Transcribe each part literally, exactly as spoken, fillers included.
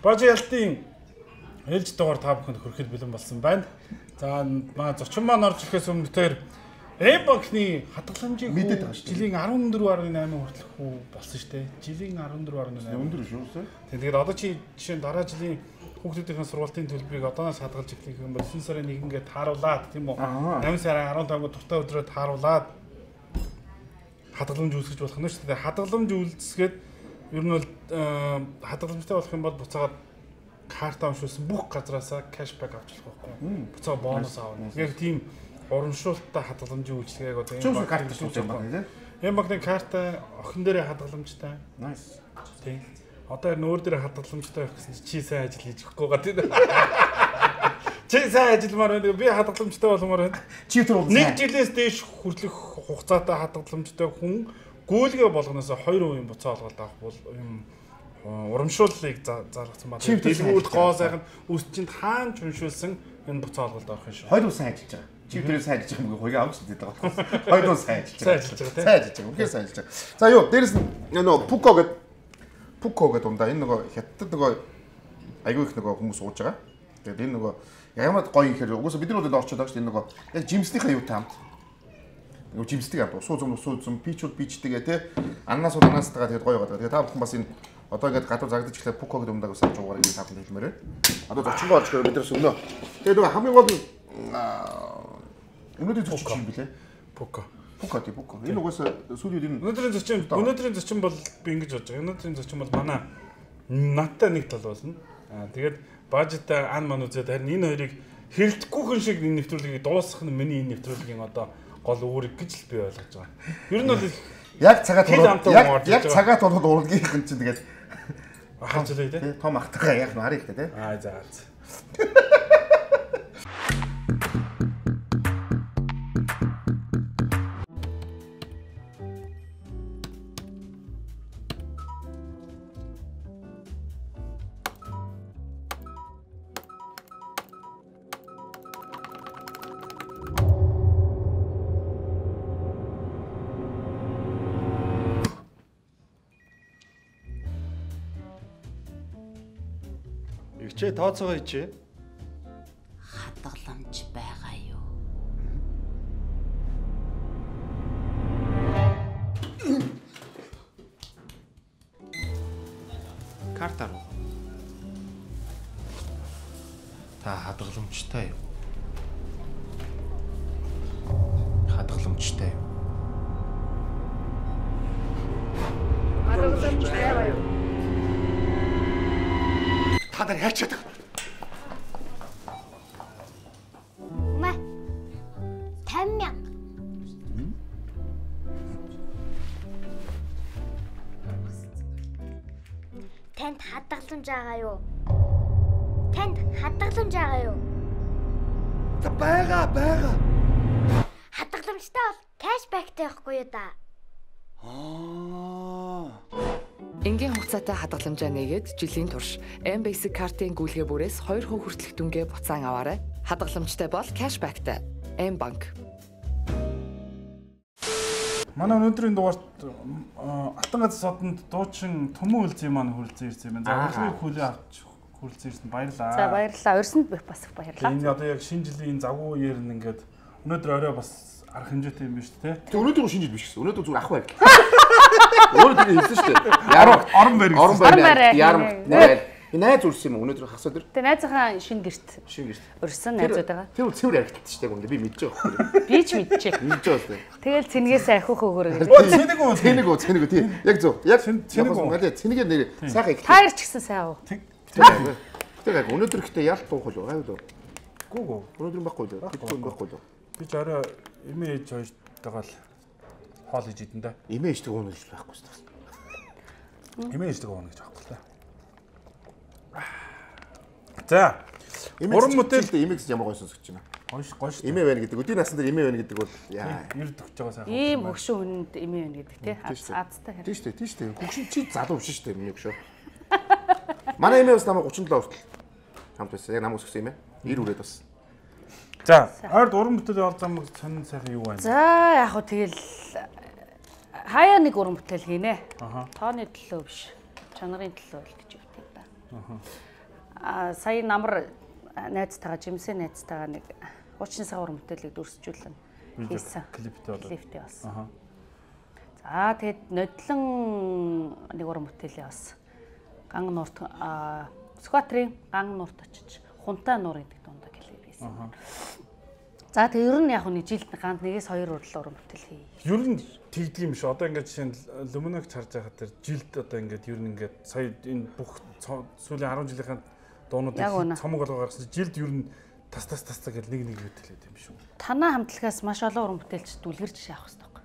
Божиалтын ээлж дугаар та бүхэнд хүрэхэд бэлэн болсон байна. За маа зочин маань орж ирэхээс өмнө тэр эм банкны хадгаламжийг мэдээд байгаа шүү. Жилийн арван дөрөв гаруй найман хүртэлх үү болсон шүү дээ. Жилийн арван дөрөв гаруй найман. Өндөр шүү дээ. Тэгээд одоо чи жишээ нь дараа жилийн хүүхдүүдийн сургуулийн төлбөрийг одооноос хадгалж эхлэх юм бол шинэ сарын нэгнгээ тааруулаад тийм үү? найман сарын арван таванд дуртай өдрөө тааруулаад хадгаламж үүсгэж болох нь шүү дээ. Хадгаламж үйлсгээд ер нь бол хадгаламжтай болох юм бол буцаагаад карта уншуулсан бүх газраасаа кэшбэк авч болох байхгүй. Буцаа бонус аавна. Яг тийм урамшуулттай хадгаламжийн үйлчилгээг одоо энэ карта шууд юм байна тийм. Энэ банкны карта охин дээрээ хадгаламжтай. Nice. Тийм. Одоо нүүр дээр хадгаламжтай байх гэсэн чи сайн ажил хийж өгөхгүй гоо тийм. Чи сайн ажилмаар байна. Би хадгаламжтай болмоор байна. Чи тэр нэг жилээс дээш хүртэлх хугацаатай хадгаламжтай хүн гүйлгээ болгоноос хоёр хувийн буцаа олголт авах бол юм урамшууллыг зарлагдсан байна. Дэлгүүрт гоо сайхан үс чинь хаан чуншуулсан энэ буцаа олголт авах юм шүү. Хоёр хүн сайн ажиллаж байгаа. Чи тэрээс сайн ажиллаж байгаа юм хоёрын авч хэлээд байгаа болохоос хоёр хүн сайн ажиллаж байгаа. Сайн ажиллаж байгаа тийм. Сайн ажиллаж байгаа. Үнхээр сайн ажиллаж байгаа. За юу дээрэс нь нөгөө Пуко гэдэг Пуко гэдэг ундаа энэ нөгөө хятад нөгөө айгүй их нөгөө хүмүүс ууж байгаа. Тэгээд энэ нөгөө ягмад гоё юм хэрэг угсаа бид нар бол орчод байгаа шүү дээ. Энэ нөгөө яг жимснийхээ юутай хамт нөгөө жимсдэг хамт усуу зам усуу зам пичүүд пичтэйгээ те аннаас уу аннаастайгаа тэгээд гоё байгаа. Тэгээд та бүхэн бас энэ одоо ингээд гадуу загдаж ихлээр Пуко гэдэг умдаг усаа жуугаар ингэ тавхан хэлмээрээ. Одоо зочингоо орж ирээ бид нар өмнө. Тэгээд нөгөө хамгийн гол нь өнөөдөр зочин юм билээ. Пуко. Пуко тий Пуко. Энэ угаасаа сүүлийн энэ өнөөдрийн зочин өнөөдрийн зочин бол би ингэж бодож байгаа. Өнөөдрийн зочин бол манай надтай нэг тал болно. Аа тэгээд бажтай ан ман үзээд харин энэ хоёрыг хэрэлдэхгүй хүн шиг энэ нэвтрүүлгийг дуусгах нь миний энэ нэвтрүүлгийн одоо гол үүрэг гэж л би ойлгож байгаа. Ер нь бол яг цагаат яг яг цагаат болоод урлагийнх нь чинь тэгээд ахаж үлээ тий. Том ахтайгаа яг нь харъя ихтэй тий. Аа за. Игчээ тооцоогоо ичээ. Хадгаламж байгаа юу? Карта руу. Та хадгаламжтай юу? Хадгаламжтай юу? Хадгаламжтай байгаа юу? Та нар яачаад байгаа? Мэ. тавин мянга. Танд хадгаламж байгаа юу? Танд хадгаламж байгаа юу? За байгаа байгаа. Хадгаламжтай бол кэшбэктэй байхгүй юу да? Аа. Энгийн хугацаатай хадгаламжаа нээгээд жилийн турш M Basic картын гүйлгээ бүрээс хоёр хувь хүртэлх дүнгээ буцаан аваарай. Хадгаламжтай бол кэшбэктэй. M банк. Манай өнөөдрийн дугаарт Алтан газар содонд дуучин Төмөн үлзий маань хүрэлцэн ирсэн юм байна. За урлагийн хүлээ авч хүрэлцэн ирсэн баярлалаа. За баярлалаа. Урьсанд бас их баярлалаа. Энэ одоо яг шинэ жилийн завгүй үеэр нь ингээд өнөөдөр орой бас арга хэмжээтэй юм биш үү те? Тэг өнөөдөр шинэ жил биш гэсэн. Өнөөдөр зүгээр ах байр. Өөрөө тийм хэлсэн шүү дээ. Ярам орон байр. Орон байр. Ярам. Найз үрс юм өнөөдөр хасаа дээр. Тэг найзынхаа шинэ гэрт. Шинэ гэрт. Урьсан найзууд байгаа. Тэр үл цэвэр харагддаг шүү дээ. Би мэдэж байгаа. Би ч мэдчихэ. Мэдэж байгаа. Тэгэл цэнгээс ахих өгөөрэй. Оо цэнийг үү? Цэнийг үү? Цэнийг үү? Тийм. Яг зөв. Яг цэнийг үү? Малээ цэнигээр нэр сайхан их. Таар ч гэсэн сайн уу? Тэр яг өнөөдөр ихтэй ялт буух уу? Гайвал уу? Гүү гүү. Өнөөдөр байхгүй л. Байхгүй байхгүй л. Би ч орой эмээ ээж хоёртойгоо л хоол хийж идэн да. Эмээ ээжтэй уунах гэж байхгүй шүү дээ. Эмээ ээжтэй уунах гэж байхгүй л. За. Уран бүтээлд эмээгс ямар гоё сонсож байна. Гоё гоё шүү. Эмээ байна гэдэг. Өдний насны дээр эмээ байна гэдэг бол яа. Ирд өгч байгаа сайхан. Ийм хөгшин хүнд эмээ байна гэдэг тий. Аазтай хэрэг. Тийм шүү дээ. Тийм шүү дээ. Хөгшин чи залуу биш шүү дээ миний хөшөө. Манай эмээ бас намайг гучин долоо хүртэл хамт байсан. Яг намайг өсгсөн эмээ. ир үрээд бас. За, ойрд уран бүтээлийн ол зам сонин сайхан юу байна? За, яг хөө тэгэл хаяа нэг уран бүтээл хийнэ. Аха. Тооны төлөө биш. чанарын төлөө л гэж өвтэй да. Аа сая намар найзтайгаа жимсээ найзтайгаа нэг хуучны савар мөтөлийг дүрсжүүлэн хийсэн. Клиптэй болоо. Клиптэй болсон. За тэгээд нодлон нэг уран бүтээлээ бас ган нуурт скватрын ган нуурт очиж хунтаа нуур гэдэг дундаа клип хийсэн. За тэгээд ер нь яг нэг жилд ганц нэгээс хоёр урал уран бүтээл хий. Ер нь тэгдэг юм шүү. Одоо ингээд жишээ нь Люминог харж байхад тэр жилд одоо ингээд ер нь ингээд сая энэ бүх сүүлийн арван жилийн дуунуудыг цомог болгоо гаргасан жилд ер нь тас тас тас гэж нэг нэг бүтээлээд юм шүү. Танаа хамтлагаас маш олон уран бүтээлч дүлгэрж авах хэрэгтэй байхгүй.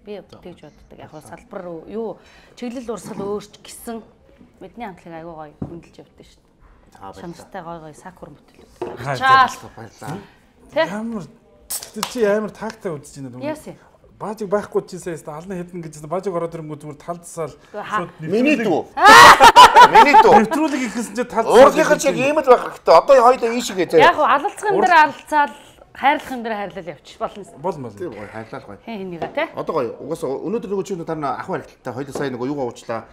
Би тэгж боддог. Яг салбар юу чиглэл урсгал өөрч гисэн бидний хамтлаг аягүй гоё хөндлөж явдсан шүү дээ. Шамстай гоё гоё сакур бүтээлүүд. Чаал баярлаа. Ямар чи амар тагтаа үзэж байна юм. Яасан. Баажиг байхгүй чийсээ ална хэдэн гэж баажиг ороод ирэнгүү зүгээр талдсаал шууд миний дүү. Миний дүү. Нэвтрүүлэг ихсэн чи талдсаал. Уургийнхаа чиг ийм л байх хэрэгтэй. Одоо хоёулаа ийшгээ заяа. Яг алалцсан дээр алалцаал хайрлахын дээр хайрлал явчих болно. Болно. Тийм гоё хайрлал гоё. Хин хинийга те. Одоо гоё. Угаасаа өнөөдөр нөгөө чи тань ах барилттай хоёулаа сая нөгөө юугаа уучлаа.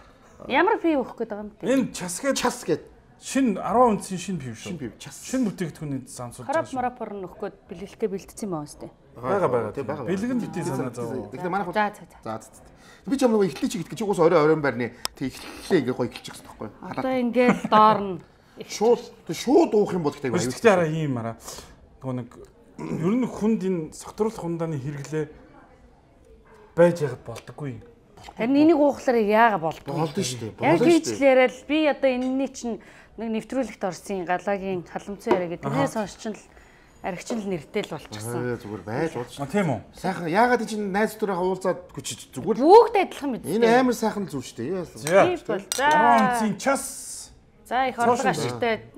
Ямар пив өгөх гээд байгаа юм бэ? Энэ час гээд Час гээд шин арван үнцийн шин пив шүү. шин пив час. Шин бүтээгдэхүүний зам суулж Харап марапор нөх гээд бэлгэлтэй бэлдсэн юм аа өстэй. байгаа байгаа. тийм байгаа. Бэлгэн битээ санаа зов. Тэгэхээр манай За за за. За за. Би ч юм нөгөө эхлэе чи гэдэг чи угаас орой оройн байрны тэг эхлэлээ ингээ гоё эхэлчих хэрэгтэй байхгүй. Одоо ингээл доорно. Шууд шууд уух юм бол гэдэг аюул. Гэхдээ араа ийм араа. Нөгөө нэг ер нь хүнд энэ согтруулах хундааны хэрэглээ байж яхад болдоггүй. Харин энийг уухлаар яага болдгоо. Болдоо шүү дээ. Яг хийж л яриад би одоо энэний чинь нэг нэвтрүүлэгт орсон галагийн халамцсан яриа гэдэг. Тэрнээс хойш ч л аригчин л нэртэй л болчихсон. Зүгээр байж болж. А тийм үү. Сайхан яагаад чинь найз дөрөөр уулзаад хүчиж зүгээр. Бүгд адилхан мэт. Энэ амар сайхан зүв шүү дээ. Тийм бол. За. арван үнцийн час. За их орлого ашигтай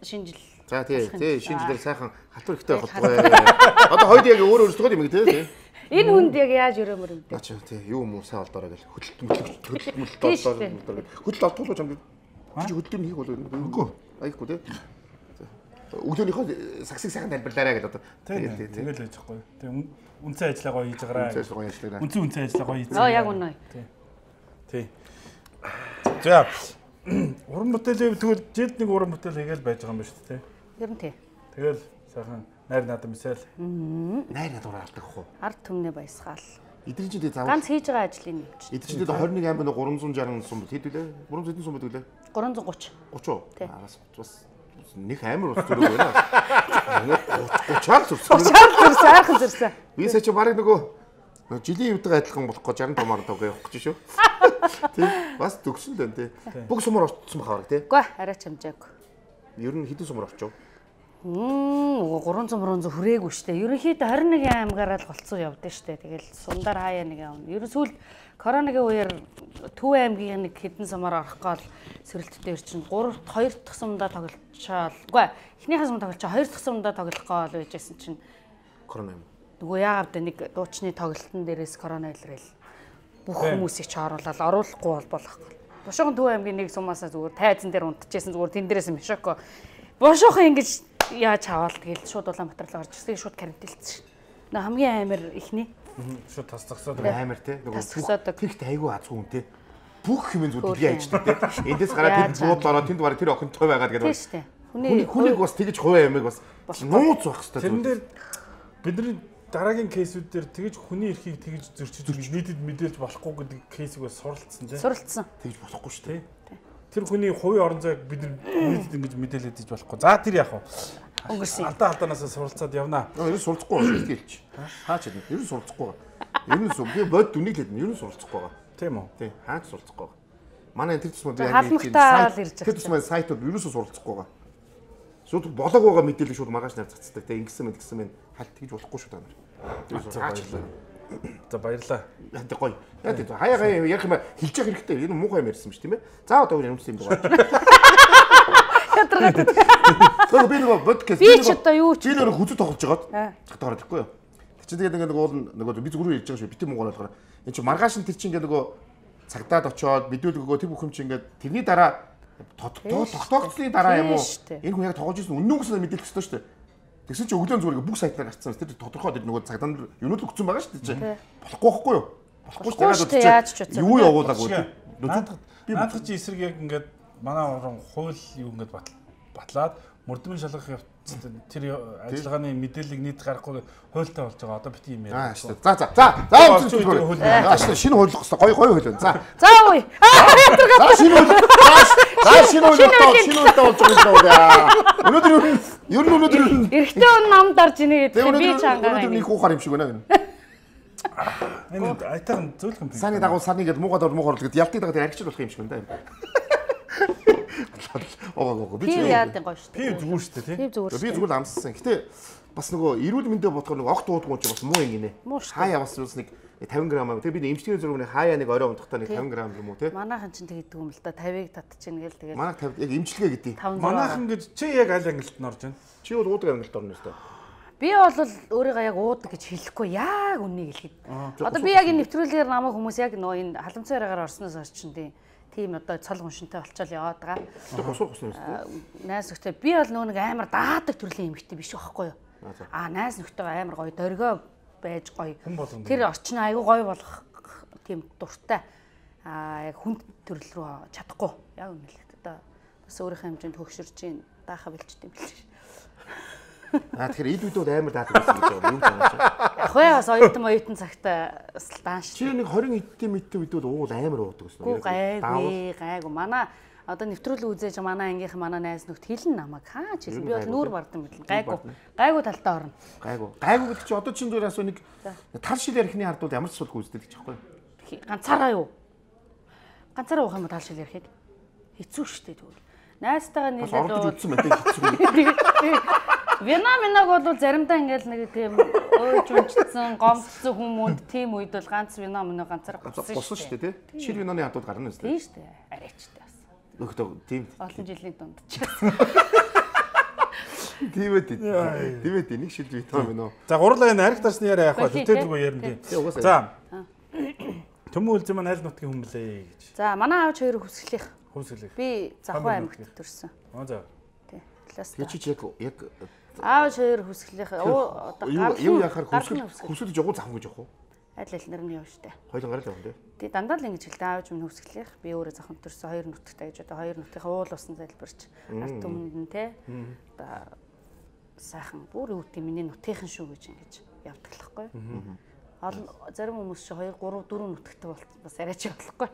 шинжил. За тий, тий шинжилээр сайхан халтур ихтэй болтгоо. Одоо хоёул яг өөр өөрсдөө юм тий. Энэ хүнд яг яаж өрөөмөр юм бэ? Ачаа тий юу муу сайн олдороо гэл хөдөлмөрлөлт хөдөлмөрлөлт олдороо. Хөдөл олдуулж юм. Чи хөдөлмөр хийх бол үгүй. Аяхгүй тий. Өглөөнийхөө сагсыг сайхан тайлбарлаарай гэдэг одоо. Тий, тий, тэгэл байж байхгүй. Тий, үнцэн ажиллаа гоё хийж байгаарай. Үнцэн гоё ажиллаа. Үнцэн үнцэн ажиллаа гоё хийж. Оо яг үнэ. Тий. Тий. За. Уран бүтээлээ тэгвэл жилд нэг уран бүтээл хийгээл байж байгаа юм ба шүү дээ. Ер нь тий. Тэгэл сайхан найр надад мисэл. Найр надад алдах уу? Ард түмнээ баясгаал. Эдгээр чинь заавал Ганц хийж байгаа ажлын юм чи. эдгээр чинь хоёр нэг амбай гурван зуун шарган сум хэд вүлээ? гурван зуун сум вүлээ? гурван зуун гуравч. гуравч уу? Араас бас нэг амар ус зүрх байна. гуравчаар зүрх. гуравчаар зүрх сайхан зүрсэн. Би сая чи барыг нөгөө жилийн үдгээ адилхан болох гэж саран томоор тоо явах гэж шүү. Тийм бас төгсөн дээ тий. Бүх сумаар орцсон бахаа тий. Үгүй арай чамжаагүй. Ер нь хэдэн сумаар орчов? Мм гурван зуун мөрөн зуун хүрээгүй штэ. Ерөнхийдөө двадцать нэгэн аймгаараа л голцоо явдсан штэ. Тэгэл сундар хаяа нэг явна. Ерөн сүүл коронагийн үеэр Төв аймгийн нэг хэдэн сумаар орох гол сөрөлттэй чинь три хоёр дахь сумдаа тоглолцоо. Үгүй эхнийхээ сум тоглолцоо хоёр дахь сумдаа тоглох гол байжсэн чинь корона юм. Нөгөө яагаад нэг дуучны тоглолтын дээрээс корона илрээл бүх хүмүүсийг ч оруулаад оруулахгүй бол болохгүй. Бошгон Төв аймгийн нэг сумаасаа зүгээр тайзан дээр унтчихсэн зүгээр тэн дээрээс мишоко. Бошгохон ингэж яаж хаваал тэгэл шууд Улаанбаатар руу гарч ирсэн шууд карантинлцсэн шин. Нөө хамгийн амар ихний шууд тасцсаад амар те нөгөө тэгт айгүй азгүй хүн те бүх юм зүг дэлгий аждаг те эндээс гараад тэнд бууд ороо тэнд бараг тэр охин той байгаад гэдэг. Тийм шүү дээ. Хүнийг бас тэгж хуваа ямиг бас нууц байх хэрэгтэй. Тэрэн дээр бидний дараагийн кейсүүд дээр тэгж хүний эрхийг тэгж зөрчиж нийтэд мэдээлж болохгүй гэдэг кейсийг бас суралцсан те. Суралцсан. Тэгж болохгүй шүү дээ. Тэр хүний хувийн орон зайг бид нийтэд ингэж мэдээлээд иж болохгүй. За тэр яах вэ? Өнгөрсөн. Алдаа алдаанаас суралцаад явнаа. Ер нь суралцахгүй байна шүү дээ. Хаач юм. Ер нь суралцахгүй байна. Ер нь сум би бод дүнийг л ер нь суралцахгүй байна. Тийм үү? Тийм. Хаач суралцахгүй байна. Манай энэ тэр тусмаа би яг тэр тусмаа сайтууд ер нь суралцахгүй байна. Шууд болоог байгаа мэдээлэл шууд маргааш нар цацдаг. Тэ ингэсэн мэд гэсэн мэн халт тэгж болохгүй шүү та нар. За баярлаа. Яа тий гоё. Яа тий хаяа хаяа ярих юм хэлж явах хэрэгтэй. Энэ муухай юм ярьсан шүү тийм ээ. За одоо өөр юмсан юм байна. Тэгвэл би нөгөө подкаст би ч одоо юу ч би нөгөө хүзүү тоглож байгаад хатаа гараад ирэхгүй юу. Тэр чинь тэгээд ингээд уул нөгөө би зүгрүү ярьж байгаа шүү. Битэн муугаар болохоор энэ чинь маргааш нь тэр чинь ингээд нөгөө цагдаад очоод мэдүүлэг өгөө тэр бүх юм чинь ингээд тэрний дараа тогтоогдсны дараа юм уу? Энэ хүн яг тоглож ирсэн үнэн үгсээр мэдээлэх хэрэгтэй шүү дээ. Тэгсэн чинь өглөө зүгээр бүх сайтаар гарцсан. Тэр тодорхой тэр нөгөө цагдаад юунууд өгсөн байгаа шүү дээ. Болохгүй байхгүй юу? болохгүй шүү дээ. Яаж ч утсан. Юу явуулаагүй. Наадах чи эсрэг яг ингээд манай орон хууль юу ингээд батлаад мөрдмийн шалгах явц тэр ажиллагааны мэдээллийг нийт гаргахгүй хуультай болж байгаа. Одоо бит юм яриа. За за за. За за шинэ хууль гоо гой гой хууль. За. За үй. За шинэ хууль. За шинэ хууль шинэ хууль болж байгаа юм. Өнөөдөр ер нь өнөөдөр эрэгтэй хүн намд орж ийнэ гэдэг би чангаа. Өнөөдөр нэг хуухаар юм шиг байна. Энэ айтайхан зөөлхөн пинг. Саны дагуу саны гэдэг муугаад ор муугаар л гэдэг ялтыг дагаад аригч болох юм шиг байна. Оо би яадаг гоё шүү дээ. Би зүгээр шүү дээ тий. Би зүгээр амссан. Гэтэ бас нөгөө эрүүл мэндэ бодохоор нөгөө огт уудгүй ч бас муу юм гинэ. Хаяа бас бас нэг тавин грамм аа. Тэгээ би эмчтгийн зургийн хаяа нэг орой унтахтаа нэг тавин грамм юм уу тий. Манайхан ч тэгдэг юм л да тавиг татчихна гээл тэгээд. Манайх тавь яг эмчилгээ гэдэг. Манайхан гэж чи яг аль ангилт нь орж байна? Чи бол уудаг ангилт орно өстой. Би бол өөрийгөө яг уудаг гэж хэлэхгүй яг үннийг хэлэхэд. Одоо би яг энэ нэвтрүүлгээр намайг хүмүүс яг нөгөө энэ халамцсан яриагаар орсноос хойш чинь тийм одоо цол гуншинтай болчоод яваад байгаа. Хосуу хосуу юм. Найз нөхдөд би бол нөгөө нэг амар даадаг төрлийн эмэгтэй биш байхгүй юу? Аа найз нөхдөд амар гоё дөргөө байж гоё. Тэр орчин айгүй гоё болох тийм дуртай. Аа яг хүн төрөл рүү чадахгүй. Яг үнэ л одоо бас өөрийнхөө хэмжээнд хөгшөрч ийн даахаа бэлчтэй юм биш. Аа тэгэхээр ид үдүүд амар даадаг гэсэн үг юм байна чи. Яг хөө бас оюутан оюутан цагтаа бас дааш. Чи нэг двадцать эдтэй мэдтэй үдүүд уул амар уудаг гэсэн үг. Гайгүй гайгүй. Манай одоо нэвтрүүлэг үзээж манай ангийнхан манай найз нөхд хэлэн намайг хаа ч хэлсэн. Би бол нүүр бардам билэн. Гайгүй. Гайгүй талтай орно. Гайгүй. Гайгүй гэдэг чи одоо чин зүгээр асуу нэг тал шил ярихны хард бол ямар ч суулгүй үздэг гэж байхгүй юу? Ганцаараа юу? Ганцаараа уух юм тал шил ярихад хэцүү шүү дээ тэгвэл. Найзтайгаа нийлээд үзсэн байдаг хэцүү. Вина минаг бол заримдаа ингээл нэг тийм өөж унцсан, гомдсон хүмүүнд тийм үед бол ганц вина минаг ганцаар госон шүү дээ тий. Шир винаны хадууд гарна үстэй. Тийм шүү дээ. Арайчтай бас. Нөхдөд тийм. Олон жилийн дунд ч. Тийм ээ. Тийм ээ. Нэг шил витамин минь. За гурлаа энэ ариг тарсны яриа яах вэ? Тэтгэдэггүй ярина тийм. За. Төмөн үлзэн маань аль нутгийн хүн блэ гэж. За манай аавч хоёр хүсгэлийнх. Хүсгэлийнх. Би Завхан аймагт төрсөн. Аа за. Тий. Тэгээ чи яг яг аавч хоёр хүсгэлийнх. Одоо юу яхаар хүсгэл хүсэлж явах завхан гэж явах уу? Адил аль нарны явж штэ. Хоёулан гарал явна тий. Тий дандаа л ингэж хэлдэг аавч минь хүсгэлийнх. Би өөрөө Завхан төрсөн хоёр нутагтай гэж одоо хоёр нутгийн уул усан залбирч ард түмэнд нь тий. Одоо сайхан бүр үүдээ миний нутгийнхан шүү гэж ингэж явдаг л байхгүй. Олон зарим хүмүүс чи хоёр гурав дөрөв нутагтай бол бас арайч болохгүй.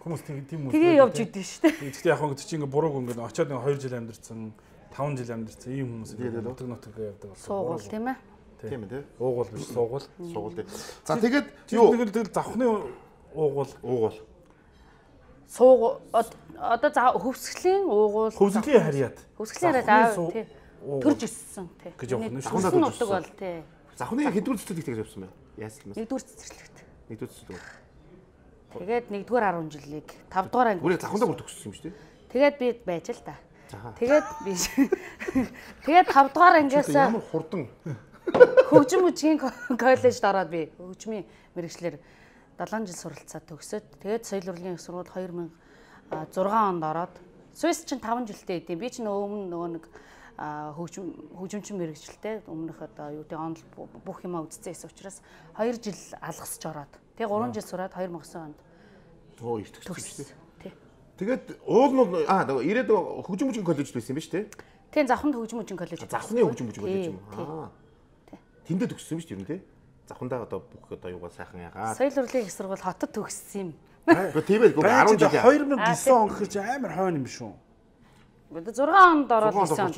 Хүмүүс тийм үү. Тэгээ явж идэв шүү дээ. Гэхдээ яг хөө чи ингээ бурууг ингээ очиод нэг хоёр жил амьдэрсэн, таван жил амьдэрсэн ийм хүмүүс нутаг нутаг явдаг бол. Суугуул тийм ээ. Тийм ээ тий. Уугуул биш суугуул. Суугуул тий. За тэгээд юу тэгэл завхны уугуул уугуул. Суугуул одоо хөвсглийн уугуул. Хөвсглийн харьяат. Хөвсглийн харьяат аа тий. Төрж өссөн тий. Гэж явах нь шүү. Завхны нутаг бол тий. Завхны хэдвэр цэцэрлэгт гэж явсан байна. Яасан юм бэ? Нэгдүгээр цэцэрлэгт. Нэгдүгээр цэцэрлэг. Тэгээд нэгдүгээр дөрвөн жилийг тавд дугаар анги. Бүрээ завхандаа бүр төгссөн юм шүү дээ. Тэгээд би байж л та. Тэгээд би тэгээд тавд дугаар ангиас ямар хурдан хөгжим мужийн коллежид ороод би хөгжмийн мэрэгчлэр долоон жил суралцаад төгсөөд тэгээд соёл урлагийн их сургууль хоёр мянга зургаан онд ороод Сүйс чинь таван жилтэй идэв. Би чинь өмнө нөгөө нэг хөгжим хөгжимчин мэрэгчлээ өмнөх одоо юу гэдэг онл бүх юмаа үзсэн гэсэн учраас хоёр жил алгасч ороод тэгээ гурван жил сураад хоёр мянга онд тоо их төгссөн шүү дээ. Тэгээд уул нь аа ирээд хөгжим мужийн коллежид байсан юм ба шүү дээ. Тийм Завханд хөгжим мужийн коллеж. Завхны хөгжим мужийн коллеж юм аа. Тэндээ төгссөн юм шүү дээ тий. Завхандаа одоо бүх одоо юугаа сайхан яагаад. Соёл урлагийн их сургууль хотод төгссөн юм. Гэхдээ тийм ээ арван жил хоёр мянга девять он гэж амар хойно юм шүү. Одоо зургаан онд ороод ирсэн.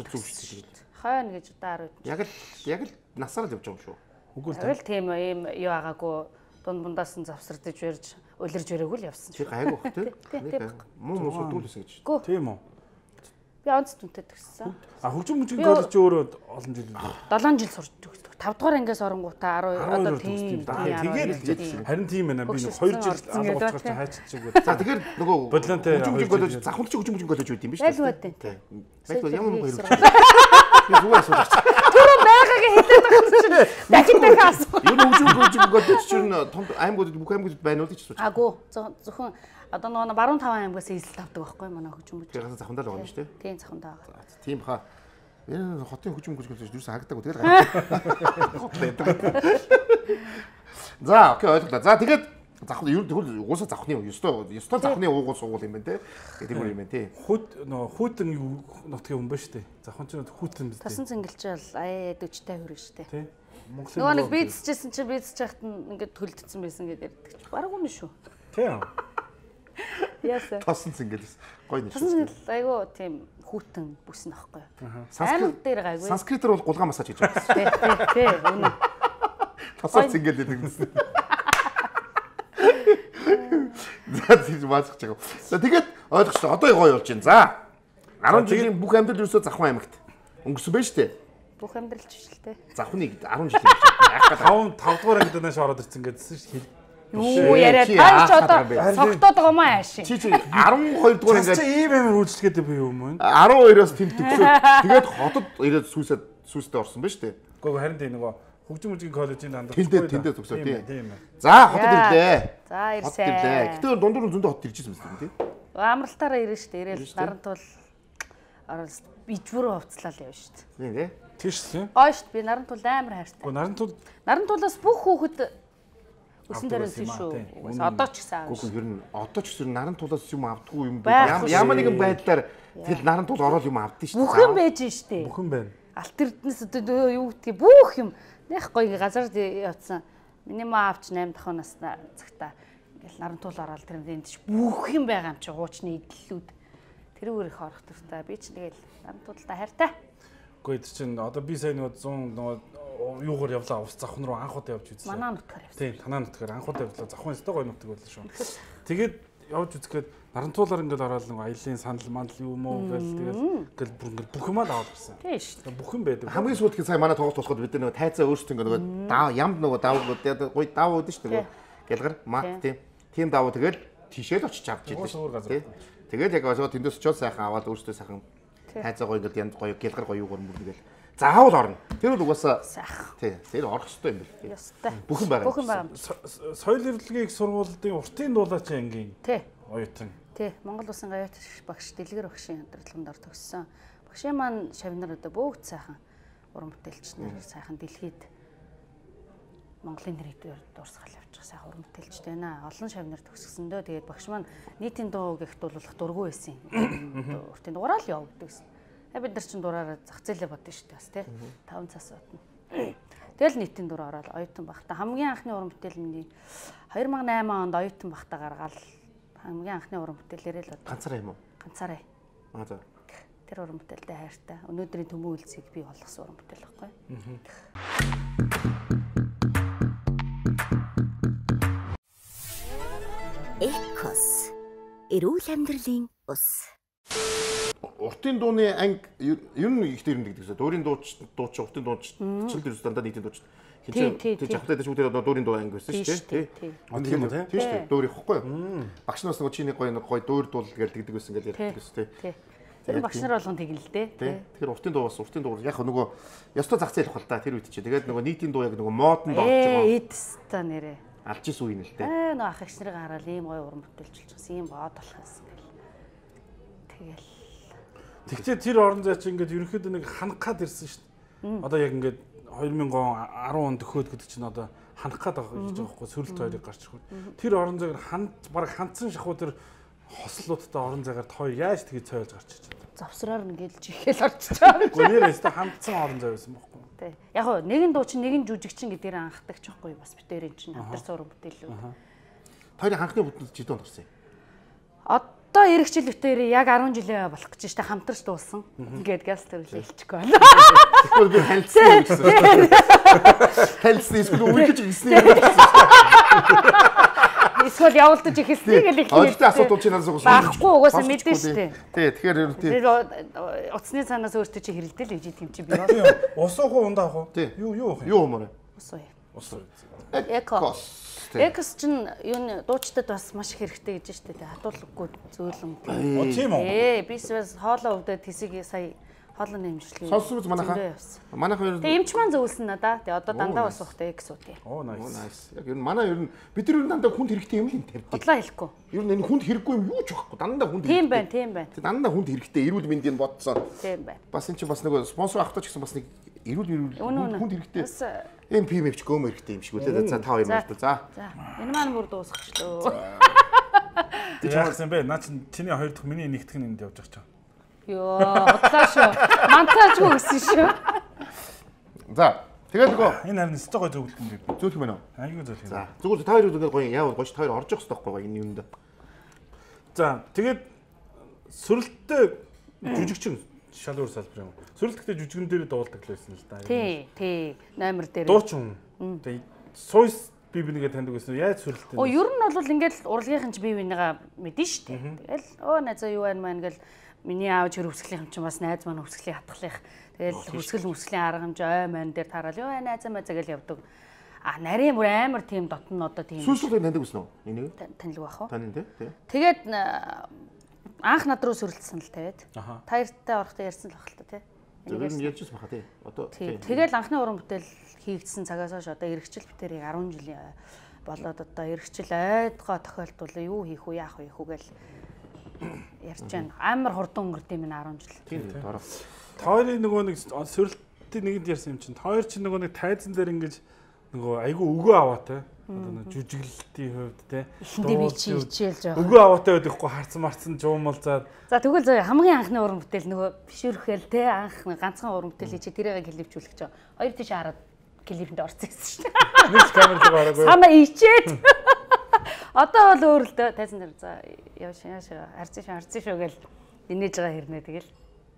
Хойно гэж одоо арав. Яг л яг л насаар л явж байгаа юм шүү. Үгүй л тийм ийм юу агаагүй дунд бундаас нь завсардаж барьж улирж барайгүй л явсан. Чи гайгүй бах тий. Муу муу сүдүүлсэн гэж. Тийм үү. Би онц түнтэй төгссөн. А хөгжим мужийн коллеж өөрөө олон жил үү? долоон жил сурч төгсдөг. тавд дугаар ангиас оронгуудаа десять одоо тийм. Тэгээд харин тийм байна. Би нэг хоёр жил алга болчихсон чинь хайчиж чиг. За тэгэхээр нөгөө бодлонтой хөгжим мужийн коллеж Завханд чи хөгжим мужийн коллеж үүд юм биш үү? Байл байтэн. Байл ямар мөнгө хэрэг. Би зүгээр асууж. Түрүү байгаагийн хэлээд байгаа чинь дахин дахин асуу. Юу хөгжим хөгжим коллеж чинь том аймагуд бүх аймагуд байна уу гэж асууж. Агуу зөвхөн одоо нөгөө баруун таван аймагаас эзэлт авдаг байхгүй манай хөгжим мужийн. Тэгэхээр Завхандаа л байгаа юм шүү дээ. Тийм Завхандаа байгаа. Тийм баха. Энэ хотын хөгжим мужийн коллеж юусэн харагдаагүй тэгэл гараад. За окей ойлголоо. За тэгээд Завхны ер нь тэгвэл угаасаа завхны ёстой ёстой завхны уугуул суугуул юм байна те. гэдэг юм байна тий. Хүүт нөө хүүтэн нутгийн хүн ба штэ. Завхан ч хүүтэн биз дээ. Тасан цэнгэлж бол аяа дөчтэй хүрэн штэ. Тий. Монголын нөгөө нэг бийцчихсэн чинь бийцчих хахад ингээд төлдсөн байсан гэдэг ярьдаг ч бараг үнэ шүү. Тий. Яасан. Тасан цэнгэл гоё нэг. Тасан цэнгэл айгу тийм хүүтэн бүснэ аахгүй. Санскрит дээр гайгүй. Санскритээр бол гулган массаж хийж байгаа. Тий, тий, тий. Үнэ. Тасан цэнгэл гэдэг юм. За тийм баасах чиг. За тэгээд ойлгочлоо. Одоо гоё болж байна. За. арван жилийн бүх амьдрал ерөөсөө Завхан аймагт өнгөрсөн байж тээ. Бүх амьдрал ч биш л тээ. Завхныг арван жил байх таван тавд дугаар ангид нааш ороод ирсэн гэдсэн шүү дээ. Юу яриа тань ч одоо цогтоод байгаа маа ааши. Чи чи арван хоёр дугаар ингээд чи ийм амар үйлчлэгээд би юм уу? арван хоёроос тэм төгсөөд тэгээд хотод ирээд сүүсэд сүүстэй орсон байж тээ. Гэхдээ харин тийм нөгөө хөгжим мужийн коллежийн дандаа тэндээ тэндээ төгсөө тий. Тийм ээ. За хотод ирлээ. За ирсэн. Гэтэ дундуур зөндөө хот ирж ирсэн мэт тий. Амралтаараа ирэн штэ. Ирээл нарантуул оролс бижвүрөө хувцлал явна штэ. Тийм тий. Тийш тийм. Гоё штэ. Би нарантуул амар хайртай. Гэхдээ нарантуул нарантуулаас бүх хүүхэд өсөн дээрээс шүү. Одоо ч гэсэн аав. Гэхдээ ер нь одоо ч гэсэн нарантуулаас юм авдаггүй юм бэ? Ямар нэгэн байдлаар тэгэл нарантуул ороод юм авдсан штэ. Бүх юм байж штэ. бүх юм байна. Алт эрдэнэс одоо юу гэдгийг бүх юм нэх гоё газар явцсан. Миний маа авч восемь дахь наснаа цагта ингээл нарантуул ороод тэр энд ч бүх юм байгаа юм чи хуучны идэллүүд. Тэрүүгээр их орох төртэй. Би ч тэгэл нарантуулдаа хайртай. Гэхдээ тэр чинь одоо би сайн нөгөө цон нөгөө юугаар явлаа ус Завхан руу анх удаа явж үзсэн. Манаа нутгаар явсан. Тийм, танаа нутгаар анх удаа явлаа. Завхан өстой гоё нутаг байлаа шүү. Тэгээд явж үзэхэд нарантуулаар ингээл ороод нөгөө аялын санал мандал юм уу гэл тэгээд ингээл бүр ингээл бүх юмаа аваад ирсэн. Тийм шүү. Бүх юм байдаг. Хамгийн сүүлдээ сая манай тоглолт болоход бид нөгөө тайцаа өөрсдөө ингээ нөгөө даа ямд нөгөө даавууд гоё даав уудэн шүү дээ. Гэлгар мат тийм. Тийм даав тэгэл тийшээ л очиж авч ирлээ. Тийм. Тэгээд яг очоод тэндээс очоод сайхан аваад өөрсдөө сайхан тайцаа гоё ингээл янд гоё гэлгар гоё юугаар мөргөл заавал орно. Тэр бол угаасаа сайхан. Тийм. Тэр орох хэрэгтэй юм бэл. Ёстой. Бүх юм байгаа. Бүх юм байгаа. Соёл ирэлтгийн их сургуулийн уртын дуулаач ангийн. Тий. Оюутан. Тий. Монгол Улсын гавьяа багш Дэлгэр багшийн хамтлаганд ор төгссөн. Багшийн маань шавнар одоо бүгд сайхан уран бүтээлч нар сайхан дэлхийд Монголын нэрийг дуурсгал явуучих сайхан уран бүтээлчтэй байна. Олон шавнар төгсгсөндөө тэгээд багш маань нийтийн дуу гихт болох дургүй байсан. Уртын дугаараа л явагддаг гэсэн. Бид нар чинь дураараа зах зээлээ бодсон шүү дээ бас тий. таван цас утна. Тэгэл нийтийн дур ороод оюутан багтаа хамгийн анхны уран бүтээл миний две тысячи восемь онд оюутан багтаа гаргаад хамгийн анхны уран бүтээлээрээ л ганцаараа юм уу? Ганцаараа. Аа за. Тэр уран бүтээлтэй хайртай. Өнөөдрийн төмөн үйлсийг би болгосон уран бүтээл байхгүй. Экос. Эрүүл амьдралын ус. Уртын дууны анги ер нь их дээрэн гэдэг гэсэн. Дуурийн дууч дууч уртын дууч чил дээрс дандаа нийтийн дууч. Хинч жавхлаад шүүдэд одоо дуурийн дуу анги байсан шүү дээ. Тий. Тийм үү тий. Тийм шүү дээ. Дуурь ихгүй юу? Багш нараас нөгөө чиний гоё гоё дуурь дуул гэж тэгдэг байсан гэж ярьдаг гэсэн тий. Тэр багш нар болгон тэгнэ л дээ. Тий. Тэгэхээр уртын дуу бас уртын дуу яг нөгөө ёстой зах зээл хэл та тэр үед чи. Тэгээд нөгөө нийтийн дуу яг нөгөө модон доо гэж байгаа. Ээ эдста нэрээ. Алж ис үе нь л дээ. Аа нөгөө ах эгч нарыг хараад ийм гоё уран бүтээлч болсон ийм бод болох юмсан гэл. Тэгэл. Тэгтээ тэр орон зай чи ингээд ерөнхийдөө нэг ханах гад ирсэн шүү дээ. Одоо яг ингээд две тысячи десять онд төхөөд гэдэг чинь одоо ханах гад байгаа гэж байгаа байхгүй сөрөлт хоёрыг гарч ирэх. Тэр орон зайг ханд баг хандсан шахуу тэр хослуудтай орон зайгаар хоёр яаж тгий цойлж гарч ирж байна. Завсраар ингээл жихээл орчиж байгаа. Гэхдээ нэрээс та хандсан орон зай байсан байхгүй. Тий. Яг гоо нэгэн дуу чинь нэгэн жүжигчин гэдгээр анхдаг ч байхгүй бас битэрийн чинь хамтар уран бүтээлүүд. Хоёрын ханхны бүтэлд жид онд орсон юм. Одоо эрэх жил битэрийн яг десять жилээ болох гэж штэ хамтарч дуулсан. Ингээд газ төрлөө хэлчихгүй байна. Тэгвэл би танилцсан юм гэсэн. Танилцсан эсвэл үгүй гэж хэлсэн юм гэсэн. Эсвэл явуулдаж ихэлсэн гэл их хэлсэн. Өөртөө асуудал чинь насаа байхгүй угаасаа мэдэн штэ. Тий, тэгэхээр ер нь тий. Утасны цаанаас өөртөө чи хэрэлдэл гэж юм чи би. Ус уух уу ундаа уух уу? Юу юу уух юм? Юу юмараа? Ус уу. Ус уу. Экос. Экос чинь юу дуучтад бас маш их хэрэгтэй гэж штэ. Хатуулгагүй зөөлөн. Оо тийм үү? Ээ, бисвэс хоолоо өвдөд тисийг сая хоолны эмчилгээ. Сонсож манайхаа. Манайхаа ер нь Тэгээ эмч маань зөвлөсөн надаа. Тэгээ одоо дандаа бас ухтай экс үү. Оо nice. Яг ер нь манай ер нь бид нар ер нь дандаа хүнд хэрэгтэй юм л энэ тавьдаг. Бодлоо хэлэхгүй. Ер нь энэ хүнд хэрэггүй юм юу ч байхгүй. Дандаа хүнд хэрэгтэй. Тийм байна, тийм байна. Дандаа хүнд хэрэгтэй. Эрүүл мэндийг бодсон. Тийм байна. Бас энэ чинь бас нэг спонсор авахтаа ч гэсэн бас нэг эрүүл эрүүл хүнд хэрэгтэй. Бас эм пи эм ч гөөмөр хэрэгтэй юм шиг үлээ. За та хоёр мөрдөө. За. За. Энэ маань бүр дуусчихлоо. Яасан бэ? Наа чи чиний хоёр дахь миний нэгтгэх нь энд явж байгаа ч. Йоо, бодлоо шүү. Мантаажгүй гэсэн шүү. За. Тэгээд нөгөө энэ харин өстой гой зөвлөлт юм бэ? зөөлөх юм байна уу? Айгүй зөвлөх юм. За. Зүгээр та хоёр зүгээр гоё яавал гоё ш та хоёр орж явах хэрэгтэй байхгүй энэ юмд. За, тэгээд сүрэлттэй жүжигчин шалуур салбар юм. Сүрэлттэй жүжигэн дээр дуулдаг л байсан л да. Тий, тий. Номер дээр. Дуучин. Тэгээд сойс би бинийгээ таньдаг байсан. Яаж сүрэлттэй? Оо, ер нь бол ингээд урлагийнхан ч бие бинийгаа мэдэн штэ. Тэгэл оо найзаа юу байна маа ингээл миний аав чир хөвсглийн юм чинь бас найз маань хөвсглийн хатгалах. Тэгэл хөвсгөл мөсглийн арга хэмжээ ой маань дээр таарал ёо найзаа маа загэл явдаг. А нарийн бүр амар тийм дотн одоо тийм. Сүүсүүл таньдаг байсан уу? Энийг? Танилгүй бах уу? Тань тий. Тэгээд анх над руу сүрэлтсэн л тавиад. Таяртай орохдоо ярьсан л баг л та тий. Энийг ярьжсэн баха тий. Одоо тэгэл анхны уран бүтээл хийгдсэн цагаас хойш одоо эргэжил битэрийг арван жилийн болоод одоо эргэжил айдгаа тохиолдвол юу хийх үү яах вэ хүүгээл ярьж байна. Амар хурдан өнгөрд юм арван жил. Тийм дараа. Тойрын нөгөө нэг сүрэлтийн нэгэнд ярьсан юм чинь тойр чинь нөгөө нэг тайзан дээр ингэж нөгөө айгүй өгөө аваатай. Одоо нэг жүжиглэлтийн хувьд те. Эхэндээ би чи хичээлж байгаа. Өгөө аваатай байдаггүй харцсан марцсан жуумалзаад. За тэгвэл зөө хамгийн анхны уран бүтээл нөгөө бишүүрхэл те анх ганцхан уран бүтээл чи тэрийг клипжүүлэх гэж. Хоёр тийш хараад клипэнд орсон гэсэн шүү дээ. Нэг камерыг гараагүй. Санаа ичээд. Одоо бол өөр л дээ тайзан дээр за яваш яаш харцсан шүү харцсан шүү гэл инээж байгаа хэрнээ тэгэл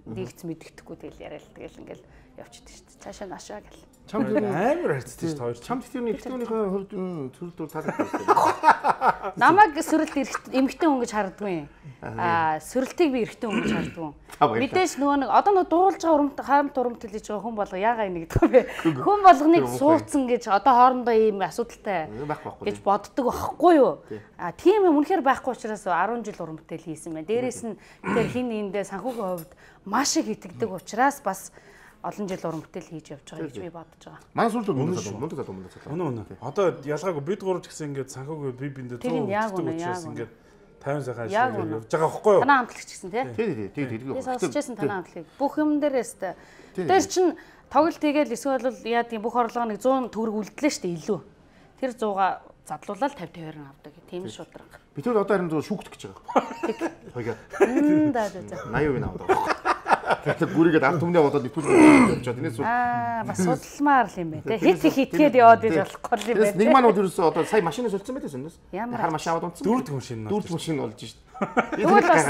нэгц мэддэхгүй тэгэл яриад тэгэл ингээл явчихдаг шүү дээ. Цаашаа нашаа гэл. Чамд амар харцдаг шүү дээ. Чамд тэрний битүүнийхээ хувьд сүрэлтүүр таалагдсан. Намайг сүрэлт эмхтэн хүн гэж харддгүй. Аа сүрэлтийг би эрэгтэн хүн гэж харддгүй. Мэдээж нөгөө нэг одоо нөгөө дуулж байгаа урамт харамт урамт хэлж байгаа хүн болго яага энийг гэдэг вэ? Хүн болгоныг суудсан гэж одоо хоорондоо ийм асуудалтай гэж боддог байхгүй юу? Аа тийм юм үнэхээр байхгүй учраас арван жил уран бүтээл хийсэн байна. Дээрээс нь тэр хин эндээ санхүүгийн хувьд маш их итгэдэг учраас бас олон жил уран бүтээл хийж явж байгаа гэж би бодож байгаа. Манай сүрэлт мөн залуу мөн залуу мөн залуу. Үнэ үнэ. Одоо ялгаагүй бид гурав ч гэсэн ингээд санхүүгийн би биндээ зүүн учраас ингээд тавин сайхан ажиллаж явж байгаа байхгүй юу? Танаа хамтлагч гэсэн тий? Тий, тий, тий, тий. Би сонсчихсан танаа хамтлагийг. Бүх юм дээрээс тэ. Тэр чин тоглолт хийгээл эсвэл яа тийм бүх орлого нэг зуун төгрөг үлдлээ штэ илүү. Тэр сууга задлуулаад тавьд хоёрын авдаг. Тийм шудраг. Би тэр одоо харин зөв шүүгдэх гэж байгаа. Хоёгаа. Мм да да. восемьдесят вин аваад байгаа. Тэгэхээр гүрийгээд ард түмнээ бодоод нэтгүүл явж байгаа. Тэрнээс аа бас судалмаар л юм байна те. Хит хитгээд яваад иж болохгүй юм байна. Нэг маань ерөөсөө одоо сая машинаас солилцсон байдаг юм. Хар машин аваад унтсан. Дүүрдэг машин. Дүүрдэг машин болж шít. Тэгвэл бас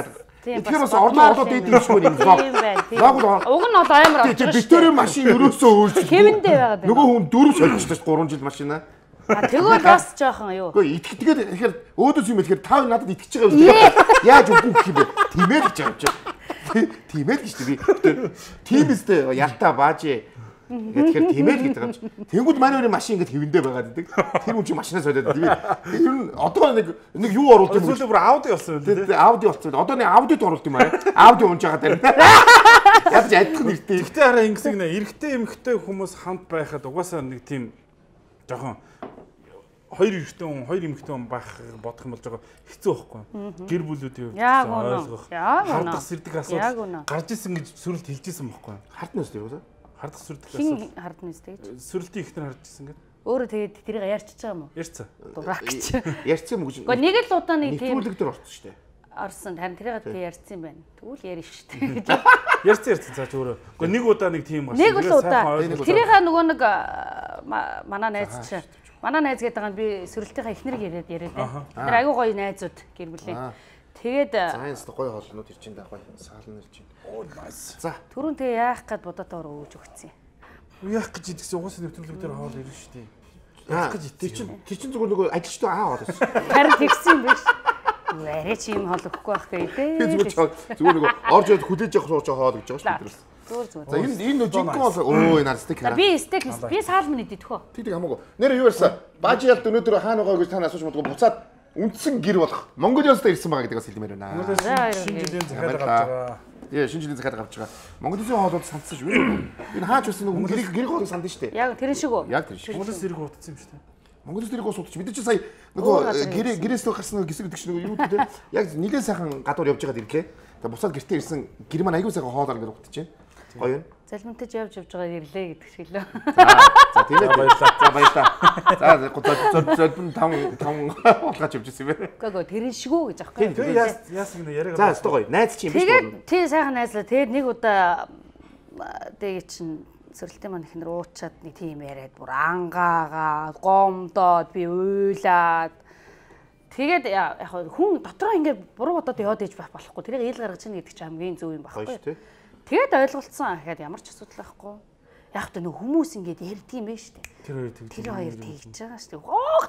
тэгэхээр бас орлоо олоод дийдэг юм шиг юм зоо. Уг нь бол амар очиж. Битүүрийн машин ерөөсөө өөрчлөв. Хэмэндээ байгаад байна. Нөгөө хүн дөрөв солилцсон шүү гурван жил машинаа. А тэгвэл бас жоохон юу. Гэхдээ итгэдгээд тэгэхээр өөдөөс юм ихээр тав надад итгэж байгаа юм. Яаж үгүй гэх юм бэ? Тимээд гэж байгаа юм. Тимээд гэж би. Тим эстэй ялтаа баажээ. Тэгэхээр тимээд гэдэг юм. Тэнгүүд манай өрийн машин ингэж хэвэндээ байгаад идэг. Тэр хүн чинь машинаа солиод идэг. Тэр нь одоо нэг нэг юу оруулдаг юм. Зүгээр бүр ауди болсон үү? Тэ ауди болсон. Одоо нэг аудид оруулт юм аа. Ауди унж байгаа дээр. Ядч айдах нэртэй. Гэхдээ хараа ингэсэг нэ эрэгтэй эмэгтэй хүмүүс хамт байхад угаасаа нэг тийм жоохон хоёр эрэгтэй хүн, хоёр эмэгтэй хүн байх бодох юм болж байгаа хэцүү байхгүй. Гэр бүлүүдийн ойлгох. Хардах сэрдэг асуудал гарч исэн гэж сүрэлт хэлж исэн байхгүй. Харднаас тийм үү? Хардах сүрдэг асуудал. Хин харднаас тэгж. Сүрэлтийн ихнэр харж исэн гэдэг. Өөрөө тэгээд тэрийг ярьчихж байгаа юм уу? Ярьцсан. Дурак гэж. Ярьсан юм гэж. Гэхдээ нэг л удаа нэг тийм нэвтрүүлэг дээр орсон шүү дээ. Орсон. Харин тэрийг би ярьсан юм байна. Тэгвэл ярина шүү дээ. Ярьсан ярьсан цааш өөрөө. Гэхдээ нэг удаа нэг тийм гарсан. Нэг л удаа. Тэрийг нөгөө нэг манай найз чинь манай найз гэдэг нь би сүрэлтийнхаа эхнэрийг яриад яриад байна. Тэр айгүй гоё найзууд гэр бүлийн. Тэгээд Сайенс гоё хоолнууд ир чинь даа гоё саалн ир чинь. Оо nice. За түрүүн тэгээ яах гээд бодотоор өгж өгсөн юм. Яах гэж идэгсэн угаасаа нэвтрүүлэг дээр хоол ирнэ шүү дээ. Яах гэж тэр чинь тэр чинь зүгээр нөгөө ажилчтай аа болоо. Харин тэгсэн юм биш. Арай чи юм хоол өгөхгүй байх гэдэг. Зүгээр зүгээр нөгөө орж ирээд хүлээж явах сууж хоол гэж байгаа шүү дээ. Зүгээр зүгээр. За энэ энэ жинхэнэ бол өө энэ стейк хараа. Би стейк би саалмын идэх хөө. Тэг тэг хамаагүй. Нэр юу ярьсан? Баажи ялд өнөөдөр хаана байгаа гэж та асууж бодгоо буцаад үндсэн гэр болох Монголиос ирсэн байгаа гэдэг бас хэлмээр байна. Шинэ жилийн захиалга авч байгаа. Яа шинэ жилийн захиалга авч байгаа. Монголын хоолууд сандсан шүү. Энэ хаач байсан нэг гэрийг гэрийг хоолыг санд нь шүү дээ. Яг тэр шиг үү? Яг тэр шиг. Монголоос ирэх утсан юм шүү дээ. Монголоос ирэх уус утч бид чинь сая нөгөө гэрээ гэрээс л гарсан гисэг гэдэг чинь юу гэдэг яг нэлээд сайхан гадуур явж байгаад ирлээ. Тэгээ бусаад гэртээ ирсэн гэр маань аягүй сайхан хоол ар гэж утж байна. Гоё юм. Залминтаж явж явж байгаа ирлээ гэдэг шиг лөө. За тийм ээ баярлаа. За баярлаа. За зол золбон таван таван болгож явж ирсэн юм байна. Гөө тэрэн шигүү гэж аахгүй. Тэгээ яас яасан гэнэ яриаг. За өстой гоё. Найз чи юм биш үү? Тэгээд тий сайхан найзлаа. Тэгээд нэг удаа тэгээ чин сөрөлтийн маань ихнэр уучаад нэг тийм яриад бүр ангаагаа гомдоод би уйлаад тэгээд яг хүн дотроо ингээд буруу бодоод яваад иж байх болохгүй. Тэрийг ил гаргаж чинь гэдэг чинь хамгийн зөв юм байхгүй. Тэгээд ойлголцсон гэхэд ямар ч асуудал байхгүй. Яг та нөх хүмүүс ингээд ярьдаг юм байна шүү дээ. Тэр хоёр тэгж. Тэр хоёр тэгж байгаа шүү дээ. Гоох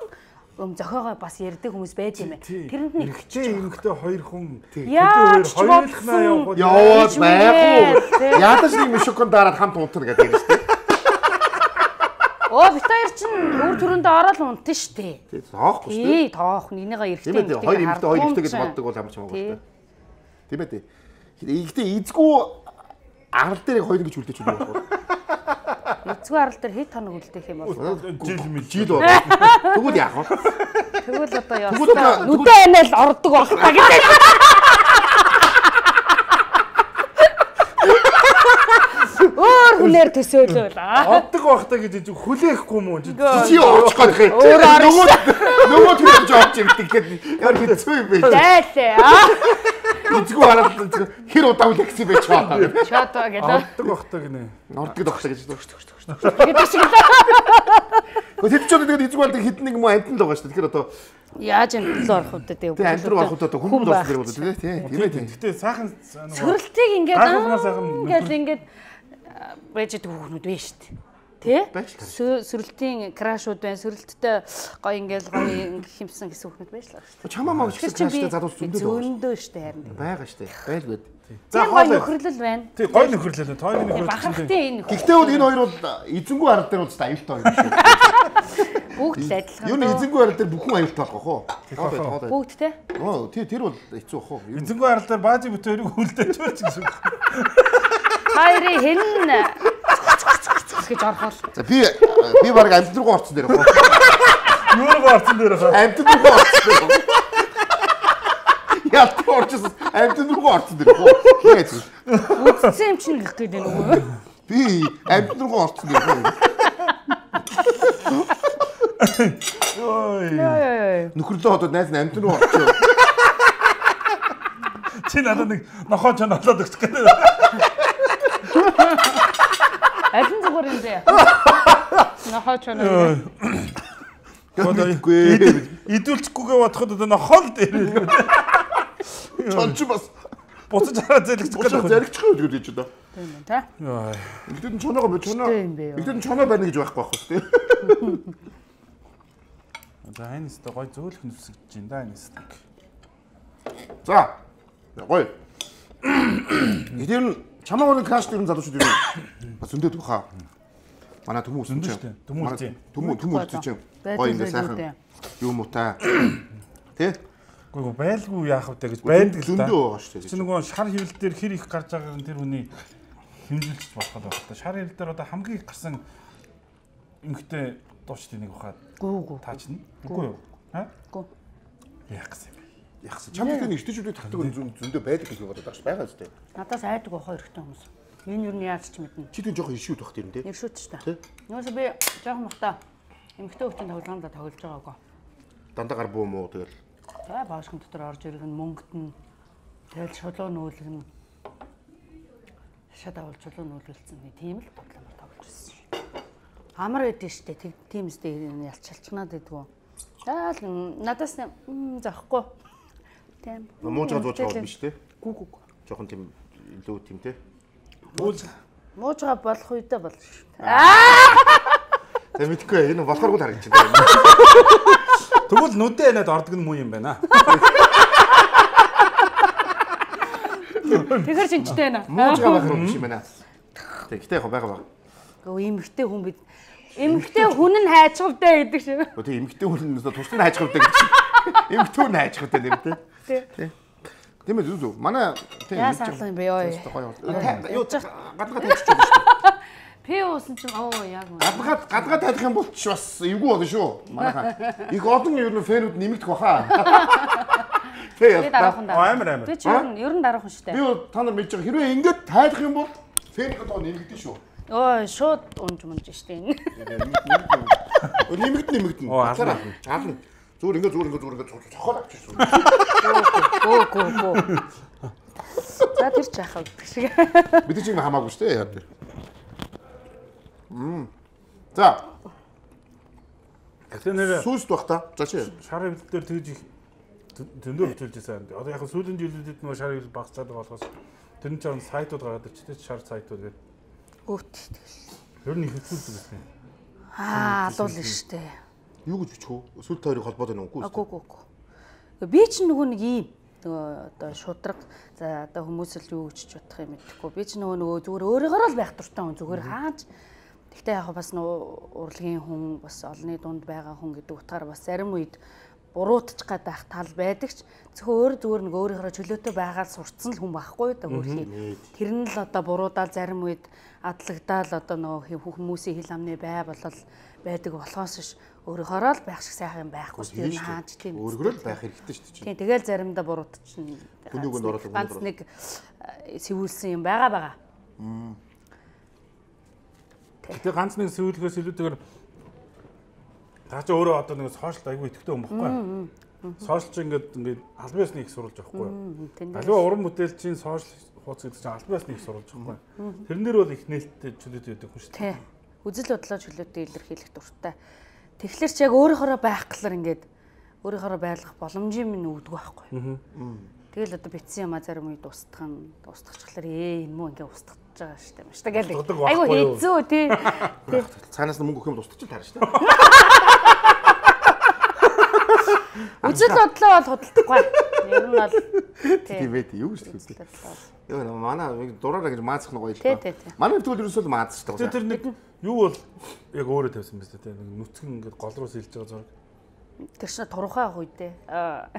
юм зохиогоо бас ярьдаг хүмүүс байд юм байна. Тэрэнд нэг Эрэгтэй эмэгтэй хоёр хүн яаж ч хоёрлахнаа яваад яваад байхгүй. Ядаж нэг мишокон дараад хамт унтна гэдэг юм шүү дээ. Оо бит хоёр чинь өөр төрөндөө ороод унтна шүү дээ. Тий, тоохгүй шүү Тий, дээ. тоох нэгнийгээ эрэгтэй Тийм ээ, хоёр эмэгтэй хоёр эрэгтэй гэж боддог бол ямар ч хамаагүй шүү дээ. Тийм ээ. Игтэй эзгүй арал дээр хоёр гэж үлдээч үү байхгүй. Эцгүй арал дээр хэд хоног үлдээх юм бол жил мэл жил бол. Тэгвэл яах вэ? тэгвэл одоо яа. Нүдэ анаа л ордог байх та гэдэг. Өөр хүнээр төсөөлөөл аа. Оддог байхдаа гэж хүлээхгүй юм уу? Чи очих гэх юм. Нөгөө нөгөө төрөж авч ирдэг гэдэг яар хэцүү юм бэ? Зайлээ аа. Эцгүй хараад хэр удаа үлэхсэн бэ чаа. Чатаа гэдэг. Оддог байхдаа гинэ. Ордог дохтой гэж дөрч дөрч дөрч. Тэгээд шиг л. Гэхдээ ч тэгээд эцгүй болдог хитэн нэг юм амтан л байгаа шүү дээ. Тэгэхээр одоо яаж амтан л орох вэ тэгээ. Тэгээ амтан руу орох удаа хүн болсон дэр болоо тийм ээ. Тийм ээ. Гэтэ сайхан сөрөлтийг ингээд гайхалмаар сайхан ингээд ингээд байж идэг хүүхнүүд байна шүү дээ. Тэ? Сөрөлтийн крашууд байна. Сөрөлттэй гоё ингээл гоё химсэн гэсэн хүүхнүүд байж л байгаа шүү дээ. Чамаа маа ч гэсэн краштай залуус зөндөө зөндөө шүү дээ харин. байгаа шүү дээ. Байлгүй. За гоё нөхөрлөл байна. Тий, гоё нөхөрлөл байна. Тойны нөхөрлөл. Бахархтай энэ нөхөрлөл. Гэхдээ бол энэ хоёр бол эзэнгүй арал дээр бол аюултай хоёр шүү. Бүгд л адилхан. Юу нэг эзэнгүй арал дээр бүхэн аюултай болох уу? Бүгд те? Оо, тий тэр бол хэцүү бах уу? Эзэнгүй арал дээр баажи бүт хоёрыг хүлдэж байж гэсэн. Хайрын хэн гэж орхол. За би би баг амт руу орсон дээр бах. Юу руу орсон дээр хаа? Амт руу орсон. Ялт орчихсон. Амт руу орсон дээр бах. Яаж вэ? Үдцсэн юм чинь гэх гээд байна уу? Би амт руу орсон дээр бах. Ой. Нөхөрлөө ходоод найз нь амт руу орчихсон. Чи надад нэг нохоо ч налаад өгч гэдэг. Алин зүгээр юм бэ? Нохоо ч наа. Гэхдээ идүүлчихгүйгээ бодоход одоо нохоо л дээр. чон ч бас буцаж хараад зэлгчих гэдэг. Зэлгчих үү гэж байна. Тийм үү та? Яа. Игдэн чоноогоо бо чоноо. Игдэн чоноо байна гэж байхгүй байх шүү дээ. За энэ өстө гой зөөлөх нүсгэж байна да энэ өстө. За. Гоё. Эдгээр нь чамаа нэг краш дэрэн залуучууд юу? Бас зөндөөд баха. Манай төмөө өсөн чинь. Төмөө үгүй. Төмөө төмөө өсөн чинь. Гоё ингэ сайхан. Юу муутай. Тэ? Гүйгүй байлгүй яах вэ гэж байдаг л да. Зөндөө байгаа шүү дээ. Чи нөгөө шар хэвлэл дээр хэр их гарч байгааг нь тэр хүний хэмжүүлж болох байх та. Шар хэвлэл дээр одоо хамгийн их гарсан эмхтэй дуучдын нэг бахад. Гүү гүү. Таачна. Үгүй юу? Ха? Гүү. Яах гэсэн юм бэ? Яах вэ? Чамд тэр эртэжүүдийн татдаг зөндөө байдаг гэж бодоод байгаа ш байгаа зү. Надаас айдаг хоёр ихтэй хүмүүс. Энэ юу нь яаж ч мэднэ. Чи тэр жоохон ишүүд бах тийм дээ. Иршүүд ч та. Юусе би жоохон махта эмхтэй хүүхдийн тоглоомдоо тоглож байгаагүй. Дандаа гар буу муу тэгэл. За баашхан дотор орж ирэх нь мөнгөд нь тэгэл шулуу нүүлэх нь шат авал шулуу нүүлэлцэн тийм л тоглоомор тоглож ирсэн шүү. Амар байдэн штэ тийм үстэй ялч шалчнаад байдгүй. За надаас заахгүй. Тийм. Муужгаа зуучгаа биш те. Гүү гүү. Жохон тийм илүү тийм те. Мууж муужгаа болох үедээ болно шүү. Тэг мэдгүй энэ болохгүй харагдаж байна. Тэгвэл нүдэ энэд ордог нь муу юм байна. Тэгэхэр шинжтэй байна. Муужгаа байх юм шиг байна. Тэгтээ яг байгаа байгаа. Гэхдээ эмхтэй хүн бид эмхтэй хүн нь хайчгавтай гэдэг шиг. Гэхдээ эмхтэй хүн нь туслын хайчгавтай гэдэг шиг. Эмхтэй хүн хайчгавтай нэр тэ. Тий. Тийм ээ зүг. Манай тийм яа саалаа юм бэ ёо. Юу гадгаа тавьчих юм шүү. Пи уусан чинь оо яг үү. Гадгаа гадгаа тавих юм бол ч бас эвгүй болно шүү. Манайхаа. Их олон ер нь фэнүүд нэмэгдэх баха. Тэ дараахан даа. Амар амар. Би ч ер нь ер нь дараахан шүү дээ. Би та нар мэдж байгаа хэрвээ ингэж тайлах юм бол Фэн гэдэг нь нэмэгдэн шүү. Ой, шууд унж мунж штэ энэ. Нэмэгдэн нэмэгдэн. Ална. Ална. Зүгээр ингээ зүгээр ингээ зүгээр ингээ цохол авчихсан. Гөө гөө гөө. За тэр ч яхав гэдэг шиг. Бид чинь хамаагүй шүү дээ яа дээр. Мм. За. Тэр нэр сүүст бах та. За чи. Шар хөвлөлтөөр тэгж их зөндөө хөвлөж байсан. Одоо яг сүүлийн жилүүдэд нөгөө шар хөвлөл багцаад байгаа болохоос тэр нь ч ан сайтууд гараад ирчихтэй шар сайтууд гэдэг. Өвт. Ер нь их хөвлөлт байсан. Аа, алуул нь штэ. Юу гэж бичих вэ? Сүлт хоёрыг холбоод байна уу? Үгүй үгүй үгүй. Би ч нөгөө нэг ийм нөгөө одоо шудраг за одоо хүмүүс л юу гэж бодох юм мэдэхгүй. Би ч нөгөө нөгөө зүгээр өөрөөгөө л байх дуртай хүн зүгээр хааж. Гэхдээ яг бас нөгөө урлагийн хүн бас олонний дунд байгаа хүн гэдэг утгаар бас зарим үед буруутчих гад байх тал байдаг ч зөвхөн өөр зүгээр нэг өөрийнхөө чөлөөтэй байгаад сурцсан л хүн байхгүй да хөрхий. Тэр нь л одоо буруудаал зарим үед адлагдаал одоо нөгөө хүмүүсийн хил амны бай болол байдаг болохоос ш өөрөөрөө л байх шиг сайхан юм байхгүй шүү дээ хааж тийм өөрөөрөө л байх хэрэгтэй шүү дээ. Тийм тэгэл заримдаа буруутчихна. Хүнүүг нь ороод ганц нэг сэвүүлсэн юм байгаа байгаа. Тэгээ ганц нэг сэвүүлгээс илүүтэйгээр та чи өөрөө одоо нэг сошиал айгүй идэвхтэй хүн баггүй. Сошиал чи ингээд ингээд албан ёсны их сурулж авахгүй. Аливаа уран бүтээлчийн сошиал хуудас гэдэг чинь албан ёсны их сурулж авахгүй. Тэрнэр бол их нээлттэй чөлөөтэй байдаг хүн шүү дээ. Үзэл бодлоо чөлөөтэй илэрхийлэх дуртай. Тэгэхээр ч яг өөрийнхөө байх гэхлээр ингээд өөрийнхөө байлгах боломжийн минь өвдөг байхгүй. Тэгэл одоо битсэн юм а зарим үед устгах нь устгахчлаар ээ энэ муу ингээд устгах байгаа шүү дээ. Машта гэл. Айгу хийцүү тий. Цаанаас нь мөнгө өгөх юм устгаж таарна шүү дээ. Үзэл бодлоо бол худалдахгүй. Ер нь бол тийм байт юу шүү дээ. Яа наа манай дураараа гэж маацах нь гоё л та. Манай тэгвэл ерөөсөө маацж байгаа. Тэр нэг юу бол яг өөрөө тавьсан биз дээ. Нэг нүцгэн ингээд гол руу сэлж байгаа зураг. Тэр чинь турхай ах үедээ. Аа.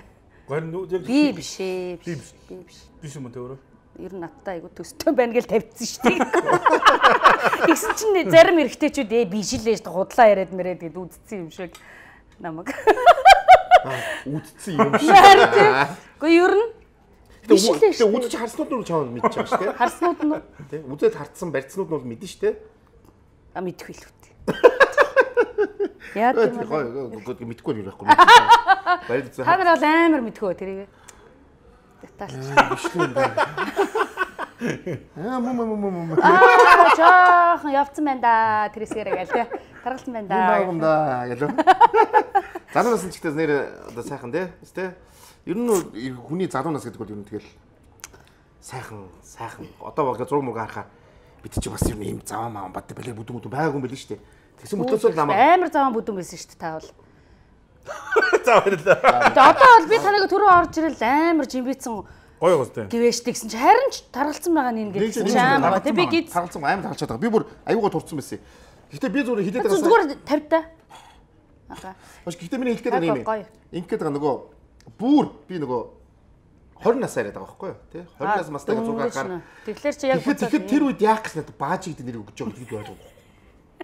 Гэр нү яг би биш ээ. Би биш. Би биш. Биш юм дээ өөрөө. Ер нь надтай айгу төстэй байна гэж тавьчихсан шүү дээ. Тэгсэн чинь зарим эрэгтэйчүүд ээ биш л ээ худлаа яриад мэрэд гэд үдцсэн юм шиг намайг. Үдцсэн юм шиг. Гэхдээ ер нь Тэгээ үзэж харснууд нь чамд мэдчихэж байгаа шүү дээ. Харснууд нь тий. Үзээд харцсан барьцнууд нь бол мэднэ шүү дээ. А мэдхгүй л үү. Яа тийм үү. Мэдхгүй юм байхгүй. Баяр зү. Та нар бол амар мэдхгүй тэрийг. Деталь. Бишлээ юм байна. Аа мм мм мм. Аа жаахан явцсан байна да. Тэрсгээрээ гээл тий. Таргалсан байна да. Юм да гэлөө. Залуунаас нь ч ихтэй нэр одоо сайхан тий. Тэ. Ер нь хүний залуунаас гэдэг бол ер нь тэгэл сайхан сайхан одоо баг зураг мураг харахаар бид чи бас ер нь ийм заваа маан бат бэлэг бүдүүн бүдүүн байгаагүй юм байл шүү дээ. Тэгсэн мөтөөс л намайг амар заваа бүдүүн байсан шүү дээ та бол. За баярлалаа. Одоо бол би таныг түрүү орж ирэл амар жимбицэн гоё гоостэй. Гэвэштэй гэсэн чи харин ч таргалцсан байгаа нь ингэ гэсэн чи амар тий би гид таргалцсан амар таргалчаад байгаа. Би бүр аюугаа турцсан байсан. Гэхдээ би зүгээр хилээд байгаа. Зүгээр тавь та. Ага. Бас гэхдээ миний хэлгээд байгаа юм. Ингээд байгаа нөгөө бүр би нөгөө хорин насаа яриад байгаа байхгүй юу тий хорин нас мастайг зураг гаргахаар тэгэхээр чи яг тэгэхээр тэр үед яах гэж надад бааж гэдэг нэр өгч байгаа гэж би ойлгоо.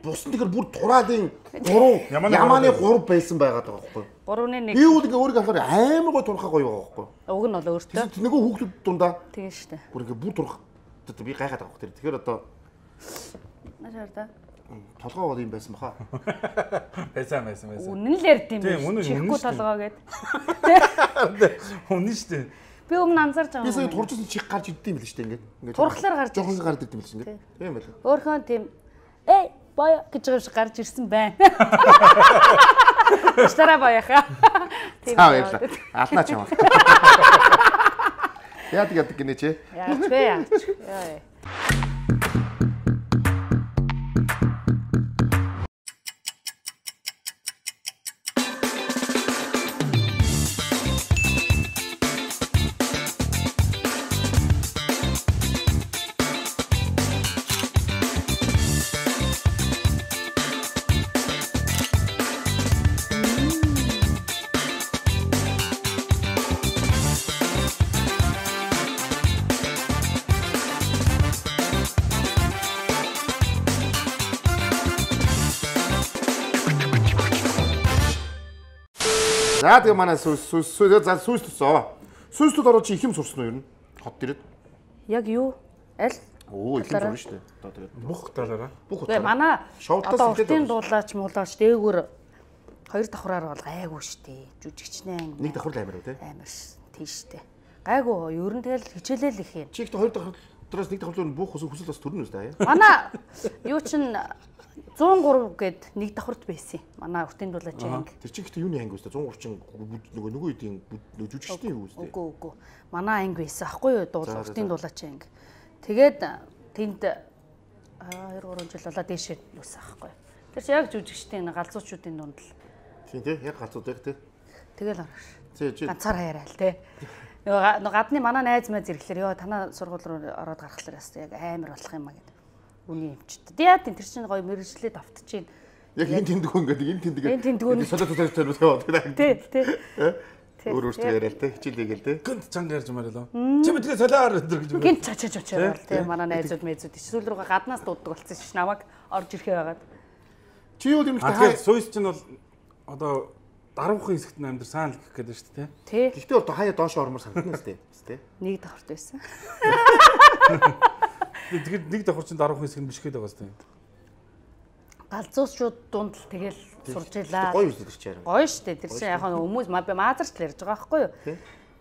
Бус нь тэгэхээр бүр тураалын гурван ямааны гурав байсан байгаад байгаа байхгүй юу. Гурвны нэг. Би үл ингээ өөрийгөө харахаар амар гой турхаа гоё байгаа байхгүй юу. Уг нь бол өөртөө. Нөгөө хүүхдүүд дундаа. Тийм шүү дээ. Бүр ингээ бүр турх. Би гайхаад байгаа хэрэг. Тэгэхээр одоо Нашаар да. толгоо бол юм байсан баха. Байсан байсан байсан. Үнэн л ярьд юм биш. Чихгүй толгоо гэд. Үнэн шүү дээ. Би өмнө анзарч байгаа. Би сая туржсэн чих гарч иддэм байл шүү дээ ингээ. Ингээ. Турхлаар гарч. Жохон гарч иддэм байл шүү ингээ. Тийм байл. Өөрхөн тийм э боё гэж байгаа шиг гарч ирсэн байна. Стара боёха. Тийм байл. Алднаа чамаа. Яадаг яадаг гинэ чи. Яач вэ яач. Яа. За тэгээ манай сүс сүс за сүс төсөө. Сүстүүд ороо чи их юм сурсан уу ер нь? Хот дээрээ. Яг юу? Аль? Оо их зурна шүү дээ. Одоо тэгээд бүх талаараа. Бүх Тэгээ манай одоо уртын дуулаач. дуулаач муулаач дээгүүр хоёр давхраар бол гайгүй штэ. Жүжигчнээ Нэг давхар л амар үү те? Амар ш. Тийш штэ. Гайгүй ер нь тэгэл хичээлэл их юм. Чи ихтэй хоёр давхраас нэг давхар нь бүх хүсэл бас төрнө үстэй аа. Манай юу чин зуун гурав гээд нэг давхарт байсан юм. Манай уртын дуулаач анги. Тэр чи ихтэй юуны анги үстэй? зуун гурав чин нөгөө нөгөө үеийн жүжигчдийн юу үстэй? Үгүй үгүй. Манай анги байсан аахгүй юу? Дуулаа уртын дуулаач анги. Тэгээд тэнд хоёр гурван жил болоо дээшээ юусан аахгүй. Тэр чи яг жүжигчдийн галзуучуудын дунд л. Тийм тий, яг галзууд байх тий. Тэгэл ороош. Тий чи ганцаар хаяарай л тий. Нөгөө гадны манай найз мэз ирэхлээр ёо танаа сургууль руу ороод гарахлаар бас яг амар болох юм а гэдэг. Үний юмчт. Яа тийм тэр чинь гоё мэрэгчлээ давтчихин. яг энэ тэндгүү ингээд энэ тэндгээ. Энэ тэндгүү солиот солиот солиот яваад. Тий, тий. Өөр өөртөө яриа л те, хичээлээгээл те. Гэнт чанга ярьж мараа лөө. Чи мэдгээ солиор өдр гэж. Гэнт чачаж очоо тий манай найзууд мэйзүүд сүүл рүүгээ гаднаас дууддаг болсон ш намайг орж ирэхээ байгаад. Чи юу юм бэ? Тэгэхээр Сүйс чинь бол одоо даруухан хэсэгт амьдар саана л гэх гэдэг шүү дээ тий. Гэхдээ одоо хаяа доош ормор санагдана шүү дээ. Нэг давхарт байсан. Тэгэхээр нэг давхар чинь даруухан хэсэг биш гэдэг байгаа шүү дээ. Галзуучууд дунд л тэгэл сурж илаа. Гоё үстэй чи яараа. Гоё штэ. Тэр чинь яг хүмүүс маазарч л ярьж байгаа байхгүй юу?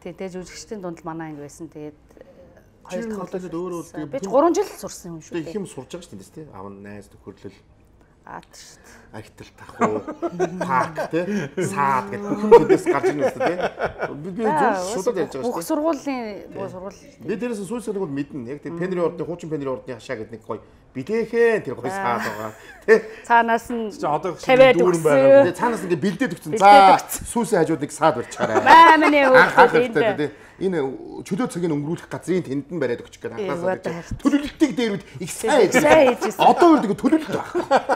Тий, тэгээ жүжигчдийн дунд манай анги байсан. Тэгээд хоёр дахь удаад өөрөө би гурван жил сурсан юм шүү дээ. Их юм сурж байгаа шүү дээ тий. Аав найз төхөрлөл. Аад штэ. Архитал тахуу, парк тий. Саад гэдэг бүхэндээс гарч ирнэ үстэй тий. Би би зөв шууд ярьж байгаа шүү дээ. Бүх сургуулийн бүх сургууль. Би дээрээс сүүлсээ нэг бол мэднэ. Яг тий пенри ордны хуучин пенри ордны хашаа гэдэг нэг гоё бидэхэн тэр гоё саад байгаа. Тий. Цаанаас нь одоо дүүрэн байгаа. Тий цаанаас ингээ бэлдээд өгсөн. За сүүлсээ хажууд нэг саад барьчаарай. Баа миний хөөе. Энэ чөлөө цагийг өнгөрүүлэх газрын тэнд нь бариад өгчих гээд анхнаасаа гэж төлөвлөлтийг дээрүүд их сайн хийж. Одоо өөр нэг төлөвлөлт байна.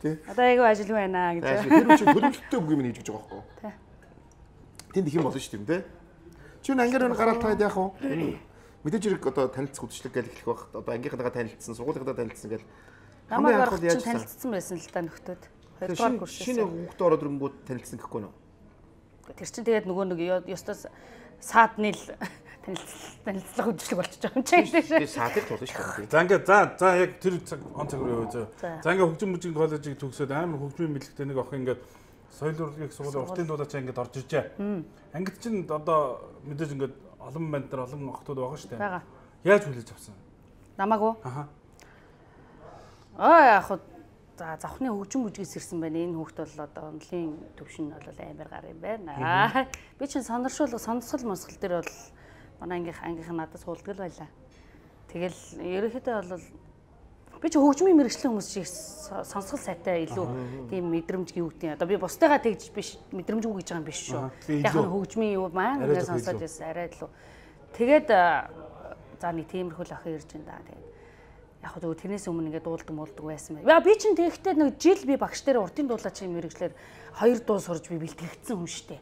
Тий. Одоо айгүй ажил байна гэж. Тэр үчиг төлөвлөлттэй үг юм хийж гэж байгаа байхгүй. Тий. Тэнд их юм болно шүү дээ. Чи энэ ангиар гараад таад яах вэ? Мэдээж хэрэг одоо танилцах үдшилэг гэж хэлэх байх. Одоо ангийнхантайгаа танилцсан, сургуулийнхантайгаа танилцсан гэж. Намайг орох чинь танилцсан байсан л та нөхдөд. Хоёрдугаар курс. Шинэ хүүхдээ ороод ирэнгүүт танилцсан гэхгүй нөө. Тэр чинь тэгээд нөгөө нэг ёстос саадны л танилцлах үдшилэг болчихж байгаа юм чинь. Тэгээд саадыг тулна шүү дээ. За ингээд за за яг тэр он цаг руу яваа. За ингээд хөгжим мужийн коллежийг төгсөөд амар хөгжмийн мэдлэгтэй нэг охин ингээд соёл урлагийн сургуулийн уртын дуулаач ингээд орж иржээ. Ангид чинь одоо мэдээж ингээд олон банд нар олон охтууд байгаа шүү дээ. Бага. Яаж хүлээж авсан? Намааг уу? Аха. Аа яг хуу за завхны хөгжим бүжгээс ирсэн байна. Энэ хүүхд бол одоо онлын төвшин бол амар гар юм байна. Би чинь сониршуул сонсгол мосгол дээр бол манай ангийнх ангийнх нь надад суулдаг л байлаа. Тэгэл ерөнхийдөө бол би чи хөгжмийн мэрэгчлэн хүмүүс шиг сонсгол сайтай илүү тийм мэдрэмж гүйгдیں۔ Одоо би бусдаагаа тэгж биш мэдрэмжгүй гэж байгаа юм биш шүү. Яг нь хөгжмийн юу маань ингээд сонсоод байсан арай илүү. Тэгээд за нэг тиймэрхүү л охин ирж байна да. Тэгээд яг хөө тэрнээс өмнө ингээд дуулдаг муулдаг байсан байна. Яа би чинь тэгэхдээ нэг жил би багш дээр уртын дуулаачийн мэрэгчлэр хоёр дуу сурж би бэлтгэгдсэн хүн шүү дээ.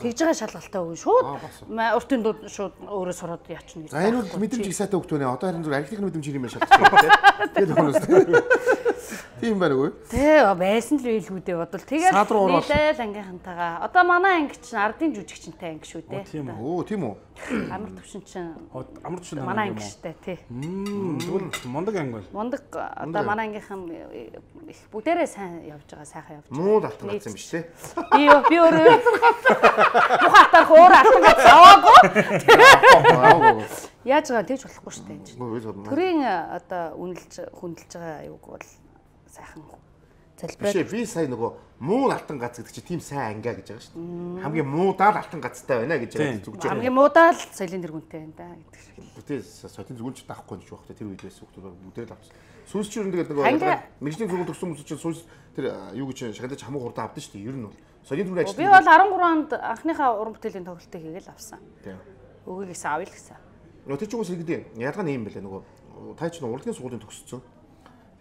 Тэгж байгаа шалгалтай хүн шууд уртын дуу шууд өөрөө сураад яачна гэж. За энэ бол мэдрэмж их сайтай хөгтөө нэ. Одоо харин зүгээр архитектурын мэдрэмж юм шалтгаалж байна тийм. Тэгээд хүмүүс тийм байна уу? Тий, байсан л байлгүй дээ бодвол. Тэгээд нийлээл ангийнхантайгаа. Одоо манай анги чинь ардын жүжигчтэй анги шүү дээ. Тийм үү? Тийм үү? Амар төвшин чинь. Амар төвшин манай анги штэ тий. Тэгвэл мундаг анги бол. Мундаг одоо манай ангийнхан их бүгдээрээ сайн явж байгаа, сайхан явж байгаа. Муу алтан гацсан биш тий. Би би өөрөө мухатар хөөр алтан гац аваагүй. Яаж байгаа тэгж болохгүй штэ энэ чинь. Төрийн одоо үнэлж хүндэлж байгаа юуг бол сайхан залбираа. Биш би сая нөгөө муу алтан гац гэдэг чинь тийм сайн ангиа гэж байгаа шүү дээ. Хамгийн муудаа л алтан гацтай байна гэж яриад зүгж байгаа. Хамгийн муудаа л соёлын тэргүүнтэй байна да гэдэг шиг. Тий, соёлын тэргүүнч даахгүй гэж байна. Тэр үед байсан хүмүүс бүгдээ л авчихсан. Сүүс чинь тэгээд нөгөө мэржлийн сургууль төгссөн хүмүүс чинь сүүс тэр юу гэж шагналж хамаг хурдан авдсан шүү дээ. Ер нь бол соёлын тэргүүн ажил. Би бол арван гурван онд анхныхаа уран бүтээлийн тоглолтыг хийгээл авсан. Тий. Өгөөг гэсэн авъя л гэсэн. Нөгөө тэр чинь үгүй гэдэг. Ядгаа нэм байлаа нөгөө та чинь урлагийн сургуулийн төгссөн.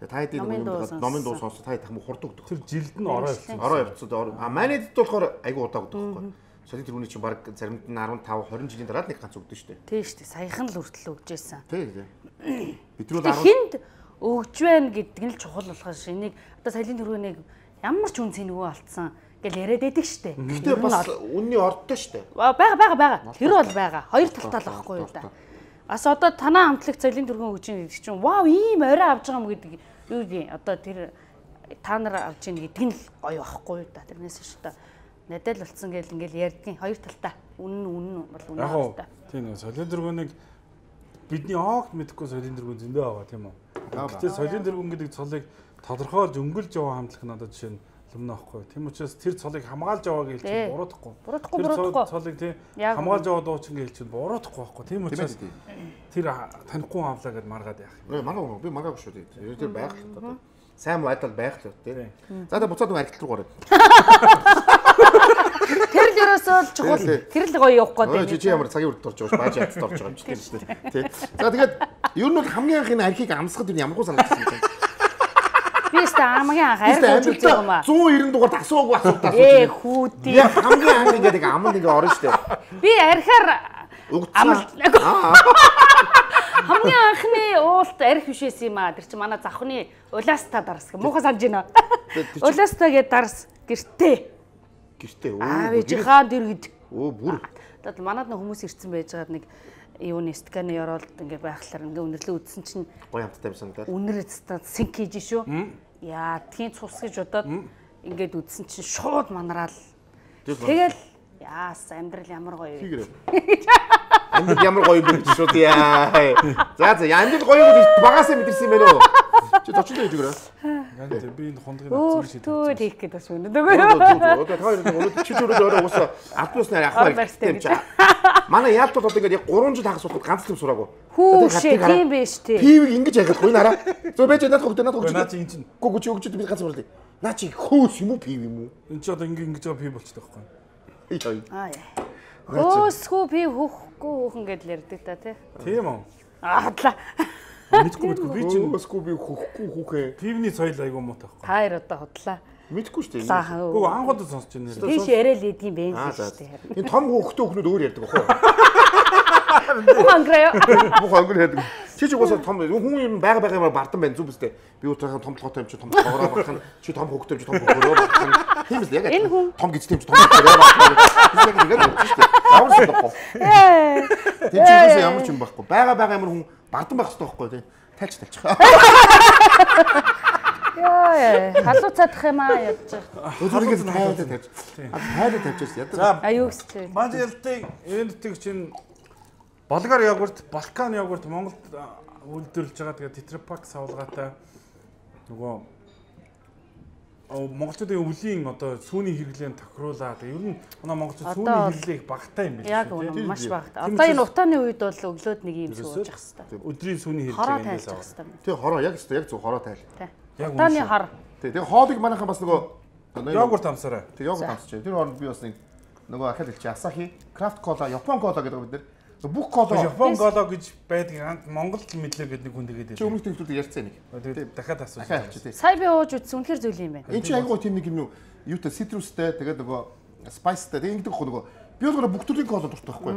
Тэгээ та хэдийн нөгөө номын дуу сонсож та хамаг хурдан өгдөг. Тэр жилд нь ороо явцсан. Ороо явцсан. А манайд болохоор айгу удаа өгдөг байхгүй. Соёлын тэргүүний чинь баг заримд нь дөрвөн хойно жилийн дараа нэг ганц өгдөө шүү дээ. Тий шүү дээ. Саяхан л хүртэл өгч байсан. Тий тий. Бидрүүл арав хинд өгж байна гэдэг нь л чухал болохоос энийг одоо соёлын тэргүүнийг ямар ч үн цэнэгүй алдсан гэл яриад байдаг шүү дээ. Гэхдээ бас үнний ордтой шүү дээ. Бага бага бага. Тэр бол байгаа. Хоёр талтай л байхгүй юу да. Ас одоо танаа хамтлагт соёлын дөрвөн хөгжин гэдэг чинь вау ийм орой авч байгаа юм гэдэг юу юм одоо тэр та нар авч ийн гэдэг нь л гоё байхгүй да тэрнээс ш та надад л болцсон гэл ингээл ярьдгийн хоёр талтай үнэн үнэн бол үнэн талтай. Тийм нэг соёлын дөрвөнийг бидний огт мэдэхгүй соёлын дөрвөн зөндөө байгаа тийм үү. Гэхдээ соёлын дөрвөн гэдэг цолыг тодорхойлж өнгөлж яваа хамтлаг надад жишээ нь lumна байхгүй. Тийм учраас тэр цолыг хамгаалж яваа гэж чинь буруудахгүй. Буруудахгүй буруудахгүй. Цолыг тийм хамгаалж яваа дуучин гэж чинь буруудахгүй байхгүй. Тийм учраас тэр танихгүй авлаа гэд маргаад яах юм. Маргаа би маргаагүй шүү дээ. Тэр байх л та. Сайн байдал байх л тийм. За та буцаад архитект руу гараад. Тэр л ерөөсөө чухал. Тэр л гоё явах гээд байна. Чи ямар цагийн үрд орж байгаа бааж ядд орж байгаа юм чи тийм. Тий. За тэгээд ер нь бол хамгийн анхны архийг амсгад энэ ямаргүй санагдсан юм. Би өөртөө хамгийн анх архи үзүүлж байгаа юм аа. one ninety дугаар асуугүй асуулт асууж. Ээ хүүдээ. Яг хамгийн анх ингээд нэг аманд ингээд орно штэ. Би архиар амлаг. Хамгийн анхны уулт арх биш байсан юм аа. Тэр чинь манай завхны улааста дарс. Муухай санаж байна. Улааста гээд дарс гэртээ. Гэртээ өө. Аа би жихаан дэргэд. Өө бүр. Тэгээд манад нэг хүмүүс ирсэн байж байгаа нэг юуны сканы ороод ингээ байхлаар ингээ үнэрлээ үдсэн чинь гоё хамттай байсан гэдэг. Үнэр эцтэй синк хийж шүү. Яа, тхийн цус гэж бодоод ингээд үдсэн чинь шууд манараал. Тэгэл яас амьдрал ямар гоё вэ? Амьдрал ямар гоё бэ гэж шууд яа. За за амьдрал гоё гэж багасаа мэдэрсэн юм байна уу? Чи зочлоо хийж өгөрөө. Яг тэр би энэ хундгийг авсан шиг. Төө хийх гэдэг бас үнэ дөгөө. Одоо хоёр өнөөдөр чи төрөө өөрөө уусаа автобуснаар авах хэрэгтэй юм чаа. Манай яалтууд одоо ингээд гурван жил хагас суудад ганц л юм сураагүй. Хүү шээ тийм биш тий. Пивийг ингэж яхад гоо нараа. Зөө байж надад хөгдөө надад хөгдөө. Наа чи энэ чинь. Гүү гүү чи өгчөд би ганц сурлаа. Наа чи хөөс юм уу пив юм уу? Энд чи одоо ингэ ингэж байгаа пив болчихдог байхгүй. Аа яа. Хөөсгүй пив хөөхгүй хөөхөн гэдэл ярьдаг та тий. Тийм үү. Аадлаа. Мэдгүй мэдгүй би чинь хөөсгүй би хөөхгүй хүүхээ. Пивний соёл айгүй муутай байхгүй. Та хоёр одоо хотлаа. Мэдгүй шүү дээ. Гүү анхудад сонсч байна нэр. Тийш яриа л идэм бэ шүү дээ. Энэ том хүүхдээ өхнүүд өөр ярьдаг ахгүй. Ханграа. Бүх англ ярьдаг. Чи ч угаасаа том хүн юм байга байга юмар бардан байна зүг үстэй. Би утаахан том толгойтой юм чи том толгороо багхан чи том хүүхдээ чи том хүүгөрөө багхан. Тийм л яг том гэж тийм чи том хүүгөрөө багхан. Би яг ингэ ярьж шүү дээ. Ямар ч болохгүй. Тийм ч үгүйс ямар ч юм байхгүй. Байга байга юмар хүн бардан байх хэрэгтэй байхгүй тийм. Тайлч тайлч. Яа, халуу цадах юм аа ядж байгаа. Өдрөгөөс тайлж тайлж. Тайлж тавьчихсан яд. За аюу гэстэй. Маж ялтыг энэ тийг чинь болгар йогурт, Балкан йогурт Монголд үйлдвэрлэж байгаа. Тэгээ тетрапак савлгаатай нөгөө монголчуудын өвлийн одоо сүүний хэрэглээнд тохируулаад ер нь манай монголчууд сүүний хэрэглээ их багатай юм байна. Яг үнэ маш багатай. Одоо энэ утааны үед бол өглөөд нэг юм сууж ах хэвээр. Өдрийн сүүний хэрэглээ эндээс авах. Тэг хороо яг зөв яг зөв хороо тайл. Яг утааны хар. Тэг тэг хоолыг манайхан бас нөгөө йогурт амсараа. Тэг йогурт амсч. Тэр хооронд би бас нэг нөгөө ахад хэлчих Asahi, Craft Cola, Япон Cola гэдэг бид нэр бүх кола Япон кола гэж байдаг Монголд мэдлээ гэдэг нэг хүн тэгээд. Чи өмнөх төвчүүд ярьцсан нэг. Тэгээд дахиад асууж. Сая би ууж үзсэн үнэхэр зүйл юм байна. Энд чи айгуу тийм нэг юм юу юутай citrusтэй тэгээд нөгөө spiceтэй тэгээд ингэдэг хөө нөгөө би бол бүх төрлийн кола дуртай байхгүй.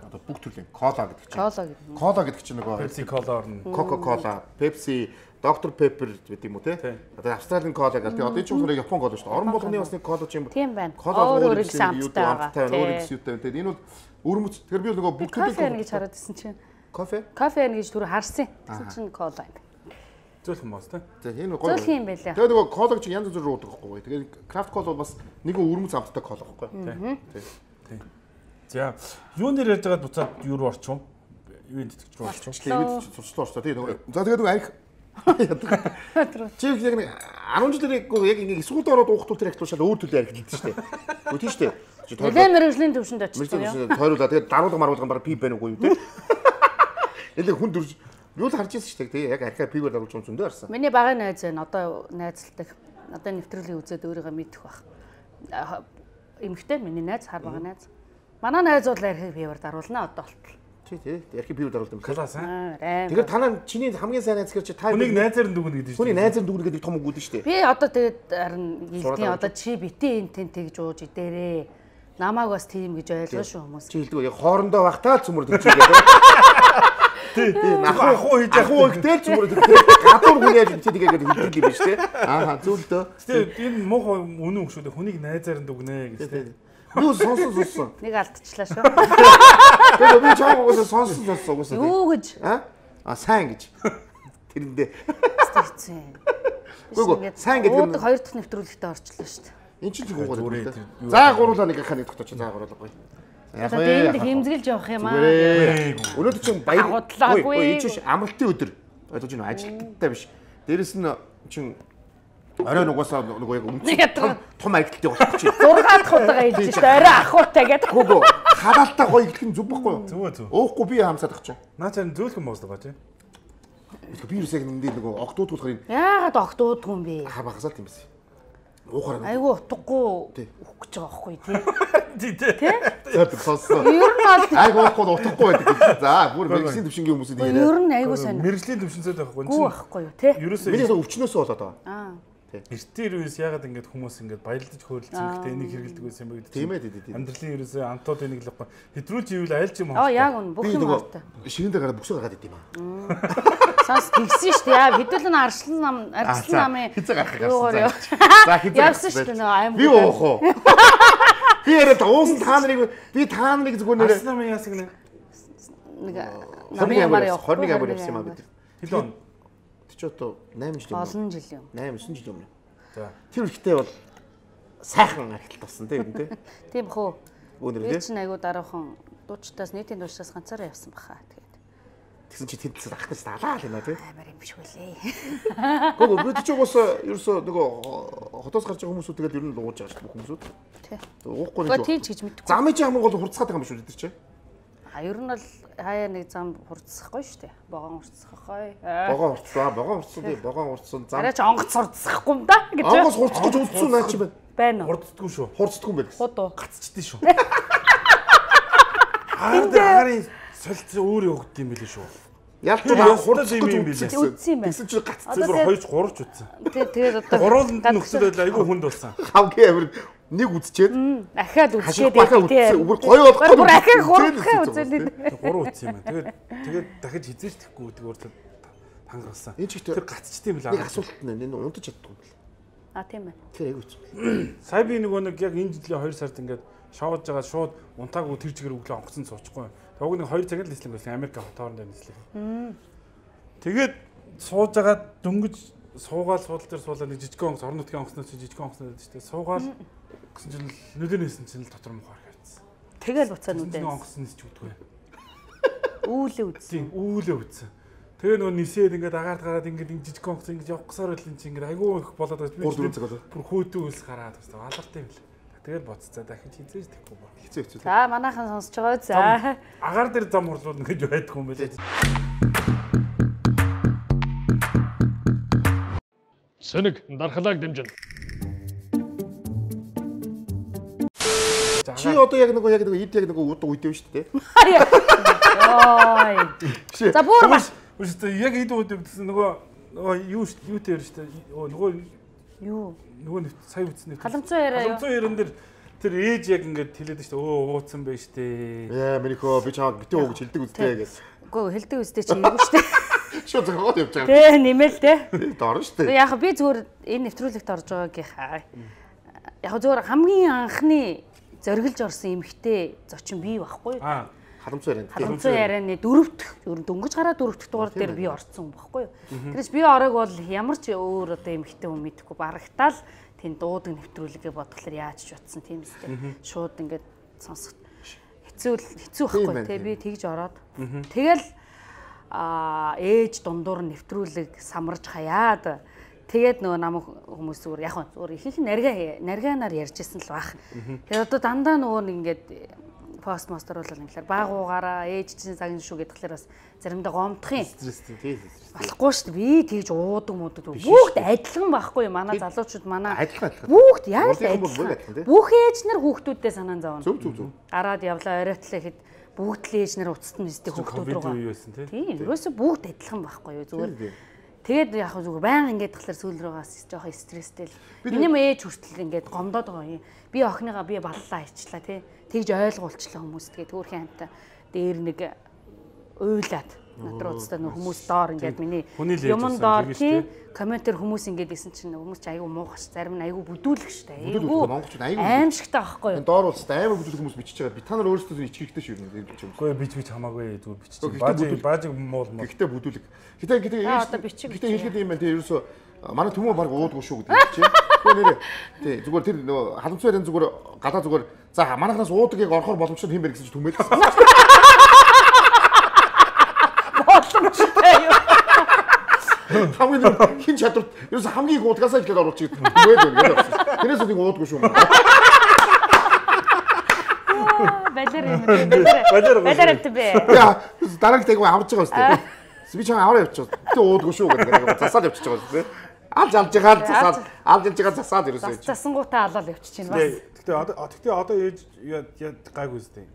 Одоо бүх төрлийн кола гэдэг чинь. Кола гэдэг. Кола гэдэг чинь нөгөө Pepsi Cola орно. Coca-Cola, Pepsi, doctor Pepper гэдэг юм уу те. Одоо Австралийн кола гэдэг. Одоо энэ ч үгээр Япон кола шүү дээ. Орон болгоны бас нэг кола ч юм. Тийм байна. Кола өөр их амттай байгаа. Өөр их юутай. Тэгээд энэ бол өрмөц. Тэгэхээр би нөгөө бүх төрлийн кофе гэж хараад ирсэн чинь. Кофе? Кофе гэж түр харсан. Тэгсэн чинь кола байна. Зөөлх юм байна те. За энэ гоё. Зөөлх юм байлаа. Тэгээд нөгөө колаг чи янз бүрээр уудаг байхгүй. Тэгээд крафт кол бол бас нэг өрмөц амттай кол байхгүй. Тийм. За юун дээр ярьж байгаад буцаад юу руу орчих вэ? Юу итгэж рүү орчих вэ? Тэгээд сурчлаа орчлоо. Тийм нөгөө. За тэгээд нөгөө арх чи яг нэг арван жилийн яг ингэ эсвэл ороод уухтуул тэр ахтуушаад өөр төлөв арх хэлдэг шүү дээ. Үгүй тийм шүү дээ. Нэлээд мэрэгжлийн төвшөнд очсон юм. Тойруулаа тэгээд даруулга маруулга баг пи байна уу юу те. Элэг хүн дөрж юу л харж ирсэн шүү дээ. Яг архиа пигээр даруулж юм зөндөө харсан. Миний багын найз байна. Одоо найзалдаг. Одоо нэвтрүүлгийн үзээд өөрийгөө мэдэх баг. Эмэгтэй миний найз хар багын найз. Манай найз бол архиа пигээр даруулна одоо болтол. Тий, тий. Архиа пигээр даруулдаг юм. Класс аа. Тэгэхээр танаа чиний хамгийн сайн найз гэхэр чи та хүнийг найзаар нь дүгнэ гэдэг шүү. Хүний найзаар дүгнэ гэдэг том үг үү шүү дээ. Би одоо тэгээд харин хэлтийн одоо чи битээ энэ тэн тэгж ууж идээрээ. Намааг бас тийм гэж ойлгоо шүү хүмүүс. Чи хэлдэг яг хоорондоо багтаа л цөмөр төгчгээд. Тий. Нахуу хуу хийж ахуу гэдэг цөмөр төгчгээд. Гадуур хүн яаж чи тэгээд хэлдэг юм биш тий. Аа зөв л дөө. Гэтэ энэ муухай үнэн үг шүү дээ. Хүнийг найзаар нь дүгнэ гэж тий. Юу сонсон сонссон. Нэг алдчихлаа шүү. Тэгээ би чам угаасаа сонсон сонссон угаасаа. Юу гэж? А? А сайн гэж. Тэрэндээ. Стицэн. Гүг сайн гэдэг нь хоёр дахь нэвтрүүлэгтээ орчлоо шүү дээ. Энд чинь ч гуйгаа. За гуруулаа нэг хаа нэг тогтооч. За гуруулаа гоё. За дээнд хэмзгэлж явах юм аа. Өнөөдөр чинь баяр. Худлаагүй. Энэ чинь амралтын өдөр. Ойлгож байна уу? Ажилтнтай биш. Дээрэс нь чинь орой угаасаа нөгөө яг өмч том том ажилттай болох чинь. зураг дахь удаага хэлж шүү дээ. Орой ахуутай гэдэг. Гүг халаалтаа гоё гэх нь зүг байхгүй юу? Зүг зүг. Өөхгүй би хаамсаад ах чинь. Наа чам зөөлхөн боосдог гоо чи. Би юусаг нэндээ нөгөө огтуудгуулахын. Яагаад огтуудгүй юм бэ? Хаа багасаал юм бэ? Уухаар. Айгу утгагүй өгөх гэж байгаа байхгүй тий. Тий. Тий? За сонсоо. Ер нь бол айгу уухгүй утгахгүй байдаг. За бүр мэрэгжлийн төвшингийн хүмүүсүүд яриа. Ер нь айгу сайн. Мэрэгжлийн төвшинсэд байхгүй. Гүү байхгүй юу тий? Миний өвчнөөсөө болоод байгаа. Аа. Эртний үеэс ягаад ингэж хүмүүс ингэж баярлаж хөөрөлцөн гэхдээ энийг хэрэгэлдэг байсан юм бэ гэдэг. Тийм ээ тийм. Амьдралын ерөөсөө амтууд энийг л байхгүй. Хэтрүүлж ивэл аль ч юм аа яг үн бүх юм хартай. Ширэндээ гараад бүсээ гаргаад идэм аа. Сас тэгсэн шүү дээ. Яа хэдүүлэн арслан нам арслан намын хизээ гарах гэсэн. За хизээ явсан шүү дээ нөгөө аим. Би уух уу. Би яриад уусан та нарыг би та нарыг зүгээр нэр арслан намын яасаг нэг нэг намын ямар явах. хорны ямар явсан юм аа бид. Хэдэн он? Чи одоо найман жил юм. Олон жил юм. найман девять жил юм. За. Тэр ихтэй бол сайхан архилт болсон тийм үү? Тийм хөө. Өнөр би чинь айгу дараахан дуучтаас нийтийн дуучтаас ганцаараа явсан баха тэгээд. Тэгсэн чи тэнд захтаж далаа л юм аа тийм. Амар юм биш үлээ. Гоо бид ч угаасаа ерөөсөө нөгөө хотоос гарч байгаа хүмүүсүүд тэгэл ер нь лууж байгаа шүү дээ хүмүүсүүд. Тий. Уухгүй нэг. Гоо тийм ч гэж мэдгүй. Замын чинь хамгийн гол хурцгаад байгаа юм шүү дээ тэр чинь. А ер нь бол хаяа нэг зам хурцсахгүй шүү дээ. Богоон хурцсахгүй. Богоон хурцлаа, богоон хурцсан тий, богоон хурцсан зам. Арайч онгоц хурцсахгүй юм да гэж. Онгоц хурцах гэж үлдсэн наа чи байна. Байна уу? Хурцдаггүй шүү. Хурцдаггүй юм байна. Худуу. Гацчихдээ шүү. Аа дээрийн солилцоо өөр явагдсан юм билээ шүү. Ялч баа хурцсан юм билээ. Үдсэн юм байна. Тэгсэн чи гаццсан. Зүгээр хоёр гурвч үтсэн. Тий, тэгээд одоо гурвууланд нь нөхцөл байдал айгүй хүнд болсон. Хавгийн амир нэг үдчихэд ахаад үдчихэд тий. Бүр гоё болох бүр ахаад гурвахаа үзэлээ. Гурав үтсэн юм байна. Тэгээд тэгээд дахиж хизээж тэхгүй зүгээр тангарсан. Тэр гацчихдээ юм билээ. Нэг асуулт нь энэ унтаж чаддаг юм билээ. А тийм ээ. Тэр айгүй үгүй. Сая би нөгөө нэг яг энэ жилийн хоёр сард ингээд шоудж байгаа шууд унтаагүй тэр чигээр өглөө онгоцсон суучихгүй. Тэгвэл нэг хоёр цагаар л нислэг байсан. Америк хотоорнд нислэг. Тэгээд сууж байгаа дөнгөж суугаал суудал дээр суулаа нэг жижиг онгоц орон нутгийн онгоцноо чи жижиг онгоцноо гэдэг чинь суугаал гэсэн чинь нүдэнээсэн чинь л дотор мухаар хайцсан. Тэгэл буцаа нүдэн. Онгоцнос ч үдгүй. Үүлээ үдсэн. Үүлээ үдсэн. Тэгээ нөгөө нисээд ингээд агаард гараад ингээд жижиг онгоц ингээд явах гэсаар байл чи ингээд айгүй их болоод байж би бүр хөөдөө үлс гараад баста алартай юм л. Тэгэл боццаа дахиж хизээж тэхгүй ба. Хизээ хэцүү. За манайхан сонсож байгаа. За. Агаар дээр зам хурлууд ингэж байдгүй юм байлээ. Сэнэг дархлааг дэмжин. Чи одоо яг нөгөө яг нөгөө ид яг нөгөө удаг үйдэв шүү дээ. Ой. За бүр маш. Үстэй яг ид удаг гэсэн нөгөө нөгөө юу юу дээр шүү дээ. Нөгөө юу нөгөө сая үтснээ. Халамцсан яриа. Халамцсан яран дээр тэр ээж яг ингэж хэлээд шүү дээ. Өө ууцсан байж тээ. Яа мэрихөө би чамд битээ уу гэж хэлдэг үстэй гэж. Үгүй хэлдэг үстэй чи эйгүү шүү дээ. Шууд зогоод явж байгаа. Тэ нэмэл тэ. Дорн шүү дээ. Яг би зүгээр энэ нэвтрүүлэгт орж байгаагийнхаа яг зүгээр хамгийн анхны зориглож орсон эмхтэй зочин бий байхгүй юу? Аа халамцсан яриа. Халамцсан ярианы дөрөвдөх ер нь дөнгөж гараа дөрөвдөх дугаар дээр би орсон байхгүй юу? Тэрээс би ороог бол ямар ч өөр одоо эмхтэй хүн мэдэхгүй барагтаал тэнд дуудаг нэвтрүүлгээ бодглохлоор яаж ч утсан тийм үстэй. Шууд ингээд сонсох хэцүү хэцүү байхгүй тий би тэгж ороод тэгэл а ээж дундуур нэвтрүүлэг самарж хаяад тэгээд нөгөө намайг хүмүүс зүгээр яг зүгээр ихэнх наргаа наргаанаар ярьжсэн л баг. Тэгээд одоо дандаа нөгөө нэг ингээд пост мастер бол ингээл баагуугаараа ээж чинь загин шүү гэдгээр бас заримдаа гомдох юм. Стресстэй тий. Болохгүй шүү дээ. Би тэгж уудаг муудаг бүгд адилхан байхгүй манай залуучууд манай адилхан адилхан. Бүгд яг л адилхан. Бүх ээж нар хүүхдүүдтэй санаан зовно. Зүг зүг зүг. Гараад явлаа оройтла ихэд бүгд л ээж нар уцтан нэстэй хүүхдүүд рүү. Тийм ерөөсөө бүгд адилхан байхгүй юу зүгээр. Тэгээд яг зүгээр баян ингээд тахлаар сүүл рүүгаас жоохон стресстэй л. Миний ээж хүртэл ингээд гомдоод байгаа юм. Би охиныгаа би баллаа хийчлаа тий. Тэгж ойлгуулчлаа хүмүүст тэгээд төөрхийн хамтаа дээр нэг уйлаад Надруу устдаа нөх хүмүүс доор ингээд миний Хүний л ээж юмн болсон, доор тэгэж тий тий. комментэр хүмүүс ингээд исэн чинь хүмүүс ч айгүй муухаш зарим нь айгүй бүдүүлэх штэ. Бүдүүлэх, Айгүй монголчууд айгүй аимшигтай байхгүй юу? Доор улстай аймаг бүдүүлэх хүмүүс бичиж байгаа. Би та нар өөрсдөө ичих хэрэгтэй шүү дээ гэж юм. Үгүй бич бич хамаагүй зүгээр бичиж. Гэхдээ Баажиг бүдүүл- баажиг муул муул. Гэхдээ бүдүүлэг. Гэтэ гэтэ Аа, одоо бичиг гэтэ бичиж. хэлэхэд юм байна. Тэгээ ерөөсөө манай төмөө баг уудгүй шүү гэдэг чинь. Тэгээ нэрээ тий зүгээр тэр нөгөө халамцсан байрын зүгээр гадаа зүгээр за манайхнаас уудагийг орохоор боломжтой юм байна гэсэн чинь түмээд. Боломжтой юу? Хамгийн хин чадвар ерөөсөө хамгийн их уудгасаа ихлээр оруулж идэг түмээд байна гэдэг. Тэрээс нэг уудгүй шүү. Балер юм дээ. Балер. Балер авт бэ. Яа дараагийн тайг аварж байгаа үстэй. Би ч аваа явчих. Тэ уудгүй шүү гэдэг. Засаад явчих байгаа үстэй. Алж алж байгаа засаад алж алж байгаа засаад ерөөсөө. Засангуудаа алал явчих чинь бас. Гэхдээ одоо гэхдээ одоо ээж яа гайгүй үстэй.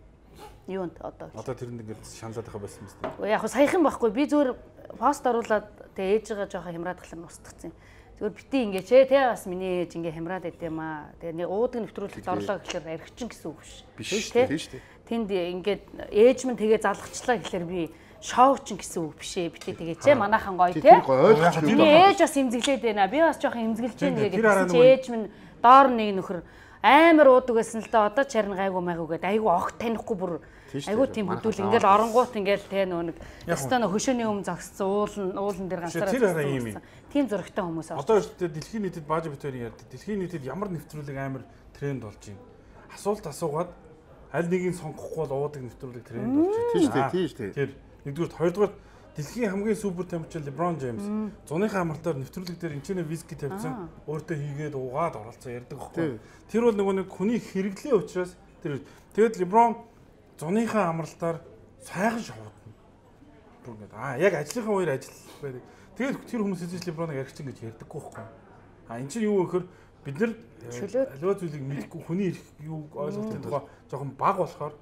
Юунд одоо. Одоо тэрэнд ингээд шаналаад байгаа байсан юм үстэй. Яг хөө саяхан байхгүй би зүгээр пост оруулаад тэгээ ээжигээ жоохон хямраад тахлаар устгацсан. Зүгээр бити ингээ ч те бас миний ээж ингээ хямраад байт юм аа. Тэгээ нэг уудаг нэвтрүүлэлт орлоо гэхэлэр архичин гэсэн үг биш. Биш тийм шүү дээ. Тэнд ингээд ээж минь тэгээ залгчлаа гэхэлэр би шоучин гэсэн үг биш ээ. Бити тэгээ ч манайхан гоё те. Миний ээж бас имзэглээд байна. Би бас жоохон имзэглэж байна гэдэг чи ээж минь доор нэг нөхөр амар уудаг байсан л да одоо ч харин гайгүй майгүйгээд айгүй огт танихгүй бүр айгүй тийм хөдөл ингээл оронгуут ингээл те нөө нэг өстөө нөө хөшөөний өмнө зогссон уулан уулан дээр ганцаараа тийм зөрөгтэй хүмүүс аа. Одоо өөртөө дэлхийн нийтэд бааж битүүрийн ярьдаг. Дэлхийн нийтэд ямар нэвтрүүлэг амар тренд болж байна. Асуулт асуугаад аль нэгийг сонгохгүй бол уудаг нэвтрүүлэг тренд болж байна. Тийм шүү дээ, тийм шүү дээ. Тэр нэгдүгээр хоёрдугаар дэлхийн хамгийн супер тамирчин LeBron James зуныхаа амралтаар нэвтрүүлэг дээр энэчнээ виски тавьсан өөртөө хийгээд уугаад оролцсон ярьдаг байхгүй. Тэр бол нөгөө нэг хүний хэрэглээ учраас тэр тэгэд LeBron зуныхаа амралтаар сайхан шоудна. Бүр ингэ аа яг ажлынхаа үеэр ажил байдаг. Тэгээд тэр хүмүүс эзэж LeBron-ыг аригчин гэж ярьдаггүй байхгүй. А энэ чинь юу гэхээр бид нар аливаа зүйлийг мэдэхгүй хүний юу ойлголтын тухай жоохон бага болохоор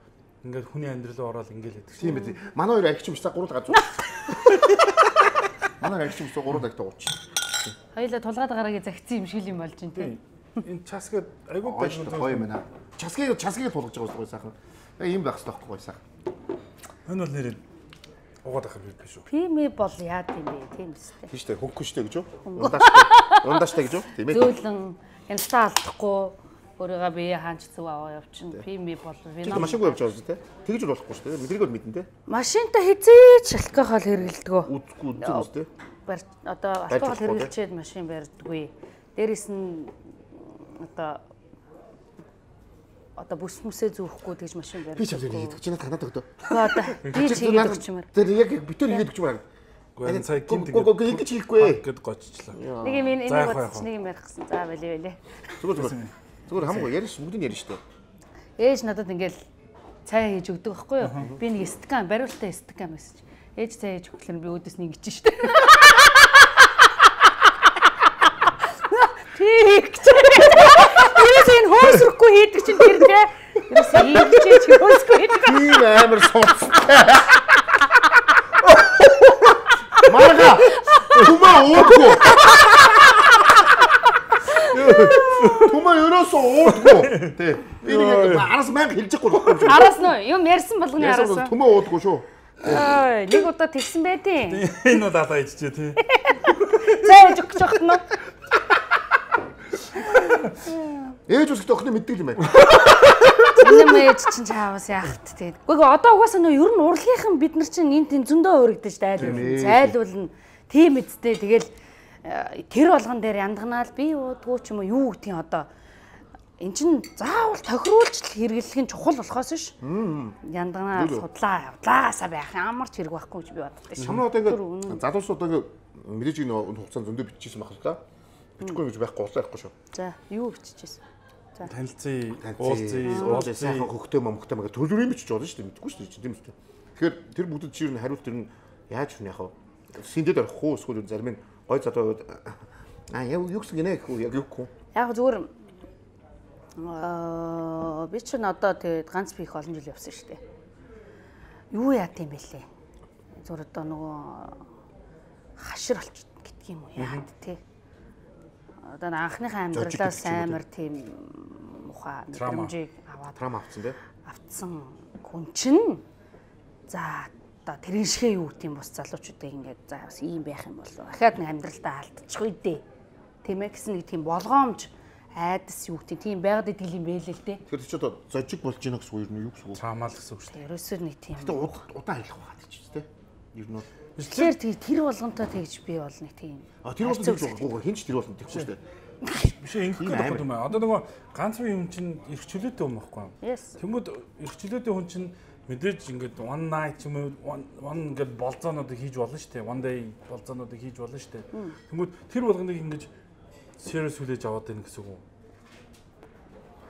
ингээд хүний амьдрал руу ороод ингээд байдаг. Тийм биз. Манай хоёр аригч юмштай гурав гаж. Манай аригч юмштай гурав дагтаа ууч. Хоёлаа тулгаад гараагийн загцсан юм шиг юм болж байна тийм. Энэ часгээд айгүй гоё юм байна. Часгийг часгийг тулгаж байгаа гоё сайхан. Яг ийм байх хэрэгтэй байхгүй гоё сайхан. Энэ бол нэрээ угаад ах юм биш үү? Пими бол яа тийм бэ тийм үстэй. Тийм шүү дээ. Хөнгөн штэ гэж үү? Ундааштай. Ундааштай гэж үү? Тийм ээ. Зөөлөн янзтаа алдахгүй өөрийгөө бие хаанч зүв аваа явчихна. Пими бол вином. Машингүй явж байгаа шүү дээ. Тэгж л болохгүй шүү дээ. Мэдрийг бол мэднэ дээ. Машинта хизээч алкогол хэрэглэдэг. Үзгүй үзэн үстэй. Одоо алкогол хэрэглэчээд машин барьдаггүй. Дээрээс нь одоо одоо бүс мүсээ зүүхгүй тэгж машин барьдаг. Би ч юм хийдэг. Чи надад өгдөө. Одоо би ч хийгээд өгчмээр. Тэр яг битэр хийгээд өгчмээр. Гэхдээ цаг гинт ингэж хийхгүй. Гэд гоцчлаа. Нэг юм энийг бодчих нэг юм ярих гэсэн. За байлээ байлээ. Зүгээр зүгээр. Зүгээр хамаагүй яриш бүгдийг яриш шүү дээ. Ээж надад ингээл цай хийж өгдөг байхгүй юу? Би нэг стакан бариултаа стакан байсан. Ээж цай хийж өгөхлөр би өөдөөс нэг ичэн шүү дээ. Тэг. Тэрээс энэ хоосрахгүй хийдэг чинь тэр тэ. Тэрээс ийгчээч хоосгүй хийдэг. Тийм амар суудтай. Марга тума уудгүй. Тума ерөөсөө уудгүй. Тэ. Би нэг араас мянга хэлчихгүй байхгүй юм шиг. Араас нь юм ярьсан болгоны араас. Тума уудгүй шүү. Аа, нэг удаа тэгсэн байдیں۔ Энэ удаа та ичжээ тий. Цай хийж өгч явах нь. Ээж үсгт охины мэддэг юм байна. Энэ мэж чинь чаавас яахт тий. Гэхдээ одоо угаасаа нөө ер нь урлагийнхан бид нар чинь энэ тийм зөндөө өргөдөн ш айл зайлуулна. Тийм эцтэй тэгэл тэр болгон дээр яндаганаал би уудгүй ч юм уу юу гэдгийг одоо эн чин заавал тохируулж хэрэглэх нь чухал болохоос ш. Яндаганаал судлаа явдлаагаасаа байх ямар ч хэрэг байхгүй гэж би боддог ш. Хамаа одоо ингээд залуусууд одоо ингээд мэдээж энэ хугацаанд зөндөө биччихсэн байх л та. Бичихгүй гэж байхгүй уурлахгүй шүү. За юу биччихсэн? За танилцъя, уулзъя, уулзъя сайхан хөхтэй мөхтэй мага төлөврөө бичиж болно шүү дээ. Мэдгүй шүү дээ. Тийм үстэй. Тэгэхээр тэр бүгд чи юу н хариулт тэр нь яаж хүн яхав? Синдэд орох уу эсвэл зарим нь гой залуу аа яа юу гэсэн гинэ гэхгүй яг юугүй. Яг зүгээр аа би ч н одоо тэгээд ганц би их олон жил явсан шүү дээ. Юу яа тийм бэлээ. Зүгээр одоо нөгөө хашир болчих гэдэг юм уу яа тий. Одоо анхныхаа амьдралаас амар тийм муха мэдрэмжийг аваад трам авцсан тий. Авцсан хүн чинь за одоо тэрэн шигээ юу гэдэм бус залуучуудыг ингээд за бас ийм байх юм бол дахиад нэг амьдралдаа алдчих үү дээ. Тийм ээ гэсэн нэг тийм болгоомж айдас юу гэдэг тийм байгаад идэг юм бэ л л дээ. Тэгэхээр чи одоо зожиг болж гинэ гэсэн үг юу гэсэн үг? Цаамаал гэсэн үг шүү дээ. Ерөөсөө нэг тийм. Гэтэ удаан хэлэх байгаа ч тийм. Ер нь бол тэгэхээр тэр болгонтой тэгж би бол нэг тийм. А тэр болгон гэж байгаа хинч тэр болгон тэгхгүй шүү дээ. Биш ингэх гэдэг юм аа. Одоо нөгөө ганц үе юм чинь эрх чөлөөтэй юм байхгүй юу? Тэнгүүд эрх чөлөөтэй хүн чинь мэдээж ингээд one night юм уу one ингээд болцоонуудыг хийж болно шүү дээ. One day болцоонуудыг хийж болно шүү дээ. Тэнгүүд тэр болгоныг ингэж serious хүлээж аваад байна гэсэн үг.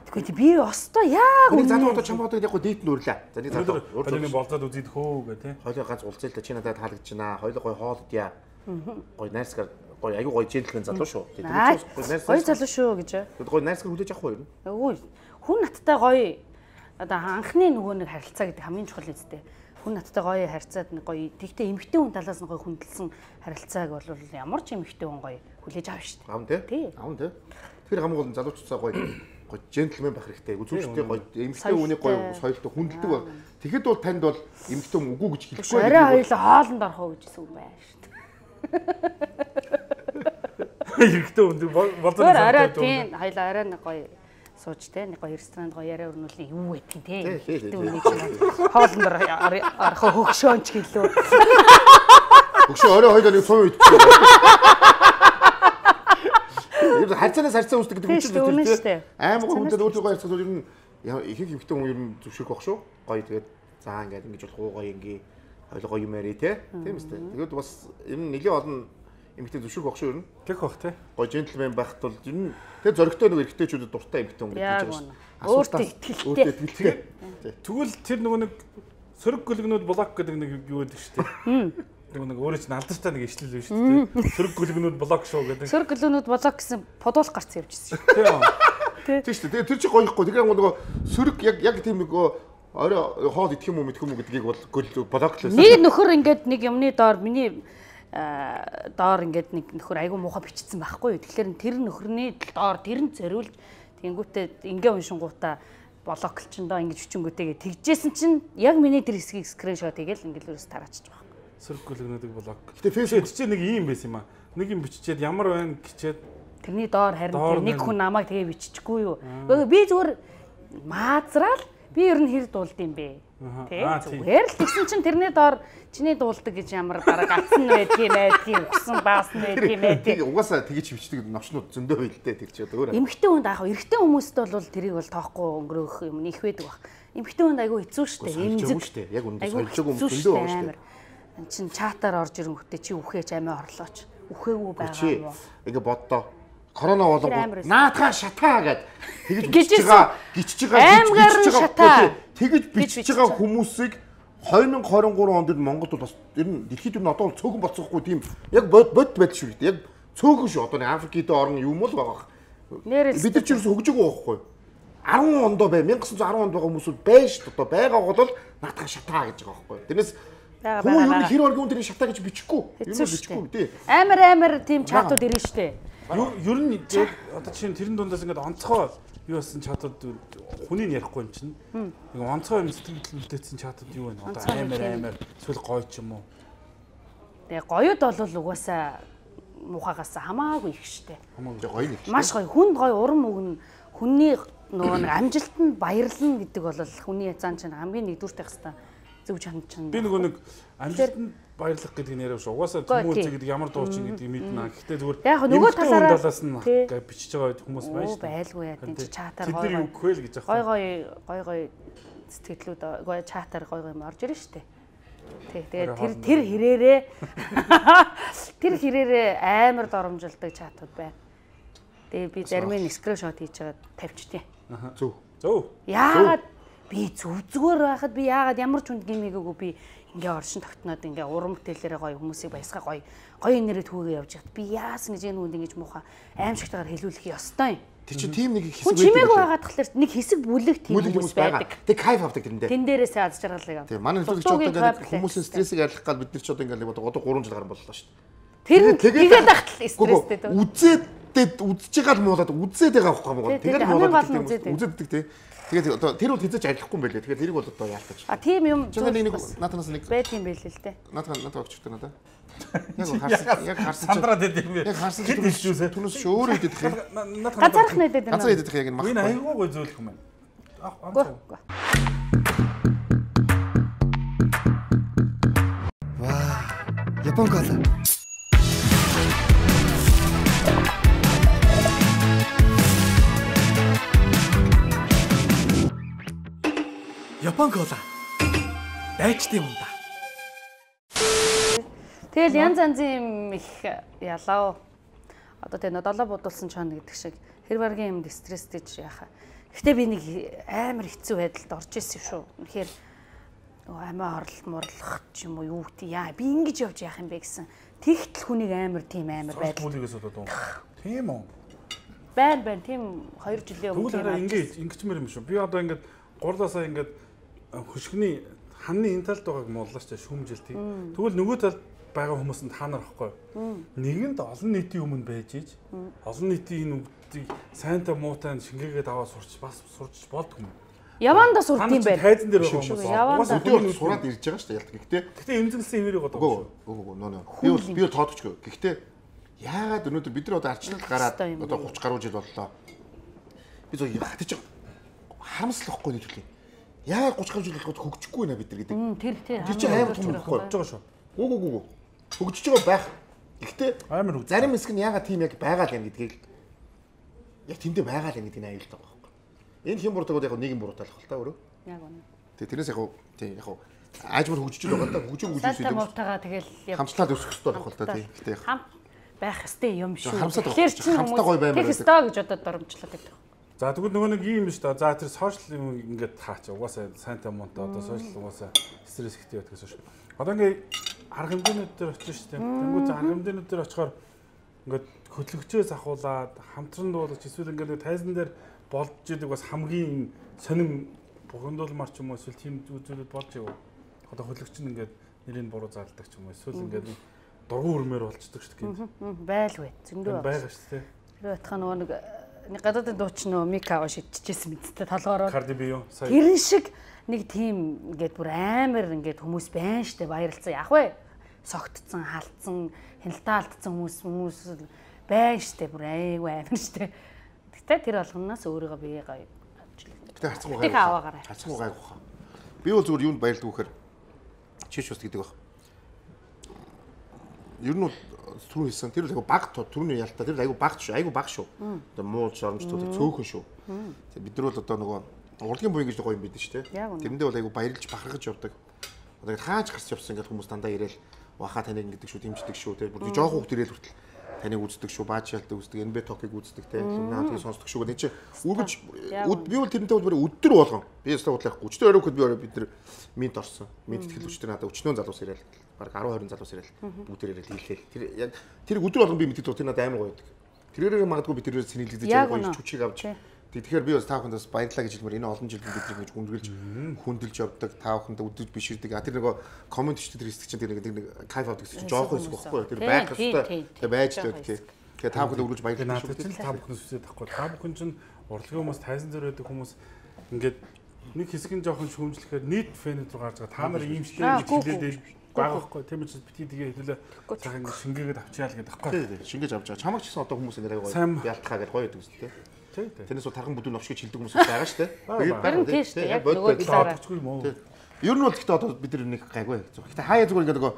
Тэгэхдээ би өстой яг үнэ залуучууд чамд яг дийт нүрлээ. За нэг залуу хоёулын болцоод үзээд хөө гэх тээ. Хоёулаа ганц уулзъя л да чи надад таалагдж байна. Хоёулаа гой хоолдъя. Гой найрсгаар гой аюу гой жинтлэн залуу шүү. Гой залуу шүү гэж. Гой найрсгаар хүлээж авах уу юу? Үгүй хүн надтай гоё одоо анхны нөгөө нэг харилцаа гэдэг хамгийн чухал үстэй. Хүн надтай гоё харьцаад нэг гоё тэгтээ эмэгтэй хүн талаас нь гоё хүндэлсэн харилцааг бол ямар ч эмэгтэй хүн гоё хүлээж авна шүү дээ. Аав тий. Аав тий. Тэр хамгийн гол залуучцаа гоё гоё джентльмен байх хэрэгтэй. Үзүүлжтэй гоё эмэгтэй хүнийг гоё соёлтой хүндэлдэг баг. Тэгэхэд бол танд бол эмэгтэй хүн үгүй гэж хэлэхгүй. Арай хоёулаа хоолнд орох уу гэж үг байна шүү дээ. Эмэгтэй хүн болдог юм. Арай тий хоёулаа арай нэг гоё сууж те нэг гоё ресторанд гоё яриа өрнүүлээ юу гэдгийг те. Эмэгтэй хүний чинь хоолнд орох хөгшөөнч гэлөө. Хөгшөө орой хоёулаа нэг цоо идчихсэн. Ер нь харьцаанаас харьцаа үүсдэг гэдэг үгтэй тийм. Аймаг хүндэд өөртөө харьцах бол ер нь ихэнх эмэгтэй хүн ер нь зөвшөөрөх баг шүү. Гоё тэгээд заа ингээд ингэж болох уу гоё ингээ хоёлоо гоё юм яри те. Тийм үстэй. Тэгээд бас ер нь нэлээд олон эмэгтэй зөвшөөрөх баг шүү ер нь. Тэг бах те. Гоё джентльмен байхад бол ер нь тэгээд зоригтой нэг эрэгтэйчүүдэд дуртай эмэгтэй хүн гэж хэлж байна. Өөртөө итгэлтэй. Тэгвэл тэр нөгөө нэг сөрөг гөлгнүүд блок гэдэг нэг юу гэдэг шүү дээ. Нэг өөрөө ч алдартай нэг ишлэл биш үү те. Сөрөг гөлгнүүд блок шүү гэдэг. Сөрөг гөлгнүүд блок гэсэн подуулах гарц явжсэн шүү. Тийм. Тийм шүү дээ. Тэр чинь гоёхгүй. Тэгэхээр нөгөө сөрөг яг яг тийм нэг орой хоол идэх юм уу мэдэх юм уу гэдгийг бол гөл блок лээс. Нэг нөхөр ингээд нэг юмны доор миний доор ингээд нэг нөхөр айгу муухай бичсэн байхгүй юу. Тэгэхээр тэр нөхөрний доор тэр нь зориулж тэнгүүтээ ингээ уншингуудаа блоклчондоо ингэж хүчингүүтэйгээ тэгжсэн чинь яг миний тэр хэсгийг скриншот хийгээл ингээл ерөөс тараачиж байгаа. Сөрөг гөлгнүүдийг блок. Гэтэ фэйсбүүк чи нэг юм байсан юм аа. Нэг юм биччихээд ямар байна гэчээд тэрний доор харин нэг хүн намайг тэгээ биччихгүй юу. Би зүгээр маазраал би ер нь хэр дуулд юм бэ. Тэ зүгээр л тэгсэн чинь тэрний доор чиний дуулдаг гэж ямар дараа гацсан байдаг юм байдгийг өгсөн баасан байдаг юм байдаг. Угаасаа тэгэж бичдэг новчнууд зөндөө байлдээ тэг чи өөр. Эмэгтэй хүнд аах эрэгтэй хүмүүст бол тэрийг бол тоохгүй өнгөрөөх юм их байдаг баг. Эмэгтэй хүнд айгүй хэцүү шттэ. Эмзэг шттэ. Яг үндэ сольжог юм зөндөө байгаа шттэ. Чин чатаар орж ирэнгүүтээ чи үхээч амиа орлооч. Үхээгүй байгаа юм уу? Ингээ боддоо. Корона болго наатаа шатаа гэд тэгэж бичиж байгаа гिचж байгаа гिचж байгаа тэгэж бичиж байгаа хүмүүсийг две тысячи двадцать три онд Монголд бол бас ер нь дэлхийд нь одоо цөөхөн болцсохгүй тийм яг бод бод байдал шүү дээ. Яг цөөхөн шүү. Одоо нэг Африкийн орн юм л байгаа. Бид нар ч ерөөсө хөгжөг байхгүй. десять онд бай 천구 천 десять онд байгаа хүмүүсүүд байж шүү. Одоо байгаа бол наатаа шатаа гэж байгаа байхгүй. Тэрнээс хүн юу хэр оргиун тэрийг шатаа гэж бичихгүй. Ер нь бичихгүй тий. Амар амар тийм чатууд ирнэ шүү дээ. Ер нь одоо чинь тэрэн дундаас ингээд онцгой юу болсон чатууд хүнийг ярихгүй юм чинь. Нэг онцгой юм сэтгэл хөдлөлтсөн чатууд юу вэ? Одоо амар амар эсвэл гоё ч юм уу. Тэгээ гоёд бол угаасаа мухагаас хамаагүй их штэ. Хамаагүй гоё нэг. Маш гоё. Хүнд гоё урам өгнө. Хүнний нөгөө нэг амжилтанд баярлна гэдэг бол хүний цаан чинь хамгийн нэгдүгürt байх хэвээр зөв чанд чанд. Би нөгөө нэг амжилтанд баярлах гэдэг нь яриа шүү. Угаасаа хүмүүст гэдэг ямар дуучин гэдэг мэднэ. Гэхдээ зүгээр яг нөгөө талаараа талаас нь гэж бичиж байгаа хүмүүс байна шүү. Байлгүй яа тийм чи чатаар гоё гоё өгөөл гэж гой гой гой гой сэтгэлүүд гой чатаар гой гой орж ирнэ шүү дээ. Тий. Тэгээд тэр тэр хэрээрээ тэр хэрээрээ амар доромжилдаг чатууд байна. Тэгээ би зарим нь скриншот хийж байгаа тавьчихтیں۔ Зөв. Зөв. Яагаад би зүв зүгээр байхад би яагаад ямар ч хүнд гимээгүй би ингээ оршин тогтноод ингээ урам бүтээлээрээ гоё хүмүүсийг баясгаа гоё гоё нэрээ түүгээ явж хат би яасан гэж энэ хүнд ингэж муухай аимшигтайгаар хэлүүлэх ёстой юм. Тэр чинь тийм нэг хэсэг байдаг. Чимээгүй байгаад тахлаар нэг хэсэг бүлэг тийм хүмүүс байдаг. Тэг кайф авдаг тэрэндээ. Тэн дээрээсээ аз жаргалыг авдаг. Тийм манай нөхөд ч одоо ингээ хүмүүсийн стрессийг арилгах гал бид нар ч одоо ингээ одоо гурван жил гарсан боллоо шүү дээ. Тэр тэгээд ахтал стресстэй дөө. Үзээд үзээд үзэж байгаа л муулаад үзээд байгаа байхгүй мó. Тэгээд муулаад үзээд тий. Тэгээд одоо тэр бол хийж ажиллахгүй юм байлээ. Тэгээд тэрийг бол одоо яалтаж. А тийм юм нэг наатанаас нэг байт юм байл л дээ. Наатан надад өгчтэй надаа. Яг харсан яг харсан сандраад идэв юм. Яг харсан ч түнэс түнэс ч өөрөө идэв юм. Газарх нэдэд юм. Газар идэв яг энэ мах. Энэ айгүй гой зөөлөх юм байна. Ваа. Япон кола. Япон кола. Дайчтай юм да. Тэгэл янз янзын юм их ялаа. Одоо тэгээ долоо будулсан чон гэдэг шиг хэр баргийн юмд стресстэйж яхаа. Гэхдээ би нэг амар хэцүү байдалд орж ирсэн шүү. Үнэхээр амиа хорлол морлох ч юм уу юу гэдэг яа би ингэж явж яах юм бэ гэсэн. Тэгтэл хүнийг амар тийм амар байдал. Бүлгээс болоод уу. Тийм үү. Байн байн тийм хоёр жилийн өмнө тийм ингэж ингэчмэр юм шүү. Би одоо ингээд гурлаасаа ингээд хөшгөний ханны энэ талд байгааг мууллаа ч шүүмжил тийм. Тэгвэл нөгөө талд байгаа хүмүүс нь та нар ахгүй. Нэгэнд олон нийтийн өмнө байж иж олон нийтийн энэ үгдийг сайнтай муутай шингээгээд аваад сурч бас сурч болдгоо юм. Яванда сурд юм байна. Тайзан дээр байгаа хүмүүс. Яванда өдөө сураад ирж байгаа шүү дээ ялт. Гэхдээ гэхдээ эмзэглсэн хэвээрээ годоо. Үгүй үгүй нөө нөө. Би бол би бол тоодчихгүй. Гэхдээ яагаад өнөөдөр бид нар одоо арчлалт гараад одоо гуравч гаруй жил боллоо. Би зөв хатаж харамслахгүй нэг төлөв. Яагаад гуравч гаруй жил болоход хөгжихгүй нэ бид нар гэдэг. Тэр тэр тэр чинь амар том хөгжиж байгаа шүү. Үгүй үгүй. Хөгжиж байгаа байх. Гэхдээ амар үг. Зарим хэсэг нь яагаад тийм яг байгаа л юм гэдгийг яг тэндээ байгаа л юм гэдгийг аюултай байгаа. Энэ хэм буруутай яг нэг юм буруутай л хэл та өөрөө. Яг үнэ. Тэгээ тэрнээс яг тийм яг аажмар хөгжиж байгаа даа хөгжин хөгжиж байгаа. Муутайгаа тэгэл хамтлаад өсөх хэрэгтэй болох л та тийм. Гэтэ хам байх хэвээр юм шүү. Тэгэхээр чи хамтаа гоё баймаар байх хэвээр гэж одоо доромжлоод байдаг. За тэгвэл нөгөө нэг юм шүү дээ. За тэр сошиал юм ингээд хаач. Угаасаа сайнтай муунтай одоо сошиал угаасаа стресс ихтэй байдаг гэсэн шүү. Одоо ингээд арга хэмжээнүүд дээр очиж шүү дээ. Тэнгүү за арга хэмжээнүүд дээр очихоор ингээд хөтлөгчөөс ахуулаад хамтран дуулаж эсвэл ингээд тайзан дээр болж идэг бас хамгийн сонин бухимдуулмар ч юм уу эсвэл тийм зүйлүүд болж ив. Одоо хөтлөгч нь ингээд нэрийг буруу зарладаг ч юм уу эсвэл ингээд дургуун өрмөр болцдог шүү дээ. Байл вэ. Зөндөө байгаа шүү дээ. Тэр байтхан нөгөө нэг нэг гадаадын дуучин нөө Мика шидчихсэн мэдтэй толгоороо. Cardi B юу? Тэрэн шиг нэг тийм ингээд бүр амар ингээд хүмүүс байна штэ баярлцсан яах вэ? Согтцсан, халтсан, хяналтаалтсан хүмүүс хүмүүс байна штэ бүр айгүй амар штэ. Гэтэ тэр болгоноос өөрийгөө бие гоё авч л. Гэтэ харцсан гай. Аваагаарай. Харцсан гай гоо. Би бол зүгээр юунд баярлдаг вэхээр чиш ус гэдэг баг. Ер нь түрүү хэлсэн тэр айгу баг түрүүний ялтаа тэр айгу баг шүү айгу баг шүү. Одоо муу шоромжтууд цөөхөн шүү. Бид нар бол одоо нөгөө урлагийн буян гэж гоё юм бид шүү дээ. Тэрэндээ бол айгу баярлж бахархаж явдаг. Одоо хааж гарч явсан ингээд хүмүүс дандаа ирээл ваха таныг ингэдэг шүү дэмждэг шүү те. Бүр жоох хүүхд ирээл хүртэл таныг үздэг шүү бааж шалдаг үздэг эн бэ токийг үздэг те. Наадыг сонсдог шүү гэдэг чи үргэж би бол тэрнтэй бол өдөр болгон би өстө бодлоохгүй өчтөр өрөөхөд би бид нар минт орсон. Минт тэтгэлвчтэй надад өчнөө залуус ирээл баг ten twenty залуус ирээл бүгдээр ирээл хэлээл. Тэр яг тэр өдөр болгон би мэддэг тэр надад амар гоё байдаг. Тэрээрээ магадгүй би тэрээр сэнэлэгдэж байгаа гоё чүчиг авч. Тэгэхээр би бас та бүхэндээс баярлалаа гэж хэлмээр энэ олон жил бид нар ингэж хүндгэлж хүндэлж явдаг та бүхэндээ өдөрж биширдэг. А тэр нэг комент ч тэр хэсэг чинь тэр нэг кайф авдаг чинь жоох хэсэг байхгүй. Тэр байх хэвээр тэр байж л байдаг. Тэгэхээр та бүхэнд өргөж баярлалаа шүү. Тэр та бүхнээс үсээд тахгүй. Та бүхэн чинь урлагийн хүмүүс тайзан дээр байдаг хүмүүс ингээд нэг хэсэг нь жоохон шүүмжлэхээр нийт фэнэд рүү гарч байгаа. Та нар ийм шилээ хэлээд багахгүй тийм ч бити тэгээ хэлээ цаахан ингэ шингээгээд авчаал гэдэг байхгүй. Тийм шингээж авч байгаа. Чамаг ч гэсэн одоо хүмүүс ингэ гоё ялтахаа гэж гоё байдаг үстэй тийм. Тэрнээс бол тархан бүдүүн овч гэж хэлдэг хүмүүс байгаа шүү дээ. Харин тийм шүү дээ. Яг нөгөө талаарчгүй юм уу? Ер нь бол гэхдээ одоо бид нар нэг гайгүй. Гэхдээ хаяа зүгээр ингэ нөгөө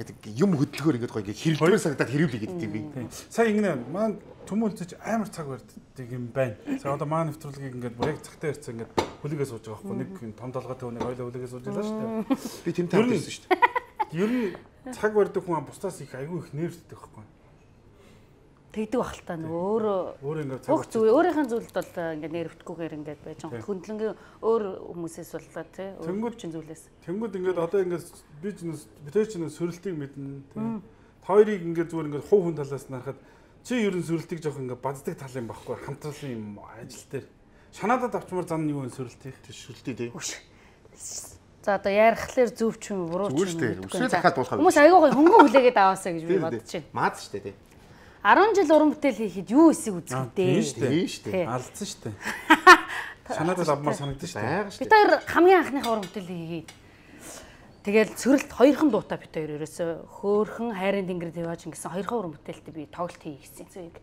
гэдэг юм хөдөлгөөр ингэ гоё хэрэлдвэр санагдаад хэрүүлээ гэдэг би. Сая ингэнэ маань төмөлцөж амар цаг барьдаг юм байна. Сая одоо маань нэвтрүүлгийг ингэ бүр яг цагтаа ирсэн ингэ хүлээгээ сууж байгаа байхгүй. Нэг том толгойтой хүнийг ойлоо хүлээгээ сууж байлаа шүү дээ. Би тэм тавьсан шүү дээ. Ер нь цаг барьдаг хүн бусдаас их айгүй их нервтэй байхгүй. Тэгдэг бахалтай нөө өөрөө өөр ингэ цаг зүйл өөрийнхөө зүйлд бол ингэ нервтгүйгээр ингэ байж байгаа. Хөндлөнгийн өөр хүмүүсээс боллоо тий. Өөр чин зүйлээс. Тэнгүүд ингэ одоо ингэ бизнес битээч нэг сөрөлтийг мэднэ тий. Хоёрыг ингэ зүгээр ингэ хуу хүн талаас нь харахад чи ер нь сөрөлтийг жоох ингэ баддаг тал юм байхгүй хамтруулсан юм ажил дээр. Шанаадад авчмаар зан юу вэ сөрөлтийг төшөлтий тий. За одоо ярихлаар зөв ч юм буруу ч юм. Үсээ дахиад болох. Хүмүүс аягүй гоё хөнгөн хүлээгээд аваасаа гэж би бодож байна. Маад шүү дээ тий. арван жил уран бүтээл хийхэд юу эсэг үзэх вэ? Тийм шүү дээ. Тийм шүү дээ. Алдсан шүү дээ. Санаад л авмаар санагдсан шүү дээ. Бид хоёр хамгийн анхныхаа уран бүтээл хийгээд тэгэл цөрөлт хоёрхан дуутай бид хоёр ерөөсөө хөөхөн хайрын тэнгэр дэвааж ингэсэн хоёрхан уран бүтээлтэй би тоглолт хийгсэн. Зүг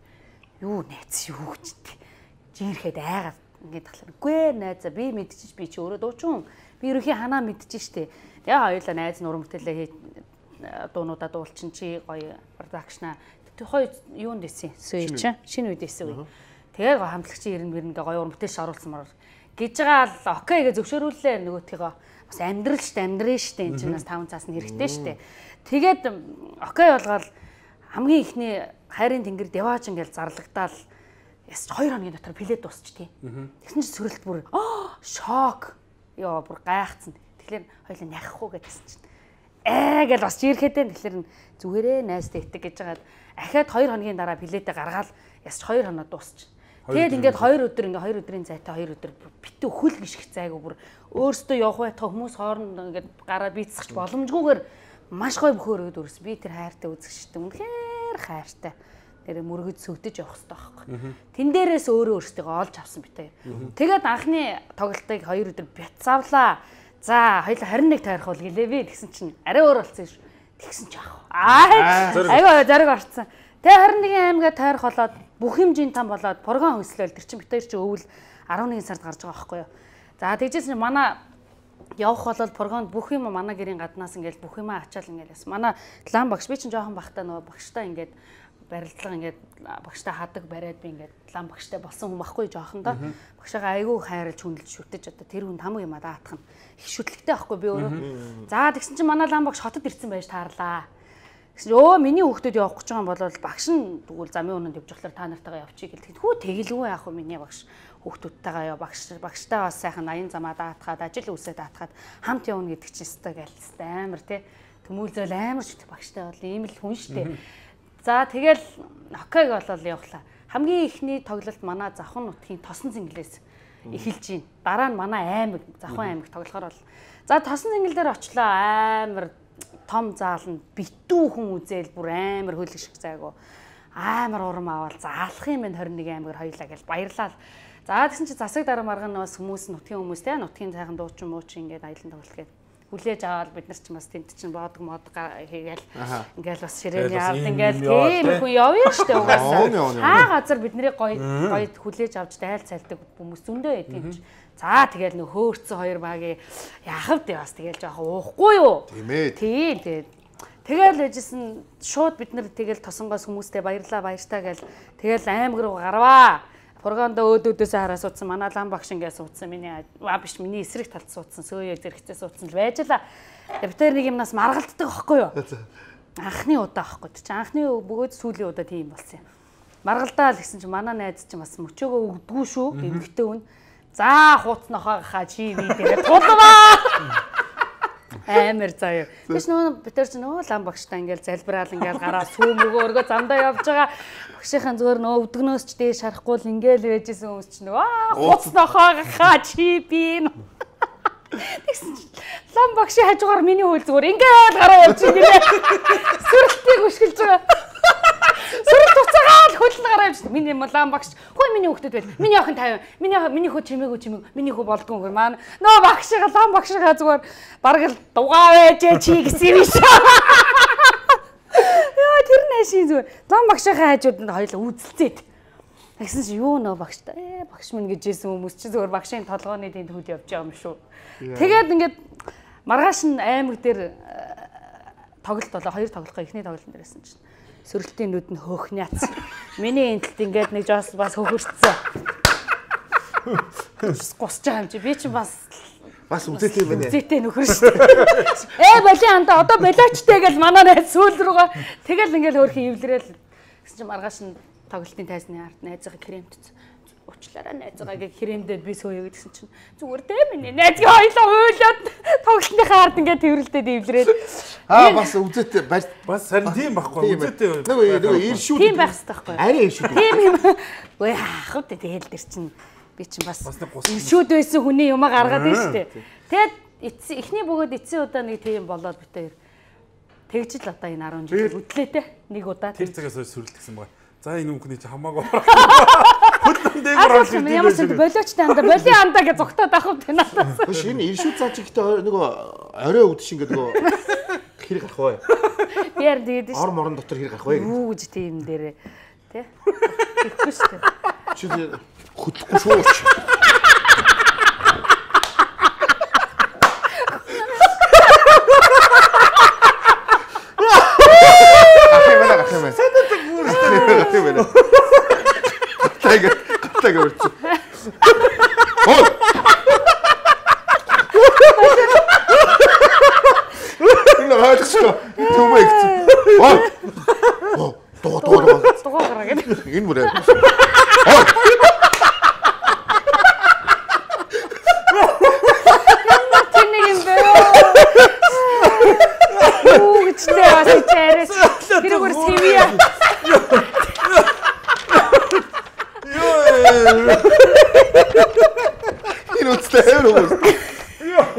юу найз юу гэжтэй. Жирэхэд айгаад ингээд талаар. Үгүй ээ найзаа би мэдчихэж би чи өөрөө дуучин. Би ерөөхийн ханаа мэдчихэж штэ. Тэгээ хоёулаа найз нь уран бүтээлээ хий дуунуудаа дуулчин чи гоё продакшна. Тэг хоёр юунд дэсэн. Сүй чи шинэ үед дэсэн үе. Тэгээд хамтлагчийн ирэн мэрнгээ гоё уран бүтээлш оруулсан маар гэж байгаа л окей гэж зөвшөөрүүлээ нөгөөтгийгөө бас амьдрал штэ амьдрын штэ энэ чинь бас таван цаас нь хэрэгтэй штэ. Тэгээд окей болгоод хамгийн ихний хайрын тэнгэр дэваач ингээл зарлагдаал яс хоёр хоногийн дотор плед дуусч тий. Тэгсэн чинь сөрөлт бүр аа шок. Йоо бүр гайхацсан. Тэгэхээр хоёлаа няхах уу гэдсэн чинь ээ гэж бас чирхэдэн тэгэхээр зүгээрээ найзтай итэг гэж жагаад ахаад хоёр хоногийн дараа пледээ гаргаад яс хоёр хоноо дуусч. Тэгээд ингээд хоёр өдөр ингээ хоёр өдрийн зайтай хоёр өдөр битүү хөл гიშгэх зайгүй бүр өөртөө явах байтга хүмүүс хооронд ингээд гараа бийцсэж боломжгүйгээр маш гоё бөхөөрөөд өрс би тэр хайртай үзэгчтэй үнэхээр хайртай. Тэр мөргөж сөвдөж явах хэрэгтэй байхгүй. Тэн дээрээс өөрөө өөртөө олж авсан битээ. Тэгээд анхны тоглолтыг хоёр өдөр бяцаавлаа. За хоёул харин нэг таарах бол гэлээ би тэгсэн чинь арай өөр болсон шүү. Тэгсэн ч яах вэ? Аа айгаа зариг орцсон. Тэгээ харин нэгэн аймгаа таарах болоод бүх хэмжээний там болоод програм хөслөөл тэр чинь битээр чи өвөл арван нэгэн сард гарч байгаа байхгүй юу. За тэгжсэн чинь манай явах болол програмд бүх юм манай гэрийн гаднаас ингээл бүх юмаа ачаал ингээл яс. Манай лам багш би чинь жоохон бахтай нөгөө багштай ингээд барилдлага ингээд багштай хадаг бариад би ингээд лам багштай болсон хүн байхгүй жоохон да. Багшаагаа айгүй хайрлж хүндэлж шүтэж одоо тэр хүн тамга юм а даатах нь их шүтлэгтэй байхгүй би өөрөө. За тэгсэн чинь манай лам багш хотод ирсэн байж таарлаа. Гэсэн өө миний хүүхдүүд явах гэж байгаа юм бол багш нь тэгвэл замын өнөнд явж болохоор та нартайгаа явчих гэлтэй. Хүү тэгэлгүй яах вэ миний багш хүүхдүүдтэйгээ яа багш багштай бас сайхан аян замаа даатгаад ажил үсээ даатгаад хамт явна гэдэг чинь өстой гэлстэй амар тий. Төмүүлзэл амар шүтэх багштай бол ийм л хүн штэ. За тэгэл окейг болол явахлаа. Хамгийн ихний тоглолт манай Завхан нутгийн Тосон зинглээс эхэлж гин. Дараа нь манай аймаг Завхан аймаг тоглохоор бол за Тосон зингэл дээр очлоо амар том заална битүү хүн үзэл бүр амар хөлгших зайгу амар урам аваад заалах юм байна хорин нэг аймгаар хоёлаа гэж баярлал. За тэгсэн чи засаг дараа марган бас хүмүүс нутгийн хүмүүс те нутгийн цайхан дуучин муучин ингээд аялан тоглолт гээд хүлээж аваад бид нар ч бас тент чинь боодог мод хийгээл ингээл бас ширээний авд ингээл тийм хүн явъя штэ угаасаа. Хаа газар бидний гоё гоё хүлээж авч тайл цайлдаг хүмүүс зөндөө байдаг юм чи. За тэгэл нөх хөөрцөн хоёр багийн яхав дээ бас тэгэл жоох уухгүй юу? Тийм ээ. Тийм тэгээд тэгэл ээжсэн шууд бид нар тэгэл тосонгоос хүмүүстэй баярлаа баяртаа гэл тэгэл аймаг руу гарваа. Програмда өөдөөдөөс хараа суудсан манай лам багш ингээ суудсан миний аа биш миний эсрэг талд суудсан сөөё зэрэгцээ суудсан л байжлаа. Бид тэр нэг юмнаас маргалддаг байхгүй юу? Анхны удаа байхгүй чи анхны бөгөөд сүүлийн удаа тийм болсон юм. Маргалдаа л гэсэн чи манай найз чи бас мөчөөгөө өгдгүү шүү эмгэгтэй хүн. За хууц нохоо хаа чи би тэгээ тулваа. Амар заяа. Тэгш нөгөө бид нар ч нөгөө лам багштай ингээл залбираал ингээл гараа сүүм өгөөргөө замдаа явж байгаа. Багшийн зүгээр нөгөө өдгнөөс ч дээш харахгүй л ингээл байжсэн хүмүүс ч нөгөө хууц нохоо хаа чи би. Тэгсэн чи лам багшийн хажуугаар миний хөл зүгээр ингээл гараа явж байгаа. Сүрэлтийг өшгөлж байгаа. Сүрэлт уцаагаал хөлн гараа явж байгаа. Миний лам багш хөө миний хүүхдүүд байл. Миний охин тавь. Миний миний хөө чимээгүй чимээг. Миний хөө болдгоо хөө маань. Нөө багшига лам багшига зүгээр бараг л дугаа байж чи гэсэн юм шиг. Яа тэр нэшин зүгээр. Лам багшийнхаа хажууд нь хоёул үзэлцээд. Тэгсэн чи юу нөө багштай. Ээ багш минь гэж хэлсэн хүмүүс чи зүгээр багшийн толгооны дэнд хөл явж байгаа юм шүү. Тэгээд ингээд маргааш нь аймаг дээр тоглолт болоо хоёр тоглохоо эхний тоглолтын дээрсэн чинь сөрөлтийн нүд нь хөөх няц. Миний энтэлт ингээд нэг жоос бас хөхөрцсөн. Гусч байгаа юм чи би чи бас бас үзээтэй байна. Үзээтэй нөхөр шүү дээ. Ээ боли анда одоо болоочтэй гэж манай найз сүүл рүүгээ тэгэл ингээл хөөрхөн эвлэрээл гэсэн чи маргааш нь тоглолтын тайзны ард найзгаа кремтц уучлаарай найзгаа гэж кремдээд би сөөё гэдгсэн чинь зүгээр дээ миний найзгаа хоёлоо уйлаад тоглолтынхаа ард ингээд тэрвэрлдээд эвлэрээд аа бас үзээтэй бас харин тийм байхгүй үзээтэй нөгөө нөгөө иршүүд тийм байх хэрэгтэй байхгүй арай иршүүд тийм юм үе хаах үү тэгэл дэр чинь би чинь бас иршүүд байсан хүний юмаа гаргаад байна шүү дээ тэгэд эхний бөгөөд эцсийн удаа нэг тийм болоод битээр тэгж л одоо энэ арван жил үдлээ те нэг удаа тэр цагаас сүрэлтгсэн байгаа. За энэ үмкний чи хамаагүй. Хөдлөн дээгүүр орж ирдэг. Ямар ч болиочтой анда боли анда гэж зүгтаад авах юм надаас. Хөш энэ иршүүд цаа чигтэй нөгөө орой өвдөж ингээд нөгөө хэрэг гарах бай. Би яар тэгээд ш. Ор морон дотор хэрэг гарах бай. Юу гэж тийм дээрээ. Тэ? Тэгэхгүй шүү дээ. Чи хөдлөхгүй шүү. Тайгер, тайгер үрч. Оо. Энэ хаачихсан. Түмэгч. Оо. Оо, тоо тоо тоо. Тоо гараа гэдэг. Энэ мөрөө. Оо. Тэнэг юм бэ. Уу гэжтэй бас чарээс. Тэргээр сэвиа. Энэ үстэй хэрэг.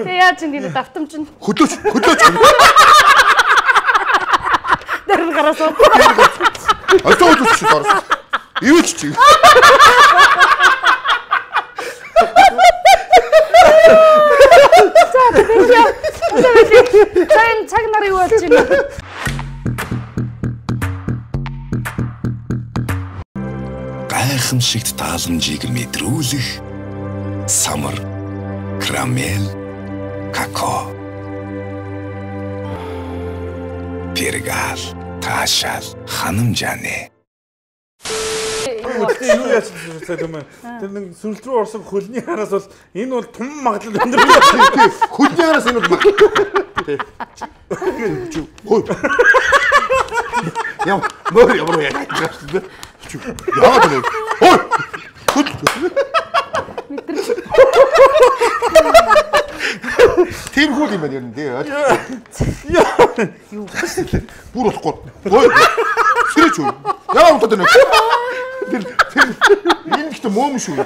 Тэ яаж ингэ давтамж нь хөдлөөч хөдлөөч. Дэрэн гараасаа. Атоо үсч дорс. Юу ч чи. За тэгээ. Сайн цаг нар юу болж байна? Гайхамшигт тааламжийг мэдрүүлэх самар карамел какао пергал таашаал ханамжааны юу яаж хэлсэн юм бэ? Тэр нэг сүнс рүү орсон хөлний хараас бол энэ бол том магадлал өндөр. Хөлний хараас энэ бол хөө. Яа, мөр ямар яа гэж. Яа гэдэг. Хөө. Тийм хөл юм байна ер нь дээ. Юу бүр болохгүй. Хөө. Сэрэж үү. Яа унтаад байна. Тэр тэр энэ ихтэй мөөм шүү.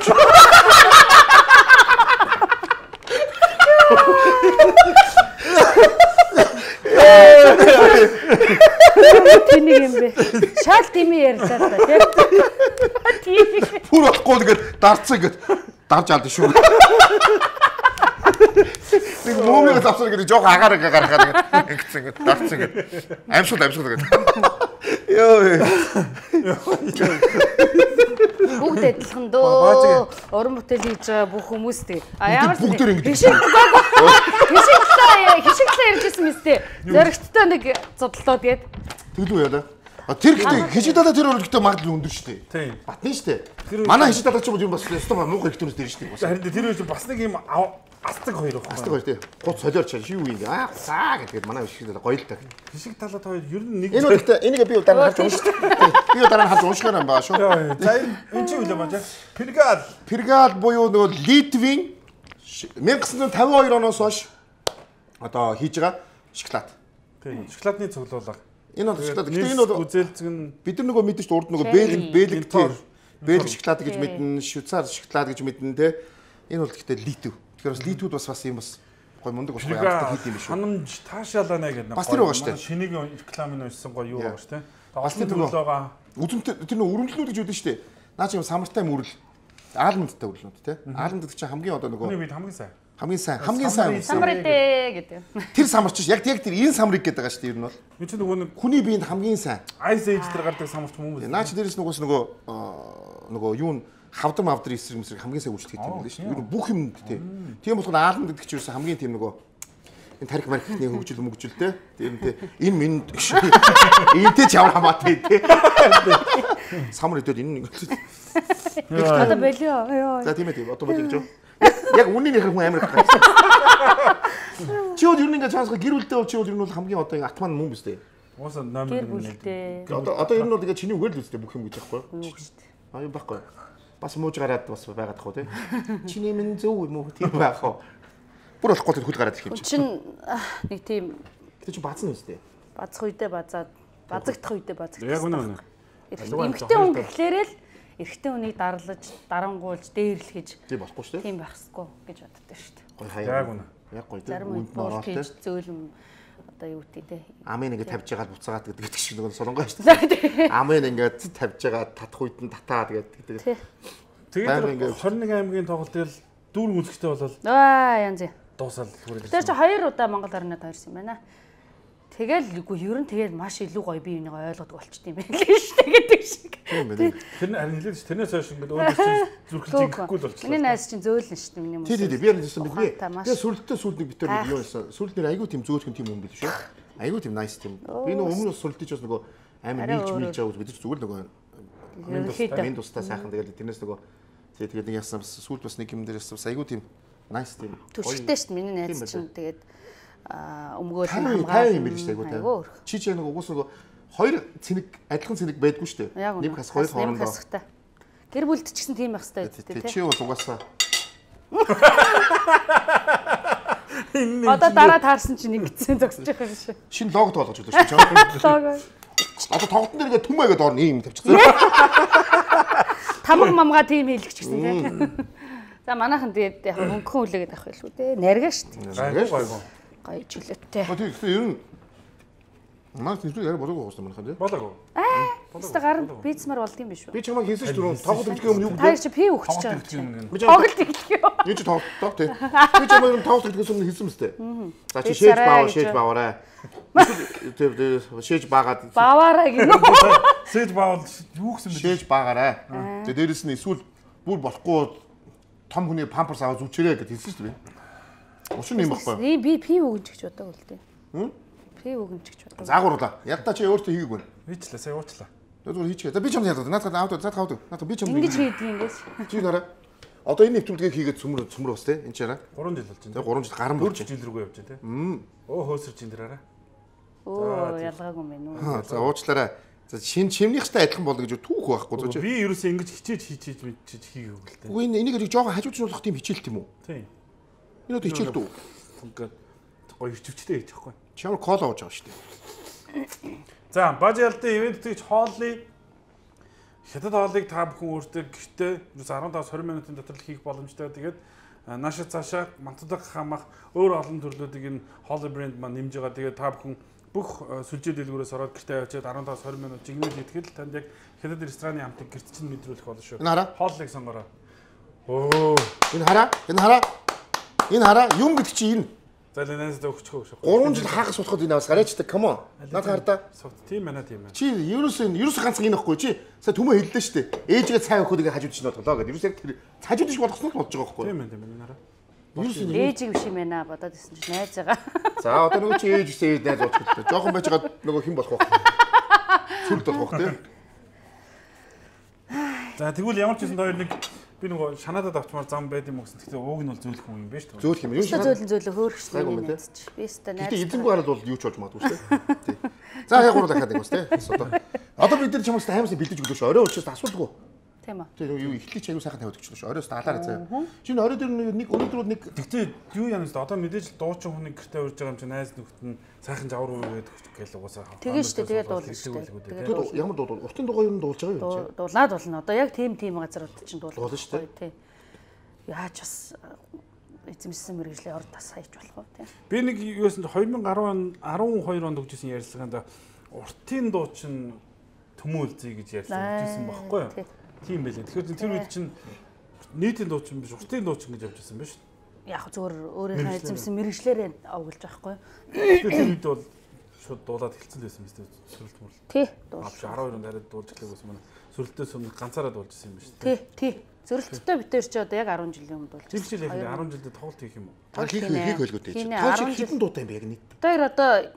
Тэнийг юм бэ. Шал тими ярьлаа та тийм. Бүр болохгүй тэгээд дарцсан гэд дарж алдсан шүү. Нэг мөөмийг авсан гэдэг жоох агаараа гаргахаа тэгээд ингэсэн гэд дарцсан гэд амьсгал амьсгал гэд. Йоо. Бүгд адилхан дөө. Уран бүтээл хийж байгаа бүх хүмүүс тий. А ямар бүгд ингэ. Хишигтлээ хишигтлээ ярьжсэн мэт тий. Зоригттой нэг зодтолоо тэгээд тэглүү яа да. А тэр гэдэг хишигдаа тэр өрөлтөө магадлал өндөр шүү дээ. Тийм. Батны шүү дээ. Манай хишигдаа ч юм уу бас өстө муухай их төрөс дээр шүү дээ. Харин тэр үеч бас нэг юм астаг хоёр байна. Астаг хоёр тий. Гуц солиорч юу юм бэ? Аа цаа гэдэг манай хишигдаа гоё л та. Хишиг талаад хоёр ер нь нэг энэ үедээ энийг би дараа нь харж уншиж. Би дараа нь харж унших юм байна шүү. За энэ чи үлээ маа. Пергал. Пергал буюу нөгөө Литвийн 천구 пятьдесят two оноос хойш одоо хийж байгаа шоколад. Тийм. Шоколадны цуглуулга. Энэ бол шоколад. Гэтэ энэ бол үзэлцэг нь бид нар нөгөө мэдээж урд нөгөө бэлэг бэлэг төр бэлэг шоколад гэж мэднэ, швейцар шоколад гэж мэднэ те. Энэ бол гэхдээ литв. Тэгэхээр бас литвүүд бас бас юм бас гой мундаг бас ямартай хийд юм биш үү? Ханамж таашаалаа нэ гэдэг. Бас тэр байгаа шүү дээ. Шинийг рекламын уншсан гой юу байгаа шүү дээ. Бас тэр нөгөө үзэмтэй тэр нөгөө өрөмжлүүд гэж үүдэн шүү дээ. Наа чи юм самартай мөрөл аалмандтай өрлөнд те. Аалманд гэдэг чинь хамгийн одоо нөгөө Хүний бид хамгийн сайн. Хамгийн сайн, хамгийн сайн самридэ гэдэг. Тэр самарч яг яг тэр энэ самрыг гэдэг байгаа шүү дээ ер нь бол. Би чи нөгөө нэг хүний биед хамгийн сайн. Ice Age дээр гардаг самарч хүмүүс. Наа чи дээрээс нөгөөс нөгөө нөгөө юу н хавдар мавдар эсрэг мэсрэг хамгийн сайн үйлчлэх гэдэг юм байна шүү дээ. Ер нь бүх юм тий. Тийм болохоор аалманд гэдэг чинь хамгийн тийм нөгөө энэ тарих мархны хөгжил мөгжил те. Тийм тий. Энэ минь энтэй ч ямар хамаатай тий. Самар өдөөд энэ нэг. Одоо болио. За тийм ээ тийм. Одоо болио гэж. Яг үнийн их хүн амар гэх. Чи өөр юу нэг цаасга гэр бүлтэй бол чи өөр юу бол хамгийн одоо атман мөн биз дээ. Ууса номер нэг. Одоо одоо ер нь бол тэгээ чиний үгээр л үстэй бүх юм гэж байхгүй юу? Аа юм байхгүй. Бас мууж гараад бас байгаад тах уу те. Чиний минь зөв юм уу тийм байх уу? Бүр болохгүй тэр хөл гараад ирэх юм чи. Чин нэг тийм тэр чи баазна үстэй. Базах үедээ базаад базагдах үедээ базагдах. Яг үнэ үнэ. Эмхтэн хүн гэхлээрээ л эрэгтэй хүнийг дарлаж, дарангуулж, дээрлэхэж тийм болохгүй шүү дээ. Тийм байхгүй гэж боддог шүү дээ. Гой хаяа. Яг үнэ. Яг гоё тийм. Зарим үед бол тийж зөөлөн одоо юу гэдэг те. Амын ингээд тавьж байгаа буцаагаад гэдэг шиг нэг солонгоо шүү дээ. Амын ингээд тавьж байгаа татах үед нь татаа гэдэг. Тэгээд хорин нэг аймгийн тоглолт тэгэл дүүр үзэхтэй болол. Аа янз. Дуусаад хүрээ. Тэр чи хоёр удаа Монгол орнод хоёрсон юм байна. Тэгэл үгүй ер нь тэгээд маш илүү гоё би энийг ойлгодог болчт юм байна лээ шүү дээ гэдэг шиг. Тийм байна. Тэр харин хэлээд ш тэрнээс хойш ингээд өөр чинь зүрхэлж ингэхгүй л болчихлоо. Миний найз чинь зөөлнө шүү дээ миний юм. Тийм тийм би ярьсан би. Би сүрлэлтээ сүлдний битэр нэг юу байсан. Сүлднэр айгүй тийм зөөлхөн тийм юм биш үү? Айгүй тийм nice тийм. Би нэг өмнө сүрлэлтэж бас нөгөө амар нийлж мэлж аваад бид ч зүгээр нөгөө минь тустай сайхан тэгэл тэрнээс нөгөө тэгээд нэг яасан бас сүлд бас нэг юм дээрээс бас айгүй тийм nice тийм. Төршөлтэй шүү дээ миний найз чинь тэгээд өмгөөл хамгаалсан юм биш айгүй таа. Чи чи нэг угс нэг хоёр цэник адилхан цэник байдгүй шүү дээ. Нэг хас хоёр хоорондоо. Гэр бүлд ч гэсэн тийм байх хэрэгтэй тий. Чи бол угаасаа. Одоо дараа таарсан чинь ингэсэн зогсож байгаа юм шиг. Шинэ лого тоолгож өгдөө шүү. Лого. Одоо тоглолтын дээр ингээ түмээгээд орно юм тавьчихсан. Тамга мамга тийм хийлгч гэсэн тий. За манайхан тэгээд яг хөнгөн үлээгээд авах байлгүй дээ. Наргаа шүү дээ. Наргаа гайгүй. Гоё чөлөөтэй. Тэгээд ер нь Маа тийм яг болоогүй гоос манайхан тий. Болоогүй. Аа. Өстө гар бийцмар болд юм биш үү? Би чамаа хийсэн ч дөрөв тоглолт өгөх юм юу гэдэг. Та чи пи өгч чам. Тоглолт өгөх юм. Юу ч тоглолт тий. Би чамаа юм тоглолт өгөх юм хийсэн мэт. За чи шээж баавар шээж баавараа. Тэр шээж баагаад баавараа гинөө. Шээж баавал юу гэсэн бэ? Шээж баагаараа. Тэгээд дээрэс нь эсвэл бүр болохгүй том хүний памперс аваад зүчээрээ гэж хэлсэн шүү дээ. Учир нь юм баггүй. Би пи өгнө гэж бодог л дээ. Хм? Пи өгнө гэж бодог. Заагуурлаа. Ядтаа чи өөртөө хийгээгүй. Хийчлээ, сая уучлаа. Зүгээр хийчихээ. За би ч юм яадаг. Наадах аваад цаад хавдаг. Наадах би ч юм. Ингэж хийдэг юм гэж. Чи нараа. Одоо энэ нэвтрүүлгийг хийгээд цөмөр цөмөр бас те. Энд чи хараа. гурван жил болж байна. Тэгээ гурван жил гарan болж байна. жил рүүгээ явж байна те. Мм. Оо хөөсөрч ин дээрээ. Оо ялгаагүй юм байна уу. За уучлаарай. За шин чимнийхтэй адилхан болно гэж түүх байхгүй зөө чи. Би ерөөсөө ингэж хичээж хичээж мэдчиж хийгээгүй л дээ. Үгүй энийг жоохон хажуудчлуулах тийм хичээлт юм уу? Тийм. Энэ одоо хичээлт үү? Ингээд гоё хөвчтэй хийж байхгүй. Чамд кола ууж байгаа шүү дээ. За, бажаалтын ивент тэгж хооллыг хятад хоолыг та бүхэн өөртөө гэртээ ерөөс арван давс хорин минутын дотор хийх боломжтой. Тэгээд наашаа цаашаа мантдаг хамах өөр олон төрлүүдийг энэ хоолой брэнд маань нэмж байгаа. Тэгээд та бүхэн бүх сүлжээ дэлгүүрээс ороод гэртээ авчиад арван давс хорин минут жигнэл хийтгэл танд яг хятад рестораны амтыг гэрт чинь мэдрүүлэх болно шүү. Энэ хараа. Хооллыг сонгороо. Оо. Энэ хараа. Энэ хараа. Энэ хараа. Юм гэдэг чи энэ. За лэнээс өгчихөө шүү. гурван жил хаагас суудахад энэ авс гараачтай. Come on. Наад хардаа. Тийм байна тийм байна. Чи ерөөсөө ерөөсөө ганцхан энэ ихгүй чи. Сая түмээ хэллээ шүү дээ. Ээжгээ цай өгөхөд ингэ хажууд чинь бодлоо гэдэг. Ерөөсөө тэр хажууд шиг болгосноо л болж байгаа байхгүй. Тийм байна тийм байна нараа. Ээж биш юм байна бодоод ирсэн чинь найз байгаа. За одоо нөгөө чи ээж гэсэн найз уучлаа. Жохон байж байгаа нөгөө хэн болох вэ? Сүлд болох вэ? За тэгвэл ямар ч юм хоёр нэг би нөгөө шанаадад авчмаар зам байд юм уу гэсэн. Тэгтээ ууг нь бол зөөлөх юм биш үү? Зөөлөх юм. Юу зөөлөн зөөлөө хөөрхсөн юм байна. Би өстө найз. Тэгтээ эзэнгүй хараад бол юу ч болж магадгүй шүү дээ. За яг гурав дахиад нэг бас тий. Одоо одоо бид нар чамаас хаймаас бэлдэж өглөө шүү. Орой уучраас асуудалгүй. Тийм үү. Тэр юу ихлий ч аягүй сайхан тавиад өгч шүү. Оройс даалаараа заяа. Шинэ орой дээр нэг өнөөдөр нэг тэгтээ юу яана шүү. Одоо мэдээж дуучин хүний гэртээ урьж байгаа юм чи найз нөхд нь сайхан жавар үргээд өгч гээл угаасаа. Тэгээ шүү дээ. Тэгээд дуулна шүү дээ. Тэгээд ямар дуу уртын дугаа юу дуулж байгаа юм чи? Дуулаад болно. Одоо яг тийм тийм газрууд чинь дуулна. Дуулна шүү дээ. Тий. Яаж бас эзэмшсэн мэрэгжлийн орд тас хайж болох уу тий. Би нэг юусэн две тысячи десять он twelve онд өгчсэн ярилцлагаанд уртын дуу чинь төмөөлзэй гэж ярьсан гэсэн байхгүй юу? Тийм байлээ. Тэгэхээр тэр үед чинь нийтийн дуу чинь биш уртын дуу чинь гэж явжсэн байна шүү дээ. Яг зөвөр өөрийнхөө эзэмсэн мэрэгчлэр овгилж байхгүй юу? Тэр үед бол шууд дуулаад хэлсэн л байсан юм шүү дээ. Сүрэлт мөр. Тий. Авш twelve онд хараад дуулж эхлэх байсан маань. Сүрэлтээс өмнө ганцаараа дуулж ирсэн юм байна шүү дээ. Тий, тий. Зөрөлттэй битэр чи одоо яг ten жилийн өмнө дуулж. Жил жил яг ten жилдээ тоглолт хийх юм уу? Та хийх хийх байлгүй дээ. Тоглолт хэдэн дуутай юм бэ яг нийт? Тэр одоо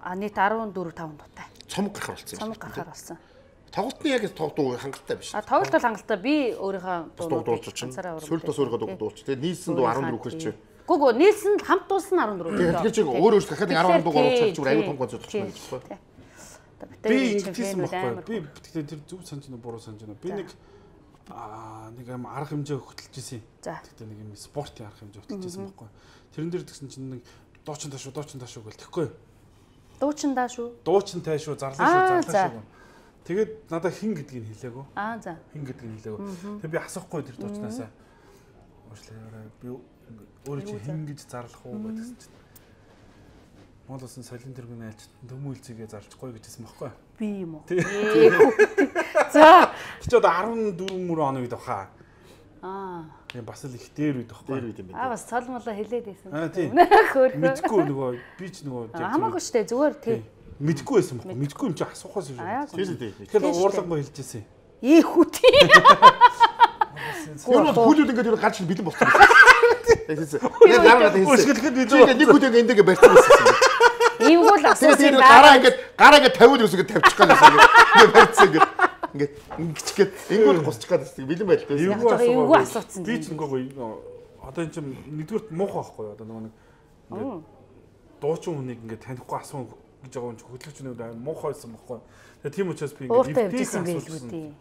а нийт fourteen five дуутай. Цомог гарахар болсон юм. Цомог гарахар болсон. Тоглолтны яг дуу хангалттай биш. А тоглолт бол хангалттай. Би өөрийнхөө дуу дуулж чинь. Сүлд бас өөрийнхөө дуу дуулж. Тэгээд нийлсэн дуу fourteen хүрч. Гүг гү нийлсэн хамт дуулсан fourteen. Тэгэхээр чи өөр өөр дахиад ten дуу оруулах зүгээр аюу том гонцоо зогсож байна. Би ингэсэн байхгүй. Би тэгэхээр тэр зөв санаж байна буруу санаж байна. Би нэг аа нэг юм арга хэмжээ хөтөлж исэн. Тэгтээ нэг юм спортын арга хэмжээ хөтөлж исэн байхгүй. Тэрэн дээр тэгсэн чинь нэг дуучин тааш шүү, дуучин тааш шүү гэл тэгэхгүй. Дуучин таа шүү. Дуучин таа шүү, зарлаа шүү, зарлаа шүү. Тэгээд надад хин гэдгийг хэлээгүй. Аа за. Хин гэдгийг хэлээгүй. Тэгээд би асуухгүй тэр дуучнаасаа. Уучлаарай. Би өөрөө чи хин гэж зарлах уу гэдгсэн чинь. Монгол улсын соёлын тэргүүний айлч төмөн үйлцгээ зарж гоё гэжсэн байхгүй. Би юм уу? За. Чи одоо арван дөрвөн мөр оны үед баха. Аа. Тийм бас л их дээр үед бахгүй. Дээр үед юм байна. Аа бас цолмолоо хэлээд байсан. Аа тийм. Мэдгүй нөгөө би ч нөгөө хамаагүй штэ зүгээр тий. Мэдгүй байсан байхгүй. Мэдгүй юм чи асуухаас юм шүү. Тийм тийм. Тэгэхээр уурлангоо хэлжсэн. Ээ хүүти. Юу бол хүлүүд ингээд юу гарч бэлэн болчихсон. Яг гараад хэлсэн. Чи нэг хүлийг эндээ барьсан байсан. Иймгүүл асуусан гараа ингээд гараа ингээд тавиул үсгээ тавьчих гал байсан. Ингээд барьсан ингээд ингээд ингэчгээд энгүүл гусчих гал байсан. Бэлэн байлтай. Эвгүй асуусан. Би ч нөгөө одоо энэ чинь нэгдүгürt муухай байхгүй одоо нөгөө нэг ингээд дуучин хүнийг ингээд танихгүй асуун гэж байгаа юм чи хөдөлгчнүүд муухай байсан байхгүй. Тэгээ тийм учраас би ингээд эвдээсэн байлгүй дээ.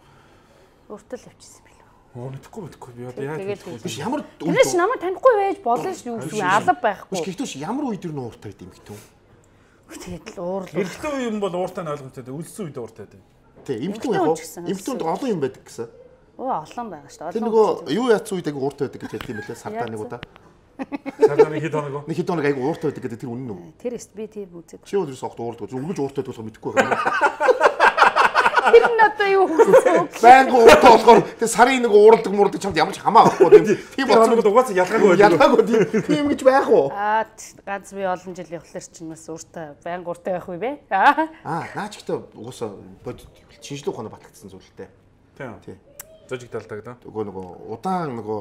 Өөртөө л авчихсан байлгүй. Оо мэдхгүй мэдхгүй би одоо яаж биш ямар Тэрээс намайг танихгүй байж болно шүү юу алга байхгүй. Биш гэхдээ ямар үед юу ууртай гэдэм битүү. Тэгээд л уурлаа. Эрэгтэй юм бол ууртай нь ойлгомжтой дээ. Үлдсэн үед ууртай дээ. Тий, эмэгтэй яг эмэгтэйд олон юм байдаг гэсэн. Оо олон байгаа шүү дээ. Тэр нөгөө юу яатсан үед аяг ууртай байдаг гэж хэлсэн юм лээ сартаа нэг удаа. Сартаа нэг хэд хоног. Нэг хэд хоног аяг ууртай байдаг гэдэг тэр үнэн үү? Тэр эст би тийм үзэг. Чи өдрөөс огт уурдаг. Өнгөж ууртай байдаг мэдгүй байна. Тэр нь одоо юу гэсэн. Байнга ууртай болохоор тэр сарын нэг уурдаг муурдаг чамд ямар ч хамаа авахгүй тийм болчихсон угаасаа ялгаагүй байдаг. Ялгаагүй тийм гэж байх уу? Аа ганц би олон жил явхлаар чинь бас ууртай байнга ууртай байх уу бэ? Аа. Аа наач ихтэй угаасаа бодит шинжлэх ухааны батлагдсан зүйлтэй. Тийм. Тий. Зожиг талдаг да. Нөгөө нөгөө удаан нөгөө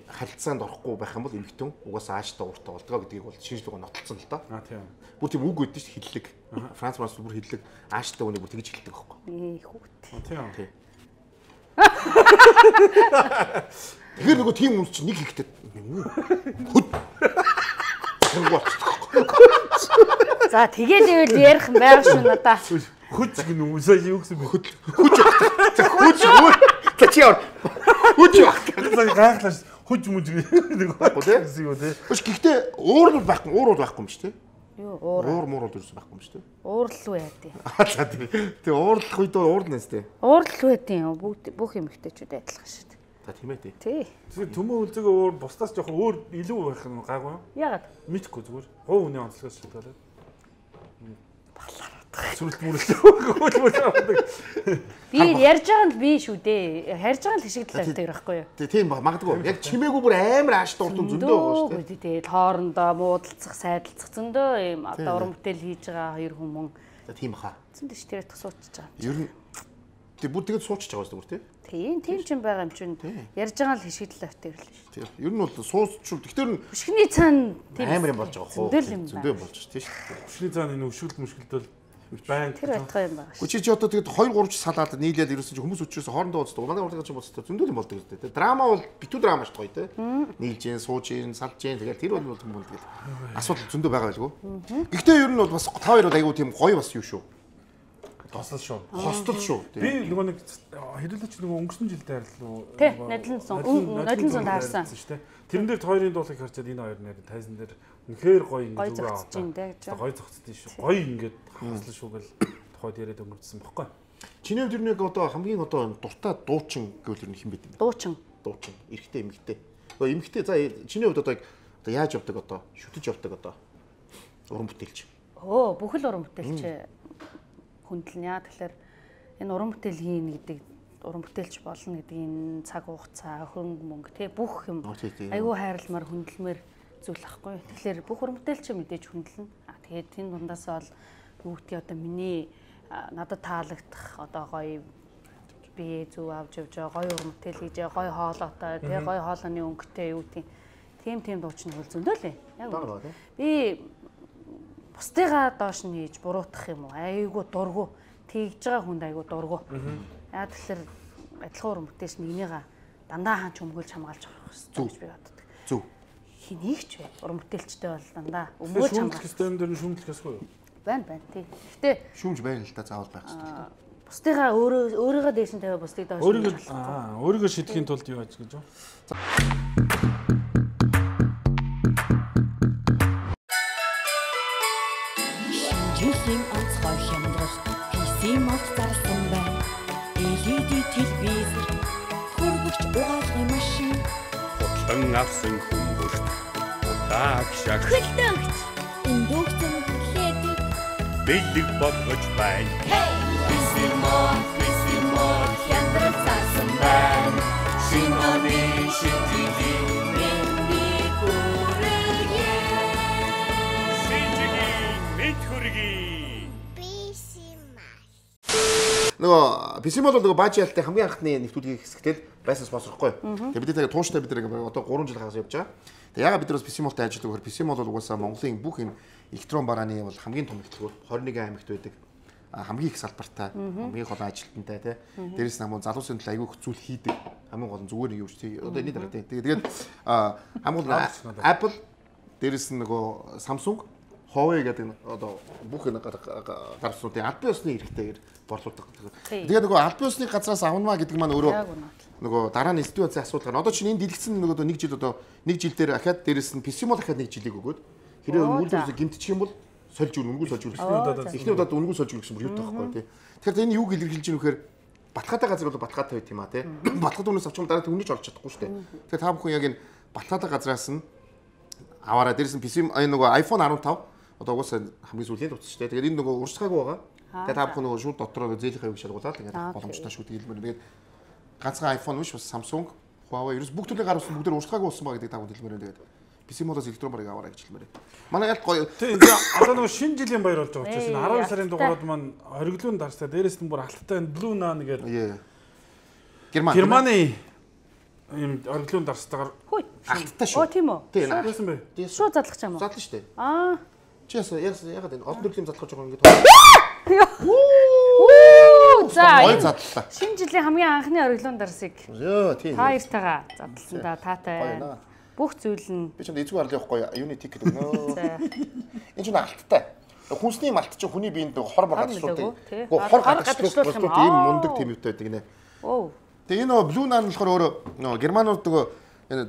харилцаанд орохгүй байх юм бол эмэгтэн угаасаа ааштай ууртай болдгоо гэдгийг бол шинжлэх ухаан нотолцсон л доо. Аа тийм. Бүр тийм үг өгдөө шүү хиллэг. Франц марс бүр хиллэг ааштай үнийг бүр тэгж хэлдэг байхгүй. Ээ хүүт. Тийм. Тий. Тэгэхээр нөгөө тийм юм чинь нэг ихтэй хөт. За тэгээд ивэл ярих юм байгаа шүү надаа. Хүч гэнэ үсээ юу гэсэн бэ? Хүч. Хүч. Хүч. За чи яа. Хүч. Гайхлаа. Хүч мүж нэг байхгүй юу те. Биш гэхдээ уур бол байхгүй, уур бол байхгүй юм шүү те. Юу уур. Уур муур бол ерөөсөй байхгүй юм шүү те. Уурлал яа тий. Аа за тий. Тэгээ уурлах үед уурлнаас те. Уурлал байдیں۔ Бүгд бүх эмэгтэйчүүд адилхан шүү дээ. За тийм ээ тий. Тий. Тэгээ төмөн үлзэгээ уур бусдаас жоохон өөр илүү байх нь гайгүй юу? Яагаад? Мэдхгүй зүгээр. Гоо үний онцлогоос шалтгаалаад. Балаар. Сүрэлт мүрэлт. Би ярьж байгаа нь би шүү дээ. Харж байгаа л хишигдэл авдаг байхгүй юу? Тий тийм ба магадгүй. Яг чимээгүй бүр амар ааш дуртун зөндөө байгаа шүү дээ. Тэгээд хоорондоо муудалцах, сайдалцах зөндөө юм одоо уран бүтээл хийж байгаа хоёр хүмүүс. За тийм баха. Зөндөө ч тэрэг суучих байгаа. Ер нь тий бүр тэгээд суучих байгаа шүү дээ. Тийм, тийм ч юм байгаа юм чинь. Ярьж байгаа л хишигдэл авдаг л шүү. Тий. Ер нь бол суусчул. Тэгтэр нь өшгөний цаана тийм амар юм болж байгаа хөө. Зөндөө юм болж тий шүү. Өшгөний цаана энэ өшгөлт мөшгөлтөл байн тэр байтгай юм байна. Чи чи одоо тэгээд хоёр гурав ч салаад нийлээд ерөөсөн чи хүмүүс өчрөөс хоорондоо уулздаг. Манай урлагч юм болцтой зөндөл юм болдог гэдэг. Драма бол битүү драма шүү гоё те. Нийлж гин, сууж гин, салж гин тэгээд тэр бол юм бол тэгээд асуудал зөндөө байгаа байлгүй. Гэхдээ ер нь бол бас та хоёр бол айгүй тийм гоё бас юу шүү. Тослол шүү. Хостол шүү. Би нөгөө нэг хэдүүлээч нөгөө өнгөрсөн жилдээ харьлуу. Тэ, надлан сон. Надлан сон таарсан. шүү дээ. Тэрэн дээр хоёрын дуулыг харчаад энэ хоёр нэр тайзан дээр үнэхээр гоё ингэ зүгээр аваа. Гоё зогцсон шүү. Гоё ингээд хаслаа шүү гэл тухайд яриад өнгөрсөн баггүй. Чиний хувьд нэг одоо хамгийн одоо дуртай дуучин гэвэл ер нь хэн бэ юм бэ? Дуучин. Дуучин. Эрэгтэй эмэгтэй. Өө эмэгтэй за чиний хувьд одоо одоо яаж явдаг одоо шүтэж явдаг одоо уран бүтээлч. Өө бүхэл уран бүтээлч хүндлэнэ. Тэгэхээр энэ уран бүтээл хийн гэдэг уран бүтээлч болно гэдэг энэ цаг хугацаа, хөрөнгө мөнгө тий бүх юм айгүй хайрламар хүндэлмээр зүйл ахгүй. Тэгэхээр бүх уран бүтээлч мэдээж хүндэлнэ. А тэгээд энэ дундаас бол юу гэдгийг одоо миний надад таалагдах одоо гоё би зүв авч явж байгаа гоё уран бүтээл хийж байгаа гоё хоолойтой тий гоё хоолойны өнгөтэй юу тийм тийм тийм дуучны хөл зөндөө л яг би бусдыгаа доош нь хийж буруутгах юм уу айгүй дургу тэгж байгаа хүнд айгүй дургу яа тэгэхээр адилхан уран бүтээлч нэгнийга дандаа хаан чөмгөлж хамгаалж авах хэрэгтэй гэж би боддог. Зөв. Хэнийг ч вэ уран бүтээлчтэй бол дандаа өмгөөлж хамгаалах. Систем дээр шүүмжлэх ёсгүй юу? Байна байна тий. Гэтэ шүүмж байна л да заавал байх хэрэгтэй. Бусдыгаа өөрөө өөрийгөө дээш нь тавиа бусдыг доош нь өөрийгөө аа өөрийгөө шидэхийн тулд юу яаж гэж юу? Жилийн онцгой хямдрал пи си мод зарласан байна. эл и ди телевизор хөргөж угаалгын машин Хутлан авсан хүмүүст удаа агшаг хөлтөгч дүүгцэн хүлээдэг. Бэлэг бодгож байна. Бисимон, бисимон, хямдрал цаасан байна. Шиноны шитгэлийн мэндийг хүргэе. Шинжгийн мэд хүргэе. Нөгөө Бисимол бол нөгөө Бажиалтай хамгийн анхны нэвтрүүлгийн хэсэгтэл байсан спонсорхгүй. Тэгээ бид тэгээ тууштай бид нэг одоо гурван жил хагас явж байгаа. Тэгээ ягаад бид нар Бисимолтай ажилладаг вэ? Бисимол бол угаасаа Монголын бүх энэ электрон барааны бол хамгийн том нэвтрүүлэг двадцать один аймагт байдаг. Хамгийн их салбартай, хамгийн гол ажилтнтай тий. Дээрээс нь хамгийн залуусын төлөө аягүй их зүйл хийдэг. Хамгийн гол нь зүгээр нэг юу ч тий. Одоо энэ дараа тий. Тэгээд хамгийн гол Apple, дээрээс нь нөгөө Samsung, Huawei гэдэг одоо бүх энэ гарцуудын аль биесны эрхтэйгээр борлуулдаг. Тэгээд нөгөө аль биесны газраас авнамаа гэдэг маань өөрөө нөгөө дараа нь элдвийн үнцийн асуудал гарна. Одоо чинь энэ дэлгэцэн нөгөө нэг жил одоо нэг жил дээр ахаад дээрээс нь Бисимол ахаад нэг жилиг өгөөд хэрэг өнгөлөөс гимтчих юм бол сольж өгнө, өнгөө сольж өгнө. Эхний удаад өнгөө сольж өгөх юм юу таахгүй тий. Тэгэхээр энэ юуг илэрхийлж ийм вэхээр батхаатай газар бол батхаатай байт юм а тий. Батхаад үнээс авч дараа түүнийг олж чадахгүй шүү дээ. Тэгэхээр та бүхэн яг энэ батхаатай газраас нь аваараа дээрээс нь Бисим энэ нөгөө iPhone фифteen одоо угаасаа хамгийн сүүлийн төвч шүү дээ. Тэгээд энэ нөгөө урсгаагүй байгаа. Тэгээд та бүхэн нөгөө шууд дотроо зээлийнхээ хавийг шалгуулаад ингээд боломжтой шүү гэдэг хэлмээр. Тэгээд ганцхан iPhone биш бас Samsung, Huawei ерөөс бүх төрлийн гар усан бүгд урсгаагүй болсон байгаа гэдэг та бүхэн хэлмээр. Тэгээд Бисимолоос электрон барыг аваарай гэж хэлмээр. Манай ялт гоё. Тийм одоо нөгөө шинэ жилийн баяр болж байгаа учраас энэ twelve сарын дугаард маань хориглоон дарстай дээрээс нь бүр алттай Blue Nan гэдэг Герман Германы ийм хориглоон дарстайгаар алттай шүү. Оо тийм үү. Тийм байсан бай. Шууд задлах юм уу? Задлаа шүү дээ. Аа. Чи ясаа ягаад энэ олон төрлийн задлах гэж байгаа юм ингээд. Оо за. Ой задлаа. Шинэ жилийн хамгийн анхны хориглоон дарсыг. Йоо тийм. Та хоёртайгаа задлсан да таатай. Бүх зүйл нь би ч эзгүй арлын явахгүй юуны тик гэдэг нөө. Энэ ч алттай. Хүнсний малт чинь хүний биед хор мор гадчлуулдаг. Гэхдээ хор гадчлуулах юм ийм мундаг тийм үтэй байдаг нэ. Оо. Тэгээ энэ нөө Blue Nan болохоор өөрөө нөө германууд нөгөө энэ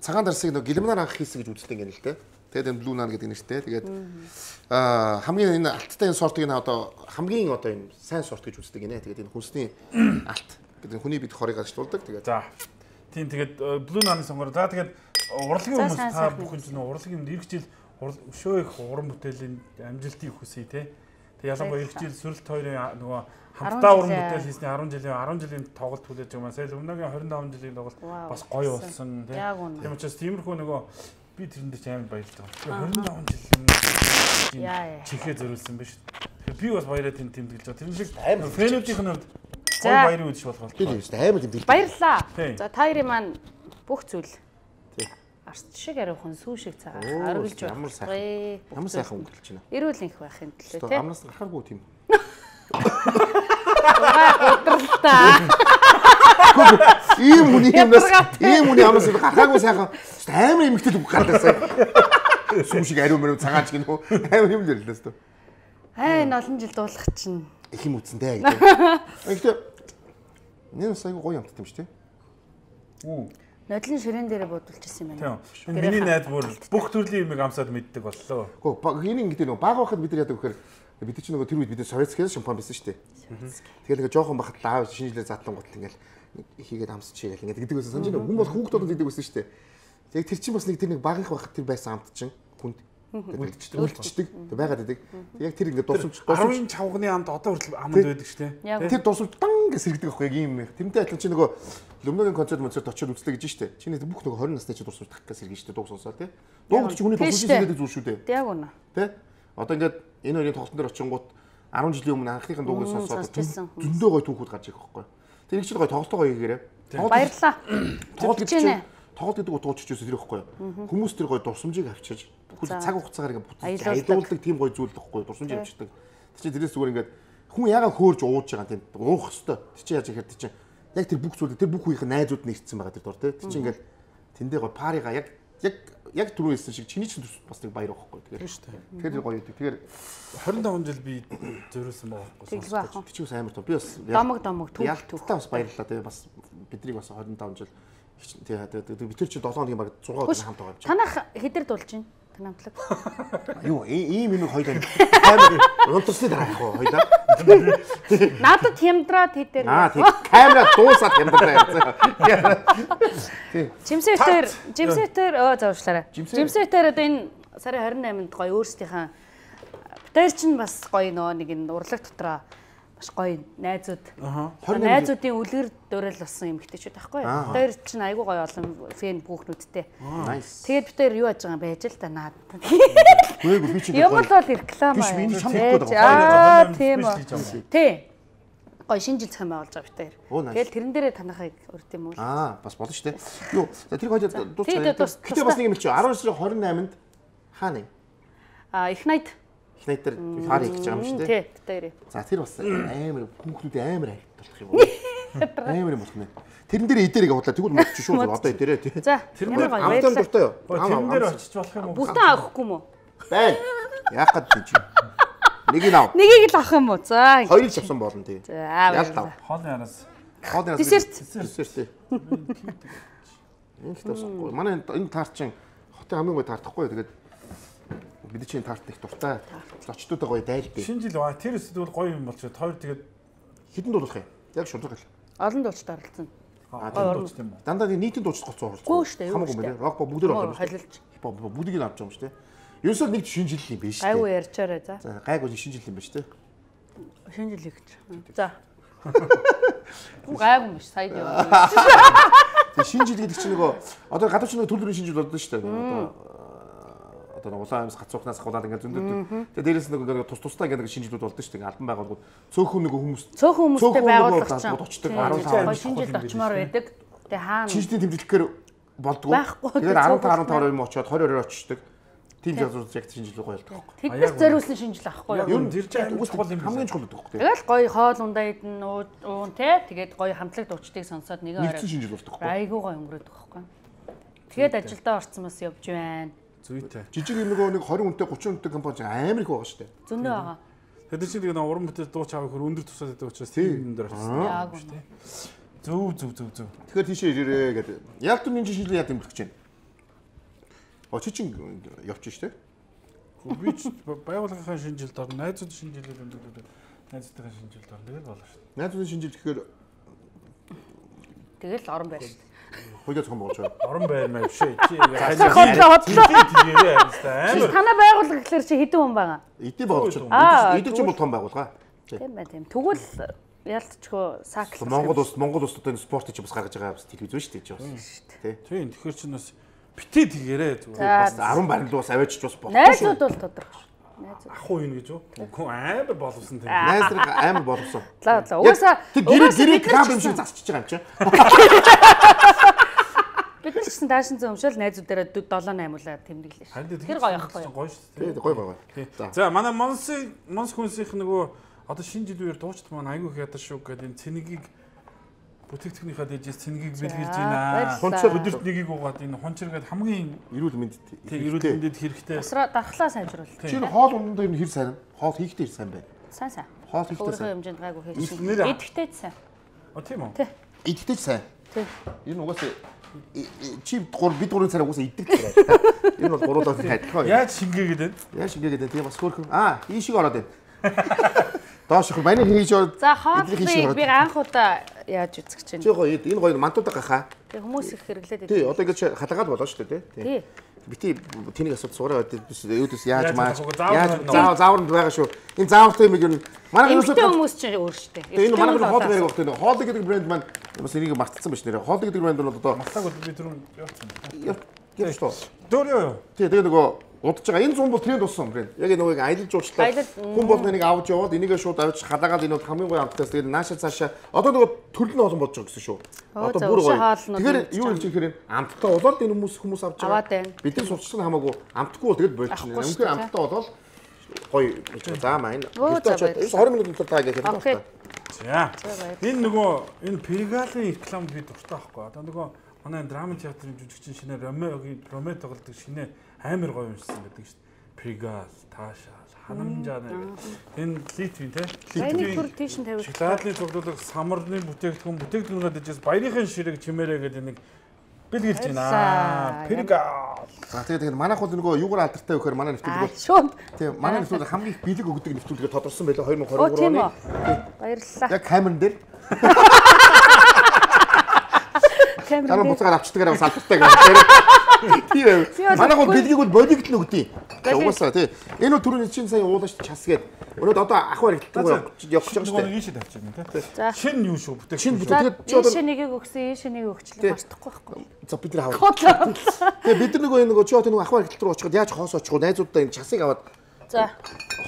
цагаан дарсыг нөгөө гэлмнаар анх хийсэн гэж үздэг юм л дээ. Тэгээд энэ Blue Nan гэдэг нэртэй. Тэгээд аа хамгийн энэ алттай энэ сортыг н одоо хамгийн одоо энэ сайн сорт гэж үздэг гинэ. Тэгээд энэ хүнсний алт гэдэг хүний бид хорыг гадчлуулдаг. Тэгээд за тийм тэгээд Blue Nan-ы сонгоор. За тэгээд урлагийн хүмүүс та бүхэн чинь урлагийн юмд эх жил өшөө их уран бүтээлийн амжилтыг хүсье те. Тэгээд ялангуяа эх жил сүрэлт хоёрын нөгөө хамтдаа уран бүтээл хийсний ten жилийн ten жилийн тоглолт хүлээж байгаа маань сая өмнөгийн twenty-five жилийн тоглолт бас гоё болсон те. Тийм учраас тиймэрхүү нөгөө би тэрэнд ч амар баярлж байгаа. twenty-five жилийн чихээ зөрүүлсэн биш. Би бас баяраа тэнд тэмдэглэж байгаа. Тэр шиг фэнүүдийн хувьд гой баярын үдшиг болох тийм шүү дээ. Аймаг тэмдэглэж. Баярлаа. За та хоёрын маань бүх зүйл. Арч шиг ариухан сүү шиг цагаан оргилж байна. Ямар сайхан. Ямар сайхан өнгөрүүлж байна. Эрүүл инх байхын төлөө тий. Амнаас гарахааргүй тийм. Удралтай. Ийм хүний юмнаас ийм хүний амнаас гарахааргүй сайхан. Амар эмэгтэй үг гаргаасан. Сүү шиг ариун мөрөв цагаан ч гинөө. Амар юм л лээс төө. Аа энэ олон жил дуулах чинь. Их юм үтсэндээ гэдэг. Гэхдээ нэр сая гоё юмтай юм шүү дээ. Үу. Нодлын ширээн дээр бодулж ирсэн юм байна. Тийм. Миний найз бүр бүх төрлийн юмыг амсаад мэддэг боллоо. Гэхдээ энэ ингэдэг нөгөө баг байхад бид нар яадаг вэхээр бид чинь нөгөө тэр үед бид советскээс шампан байсан шүү дээ. Тэгэхээр нөгөө жоохон бахад лаав шинжилгээ задлан гутал ингээл хийгээд амсч яах ингээд гэдэг байсан. Санаж хүн бол хүүхдүүд гэдэг байсан шүү дээ. Яг тэр чинь бас нэг тэр нэг баг их байхад тэр байсан амт чинь хүнд үлдчихдэг үлдчихдэг. Тэг байгаад байдаг. Яг тэр ингээд дурсамж дурсамж чавганы амд одоо хүртэл амд байдаг шүү дээ. Тэр дурсамж дан гэж сэргдэг байхгүй яг юм. Тэрнтэй адилхан чи нөгөө Lumnoгийн концерт концерт очиод үзлээ гэж штэ. Чиний бүх нөгөө twenty насны чи дурсамж тах гэж сэргэж штэ дууг сонсоо тий. Дууг чи хүний дурсамж сэргэдэг зүйл шүү дээ. Яг үнэ. Тий. Одоо ингээд энэ хоёрын тоглолтын дээр очингууд ten жилийн өмнө анхныхын дууг сонсоод зөндөө гоё түүхүүд гарч ирэх байхгүй. Тэр их ч гоё тоглолтоо гоё хийгээрээ. Баярлаа. Тоглолт гэж тоглолт гэдэг утга учирч байсан тэр ихгүй. Хүмүүс тэр гоё дурсамжийг авчиж цаг хугацаагаар ингээд аялуулдаг тийм гоё зүйл ихгүй дурсамжийг авчдаг. Тэр чинь тэрээс зүгээр ингээд хүн ягаа хөөрж ууж байгаа тийм уух хэвээр. Тэр чинь яаж ихээр тэр чинь яг тэр бүх зүйл тэр бүх үеийн найзууд нь ирсэн байгаа тэр дор тий. Тэр чинь ингээд тэндээ гоё парига яг яг яг түрүү хэлсэн шиг чиний чинь бас нэг баяр байхгүй. Тэгэхээр шүү дээ. Тэгэхээр гоё идэг. Тэгэхээр twenty-five жил би зөрүүлсэн байгаа байхгүй. Тэр чинь амар тоо. Би бас домог домог түүх түүх. Бас баярлалаа тий. Бас биднийг бас twenty-five жил тий. Би тэр чинь seven хоногийн баг six өдөр хамт байгаа юм чинь. Танах хэдэр дуулж байна? Намтлаг. Юу ийм юм хоёлаа камер унтсны дараа яах вэ хоёлаа? Надад хямдраад хэдэр. Аа тийм камера дуусаад хямдраа. Жимсэтэр жимсэтэр оо заавчлаарай. Жимсэтэр одоо энэ сарын двадцать восьмынд гоё өөрсдийнхээ битээр чинь бас гоё нөө нэг н урлаг дотроо маш гоё найзууд. Найзуудын үлгэр дуурал болсон эмэгтэйчүүд байхгүй юу? Битээр чинь айгүй гоё олон фэн бүхнүүдтэй. Тэгээд битээр юу яаж байгаа юм байж л та наад. Гүйгүй би чи юм бол реклам аа. Тийм үү. Тий. Гоё шинэ жил цахим байгуулж байгаа битээр. Тэгэл тэрэн дээрээ танахыг урд юм уу? Аа, бас болно шүү дээ. Юу, тэр хоёр дуусчихсан. Гэтэ бас нэг юм чи девять сарын двадцать восьмынд хаана юм? Аа, их найд. Их найд дээр фар хийж байгаа юм шүү дээ. Тий, битээр. За тэр бас амар хүүхдүүд амар хайртай болох юм уу? Амар юм болох нэ. Тэрэн дээр эдэрийг худлаа тэгвэл модч шүү одоо эдэрээ тий. За, тэр гоё. Амтан дуртай юу? Тэрэн дээр очиж болох юм уу? Бүтэн авахгүй юм уу? Байн. Яах гээд чи? Нэгийг ав. Нэгийг л авах юм уу? За. Хоёрыг авсан болно тий. За. Ялтав. Хоолны араас. Хоолны араас. Десерт. Десерт тий. Ингээд тасахгүй. Манай энэ таарт чинь хотын хамгийн гоё таартахгүй. Тэгээд бид чинь таарт их дуртай. Зочдуудаа гоё дайлдээ. Шинэ жил ба тэр эсвэл гоё юм болчиход хоёр тэгээд хідэн дуулах юм. Яг шудраг л. Олон дуучид оролцсон. Аа тийм дуучид юм уу? Дандаа нийтийн дуучид гоцоо оролцсон. Хамаагүй мэлээ. Рок бүгд оролцсон. Холилж. Хипхоп бүгдийг нь авч байгаа юм шүү дээ. Ерөөсөө нэг шинэ жил юм биш үү? Гайгүй ярьчаарай за. За гайгүй шинэ жил юм биш үү? Шинэ жил гэж. За. Гайгүй биш сая яваа. Тэг шинэ жил гэдэг чинь нөгөө одоо гадуур чинь төлөвлөрийн шинэ жил болдоо шүү дээ. Одоо одоо улаан амьс гацуухнаас хулаад ингээд зөндөд. Тэг дээрээс нөгөө тус тустай ингээд шинэ жилүүд болдоо шүү дээ. Албан байгууллагууд цөөхөн нөгөө хүмүүс цөөхөн хүмүүстэй байгууллагч очдог арван таван шинэ жилд очимоор байдаг. Тэг хаана шинэ жилийн тэмдэглэхээр болдгоо. Тэгээд арван таван таван юм очиод двадцать хоёр очдог. Тийм жазуулж яг шинэ жил гоё болдог. Тэд нар зориулсан шинэ жил авахгүй юу? Ер нь тэр чинь чухал юм хамгийн чухал байдаг. Тэгэл гоё хоол ундаа идэн уун те тэгээд гоё хамтлаг дуучдыг сонсоод нэгэн орой. Шинэ жил болдог. Айгуу гоё өнгөрөөдөг байхгүй. Тэгээд ажилдаа орсон бас явж байна. Зүйтэй. Жижиг нөгөө нэг двадцать үнэтэй тридцать үнэтэй компани амар их байгаа шүү дээ. Зөндөө байгаа. Тэгээд чинь тэгээд уран бүтээл дууч авах хөр өндөр тусаад байдаг учраас тийм дээр очсон юм шүү дээ. Зөв зөв зөв зөв. Тэгэхээр тийшээ ирээрээ гэдэг. Яг түн энэ жишээ яа дэмжих гэж байна. Очиж чинь явчих штэ. Би ч байгууллагын шинэ жилд орно. Найзууд шинэ жилээр өндөрлөв. Найзуудын шинэ жилд орно. Тэгээд болно шүү. Найзуудын шинэ жил гэхээр тэгэл орон байр шүү. Хоёул цом болж байна. Орон байр маа биш ээ. Чи хотлоо хотлоо. Тэгээрээ амир. Танай байгууллага гэхэлэр чи хэдэн хүн байгаа? Эдийн байгууллага. Эдийн ч бол том байгууллага. Тийм бай тийм. Тэгвэл ялцчгүй саакл. Монгол улс Монгол улсад энэ спортыг ч бас гаргаж байгаа бас телевиз шүү дээ чи бас. Тий. Тийм тэгэхээр чи бас битээ тэгээрээ зүгээр бас арван барилд бас аваачч бас болохгүй. Найзууд бол тодорхой шүү. Найзууд. Ах уу юм гэж үү? Үгүй амар боловсон тийм. Найз нар амар боловсон. За за. Угаасаа гэрээ гэрээ краб юм шиг засчихж байгаа юм чи. Бид нар ч гэсэн даашин зэн өмшөөл найзуудаараа seven eight уулаа тэмдэглээ шүү. Тэр гоё ахгүй юу? Гоё шүү. Тий, гоё гоё. За манай Монсын Монс хүнсийнх нөгөө одоо шинэ жилээр дуучид маань айгүй их ядар шүү гэдэг энэ цэнигийг бүтээгдэхүүнийхаа дээжээс цэнигийг бэлгэрж байна. Хонцоо өдөрт нэгийг угаад энэ хончиргээд хамгийн эрүүл мэнд тий эрүүл мэндэд хэрэгтэй. Усраа дархлаа сайжруулах. Чи хоол ундаа ер нь хэр сайн? Хоол хийхдээ сайн байна. Сайн сайн. Хоол хийхдээ сайн. Хэмжээнд гайгүй хийсэн. Идэхтэй сайн. А тийм үү? Тий. Идэхтэй сайн. Тий. Энэ угаасаа чи гур бид гурван цараа угаасаа иддэг гэдэг. Энэ бол гуруулаа хайдах. Яаж шингээгээд байна? Яаж шингээгээд байна? Тийм бас хөөрхөн. Аа, ийшиг ороод байна. Доош их маний хийж ороод. За хоолыг би анх удаа яаж үзэх чинь. Чи гоё энэ гоё мантуудаа гахаа. Тэг хүмүүс их хэрэглээд байдаг. Тий, одоо ингэж халаагаад болоо шүү дээ, тий. Бити тэнийг асууж сураа биш өөдөөс яаж маа. Яаж заав заавранд байгаа шүү. Энэ заавартай юм ер нь манай хүмүүс чинь өөр шүү дээ. Энэ манай хоол гэдэг багт энэ хоол гэдэг брэнд маань бас энийг мартцсан биш нэрээ. Хоол гэдэг брэнд бол одоо мартаагүй би түрүүн явуулсан. Яа шүү. Дөөрөө. Тий, тэгээ нөгөө удаж байгаа. Энэ зүүн бол тренд болсон брэнд. Яг нөгөө аялал жуулчлаа. Хүн болгоо нэг авч яваад энийгээ шууд авч халаагаад энэ хамгийн гоё амттаас тэгээд нааша цаашаа одоо нөгөө төрөл нь олон болж байгаа гэсэн шүү. Одоо бүр гоё. Тэгэхээр юу хэлж ихээр амттай болоод энэ хүмүүс хүмүүс авч байгаа. Бидний сурчсан хамаагүй амтгүй бол тэгээд болчихно. Өмнө амттай болоод гоё гэж байгаа. За маа энэ twenty минут дотор таа гэх юм байна. За. Энэ нөгөө энэ Пергалын реклам би дуртай байхгүй. Одоо нөгөө манай драма театрын жүжигчин шинэ Ромеогийн Ромео тоглодог шинэ амар гоё юмшсан гэдэг шүү дээ. Пригал, Таша, Ханамжаа нэг. Энэ Литвийн те. Литвийн тийш нь тавиулсан. Шоколадны цуглуулга, самарны бүтээгдэхүүн, бүтээгдэхүүнээ дэжээс баярын ширэг чимээрээ гэдэг нэг бэлгэлж байна. Пригал. За тэгээд тэгээд манайх бол нөгөө юугаар алдартай вэ гэхээр манай нэвтрүүлэг. Шууд. Тийм манай нэвтрүүлэг хамгийн их бэлэг өгдөг нэвтрүүлгээ тодорсон байлаа twenty twenty-three оны. Баярлалаа. Яг камерын дээр. камер. Дараа буцаагаар авчдаг аваад салбартай гэх. Тийм. Манайх бол бэлгийг бол бодигт нь өгдөө. Угаасаа тий. Энэ бол түрүүний чинь сая уулаач час гээд. Өнөөдөр одоо ах баригддаг явах гэж байгаа шүү дээ. Ийшээ тавьчих юм тий. Шин юу шүү бүтээх. Шин бүтээх. Тэгээд ийшээ нэгийг өгсөн, ийшээ нэгийг өгчлээ мартахгүй байхгүй. За бид нар аваад. Тэгээ бид нар нөгөө нөгөө чи одоо нөгөө ах баригдал руу очиход яаж хоос очих вэ? Найзуудаа энэ часыг аваад. За.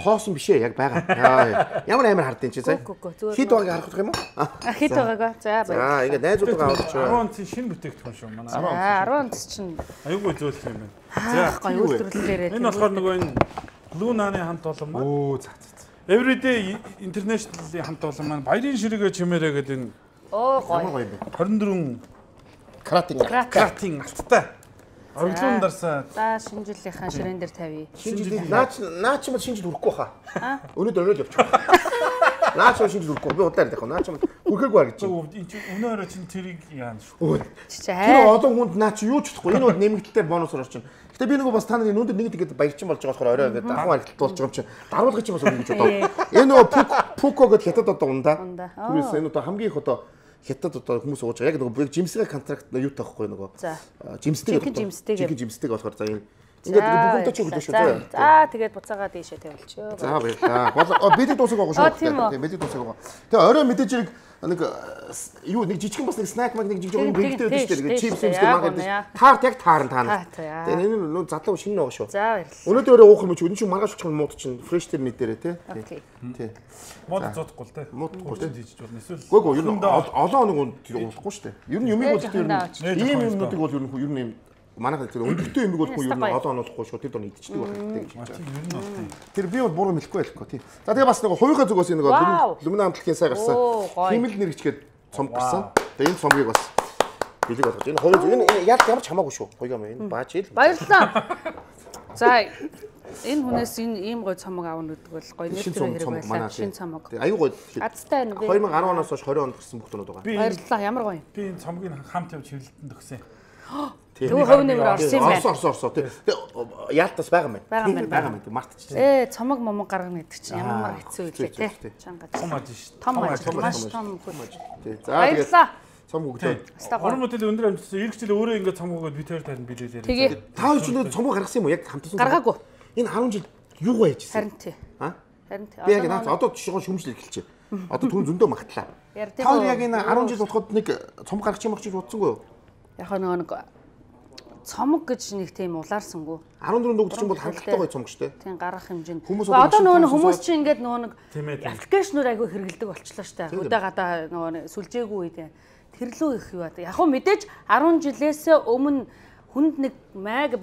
Хоосон биш ээ яг байгаа. Ямар амар хардیں۔ Чи сая. Хит байгааг харах юм уу? А хит байгаагаа. За баяр. За ингээд найзуудаа аваад чи. арван онцын шинэ бүтээгдэхүүн шүү манай. За арван онц чинь. Аюугүй зөөлөх юм байна. За гоё үйлдвэрлэлээрээ. Энэ болохоор нөгөө энэ Лунаны хамт олон маань. Оо за за. Everyday International-ийн хамт олон маань баярын ширэгээ чимээрээ гэдэг энэ оо гоё. хорин дөрвөн кратинг кратинг алттай. Орлон дарсаа. За шинэ жилийнхаа ширээн дээр тавья. Шинэ жил наач наач юм шинэ жил хүрэхгүй хаа. Өнөөдөр орой л явчих. Наач шинэ жил хүрэхгүй. Би удаа ярих. Наач хүрэхгүй ба гэж. Өнөөдөр чинь тэрийг яана шүү. Тэр олон хүнд наач юу ч чадахгүй. Энэ бол нэмэгдэлтэй бонус орж чинь. Гэтэ би нөгөө бас та нарын өнөөдөр нэг тэгэхэд баярчин болж байгаа болохоор орой ингээд ахын харагдалт болж байгаа юм чинь. Даруулгыг чинь бас өгнө гэж бодоо. Энэ нөгөө пуко гэд хятад одоо ундаа. Түүнээс энэ одоо хамгийн их одоо хятад одоо хүмүүс ууж байгаа. Яг нөгөө жимсгээ контракт юу таахгүй нөгөө. Жимсдэг. Жимсдэг. Жимсдэг болохоор за энэ ингээд бүгд ч өгдөө шүү дээ. За тэгээд буцаагаа дээшээ тавилчихё. За баярлаа. Гол бидэд дуусах байгаа шүү. Тийм бидэд дуусах байгаа. Тэгээ орой мэдээж хэрэг нэг юу нэг жижигхэн бас нэг снак маг нэг жижиг юм бэлдээд байдаг шүү дээ. Чипс юмс маг гэдэг. Таарт яг таарна таана. Тэгээ энэ нөө задлаа шинэ байгаа шүү. За баярлалаа. Өнөөдөр өөрөө уух юм чи өнөө чи маргааш очих мууд чинь фреш тэр мэдэрээ тий. Тий. Мод зодохгүй л тий. Модгүй тий хийж болно. Эсвэл Гүг юу олон хоног уулахгүй шүү дээ. Ер нь юмыг бол тэр ийм юмнуудыг бол ер нь ер нь манайх тэр өндөртэй юмыг бол ер нь олон оноохгүй шүү. Тэр дор идчихдэг байх гэдэг юм чинь. Тэр би бол буруу хэлэхгүй байлгүй тий. За тэгээ бас нэг хувийнхаа зүгээс нэг Lumina хамтлагийн сай гарсан. Химэл нэрчгээд цом гарсан. Тэгээ энэ цомгийг бас бэлэг болгож. Энэ хувийн энэ яг ямар ч хамаагүй шүү. Хоёроо энэ бааж ил. Баярлалаа. За энэ хүнээс энэ ийм гоё цомог аавна гэдэг бол гоё нэр төр хэрэг байлаа. Шинэ цомог. Аюу гоё. Азтай байна. две тысячи десять оноос хойш twenty онд гэрсэн бүхтнүүд байгаа. Баярлалаа. Ямар гоё. Би энэ цомгийг хамт явж хэвлэлтэнд өгсөн. Тэгвэл хувь нэмэр орсон юм байна. Орсон орсон орсон. Тэгээ яалтаас байгаа юм байна. Байгаа юм байна. Мартчихсан. Ээ цомог момог гаргана гэдэг чинь ямар хэцүү вэ те. Чангаж. Том аж шүү. Том аж. Маш том хөл. За тэгээд цом өгдөө. Орон мөдөл өндөр амжилтсан эх жил өөрөө ингээд цом өгөөд би тэр тань билээлээ. Тэгээ та өчнөө цомог гаргасан юм уу? Яг хамтсан. Гаргаагүй. Энэ ten жил юу байж Харин тий. Аа? Харин тий. Би яг наац одоо жишээ шүмжил эхэлчихэ. Одоо түн зөндөө магтлаа. Та яг энэ ten жил болоход нэг цомог гаргачих юм гэж бодсонгүй юу? Яг нөгөө нэг цомог гэж нэг тийм улаарсангүй. fourteen дуугч чинь бол хангалттай гоё цомог шүү дээ. Тийм гарах хэмжээнд. Одоо нөгөө хүмүүс чинь ингээд нөгөө нэг аппликейшнүүд айгүй хэрэгэлдэг болчихлоо шүү дээ. Өдөө гадаа нөгөө сүлжээгүй үед тэрлүү их юу аа. Яг хөө мэдээж ten жилээс өмнө хүнд нэг маг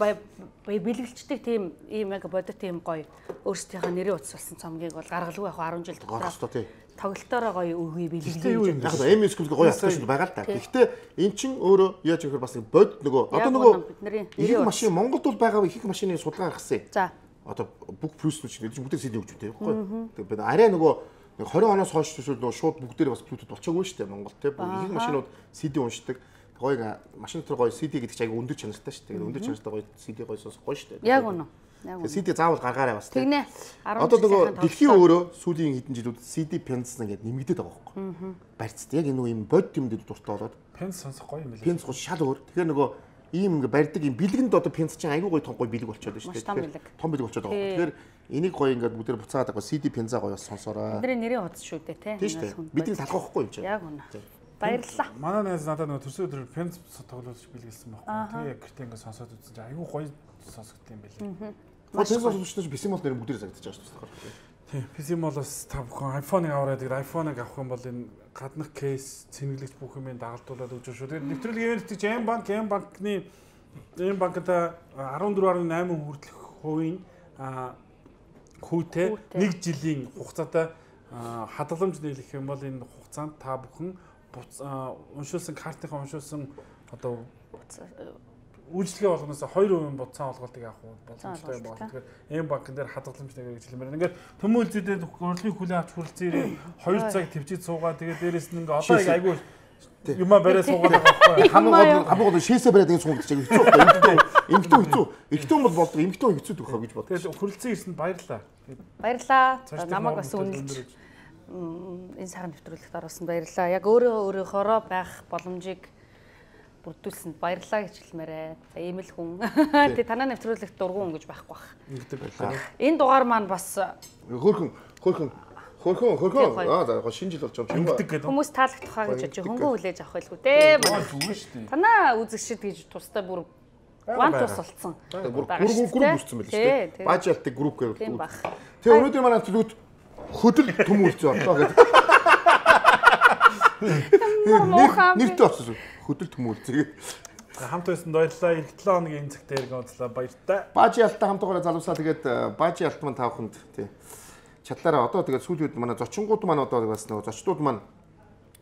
бэлгэлцдэг тийм ийм яг бодит тийм гоё өөрсдийнхөө нэрийн утас болсон цомгийг бол гаргалгүй яг ten жил дотор. Тоглолтоороо гоё өгье бэлгэлээ. Яг нь эм эс гэх гоё аппликейшн байгаа л да. Гэхдээ эн чин өөрөө яаж ихээр бас бод нөгөө одоо нөгөө их машин Монголд бол байгаа их машины судалгаа гаргасан. За. Одоо бүх плюснууд чинь бүгдээ сид өгч үүтэй байхгүй. Тэгээд арай нөгөө twenty оноос хойш төсөл шууд бүгдээр бас Bluetooth болчихоогүй шүү дээ Монголд те. Их машинууд си ди уншдаг. Гоё машин дотор гоё си ди гэдэг чинь айгүй өндөр чанартай шүү дээ. Тэгээд өндөр чанартай гоё си ди гоё сонсох гоё шүү дээ. Яг үнэ. си ди заавал гаргаарай бас. Тэгнэ. Одоо нөгөө дэлхийн өөрөө сүүлийн хэдэн жилүүд си ди пенс ингээд нэмэгдээд байгаа байхгүй. Барьцд яг энэ нөгөө юм бод юм дээр дуртай болоод пенс сонсох гоё юм байна. Пенс гоо шал өөр. Тэгэхээр нөгөө ийм ингээ барьдаг юм бэлгэнд одоо пенс чинь айгүй гоё том гоё бэлэг болчиход байна шүү дээ. Том бэлэг болчиход байгаа. Тэгэхээр энийг гоё ингээд бүгдээр буцаагаад байгаа си ди пенза гоё сонсоорой. Бидний нэрийн утас шүү дээ те. Тийм шүү дээ. Бидний талах байхгүй юм чинь. Яг үнэ. Баярлалаа. Манай найз надад нөгөө төрсөн өдөр пенс тоглож бэлгэлсэн байхгүй. Тэгээ яг гэртээ ингээ сонсоод үзсэн чинь айгүй гоё сонсогдсон юм байлээ. Пенс сонсогчдож бисимол нэр бүгдээр загтаж байгаа шүү дээ. Тийм, бисимолоос та бүхэн iPhone-ыг аваад тэгээд iPhone-ыг авах юм бол энэ гаднах кейс, цэнэглэгч бүх юмыг дагалдуулаад өгч шүү. Тэгээд нэвтрүүлгийн ивент чинь M банк, M банкны M банкта fourteen point eight хүртэлх хувийн хүүтэй нэг жилийн хугацаатай хадгаламж нийлэх юм бол энэ хугацаанд та бүхэн уншуулсан картынхаа уншуулсан одоо үйлчлэгээ болгоноос two percent буцаан олголтыг авах боломжтой байна. Тэгэхээр M банкн дээр хадгаламж нэг гэж хэлмээр. Ингээд төмөл зүйдээ урлагийн хүлээн авч хүрэлцээрээ two цаг төвчид суугаад тэгээд дээрэс нь ингээ одоо яг айгүй юмаа барай суугаад байгаа байхгүй. Хамгийн гол хамгийн гол шээсээ бариад ингэ суугаад чиг хэцүү байхгүй. Эмхтэн хэцүү. Эмхтэн бол болдог. Эмхтэн хэцүү дөхөө гэж бодлоо. Тэгээд хүрэлцэн ирсэнд баярлаа. Баярлаа. Намайг бас үнэлж энэ сайхан нэвтрүүлэгт орсон баярлаа. Яг өөрөө өөрийнхоороо байх боломжийг бүрдүүлсэнд баярлалаа гэж хэлмээрээ. За ийм л хүн. Тэ танаа нэвтрүүлэгт дургуун гэж байхгүй бах. Ингэдэг байлаа. Энэ дугаар маань бас хөөрхөн хөөрхөн хөөрхөн хөөрхөн аа за шинэ жил болж байгаа юм байна. Хүмүүс таалагдах хаа гэж бодож хөнгөн хүлээж авах байлгүй дээ. Танаа үзэгшид гэж тустай бүр ван тус болцсон. Бүр групп групп үүссэн байл шүү дээ. Бажалтыг групп гэж үү. Тэгээ өнөөдөр манай төлөвт хөдөл төм үлцээ орлоо гэдэг. Нэртэй очсон. Хөдөл төм үлцээ. Хамт байсан баярлалаа. Эх долоо хоногийн энэ цагт иргэн уулзлаа. Баяртай. Бажи алтаа хамтаараа залуусаа тэгээд бажи алт маань тавханд тий. Чадлаараа одоо тэгээд сүүлийн үед манай зочингууд маань одоо бас нөгөө зочдууд маань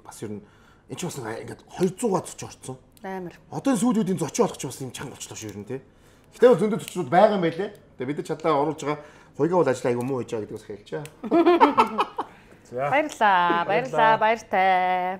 бас ер нь энэ ч бас ингээд двухсад зоч орцсон. Амар. Одоо энэ сүүлийн зочин болох ч бас юм чанга болчлоо шүү ер нь тий. Гэтэл зөндөө зочнууд байгаа юм байлээ. Тэгээд бид чадлаа оруулж байгаа хуйгаа бол ажил аягүй муу хийж байгаа гэдгээс хэлчихэ. Баярлаа. Баярлаа. Баяртай.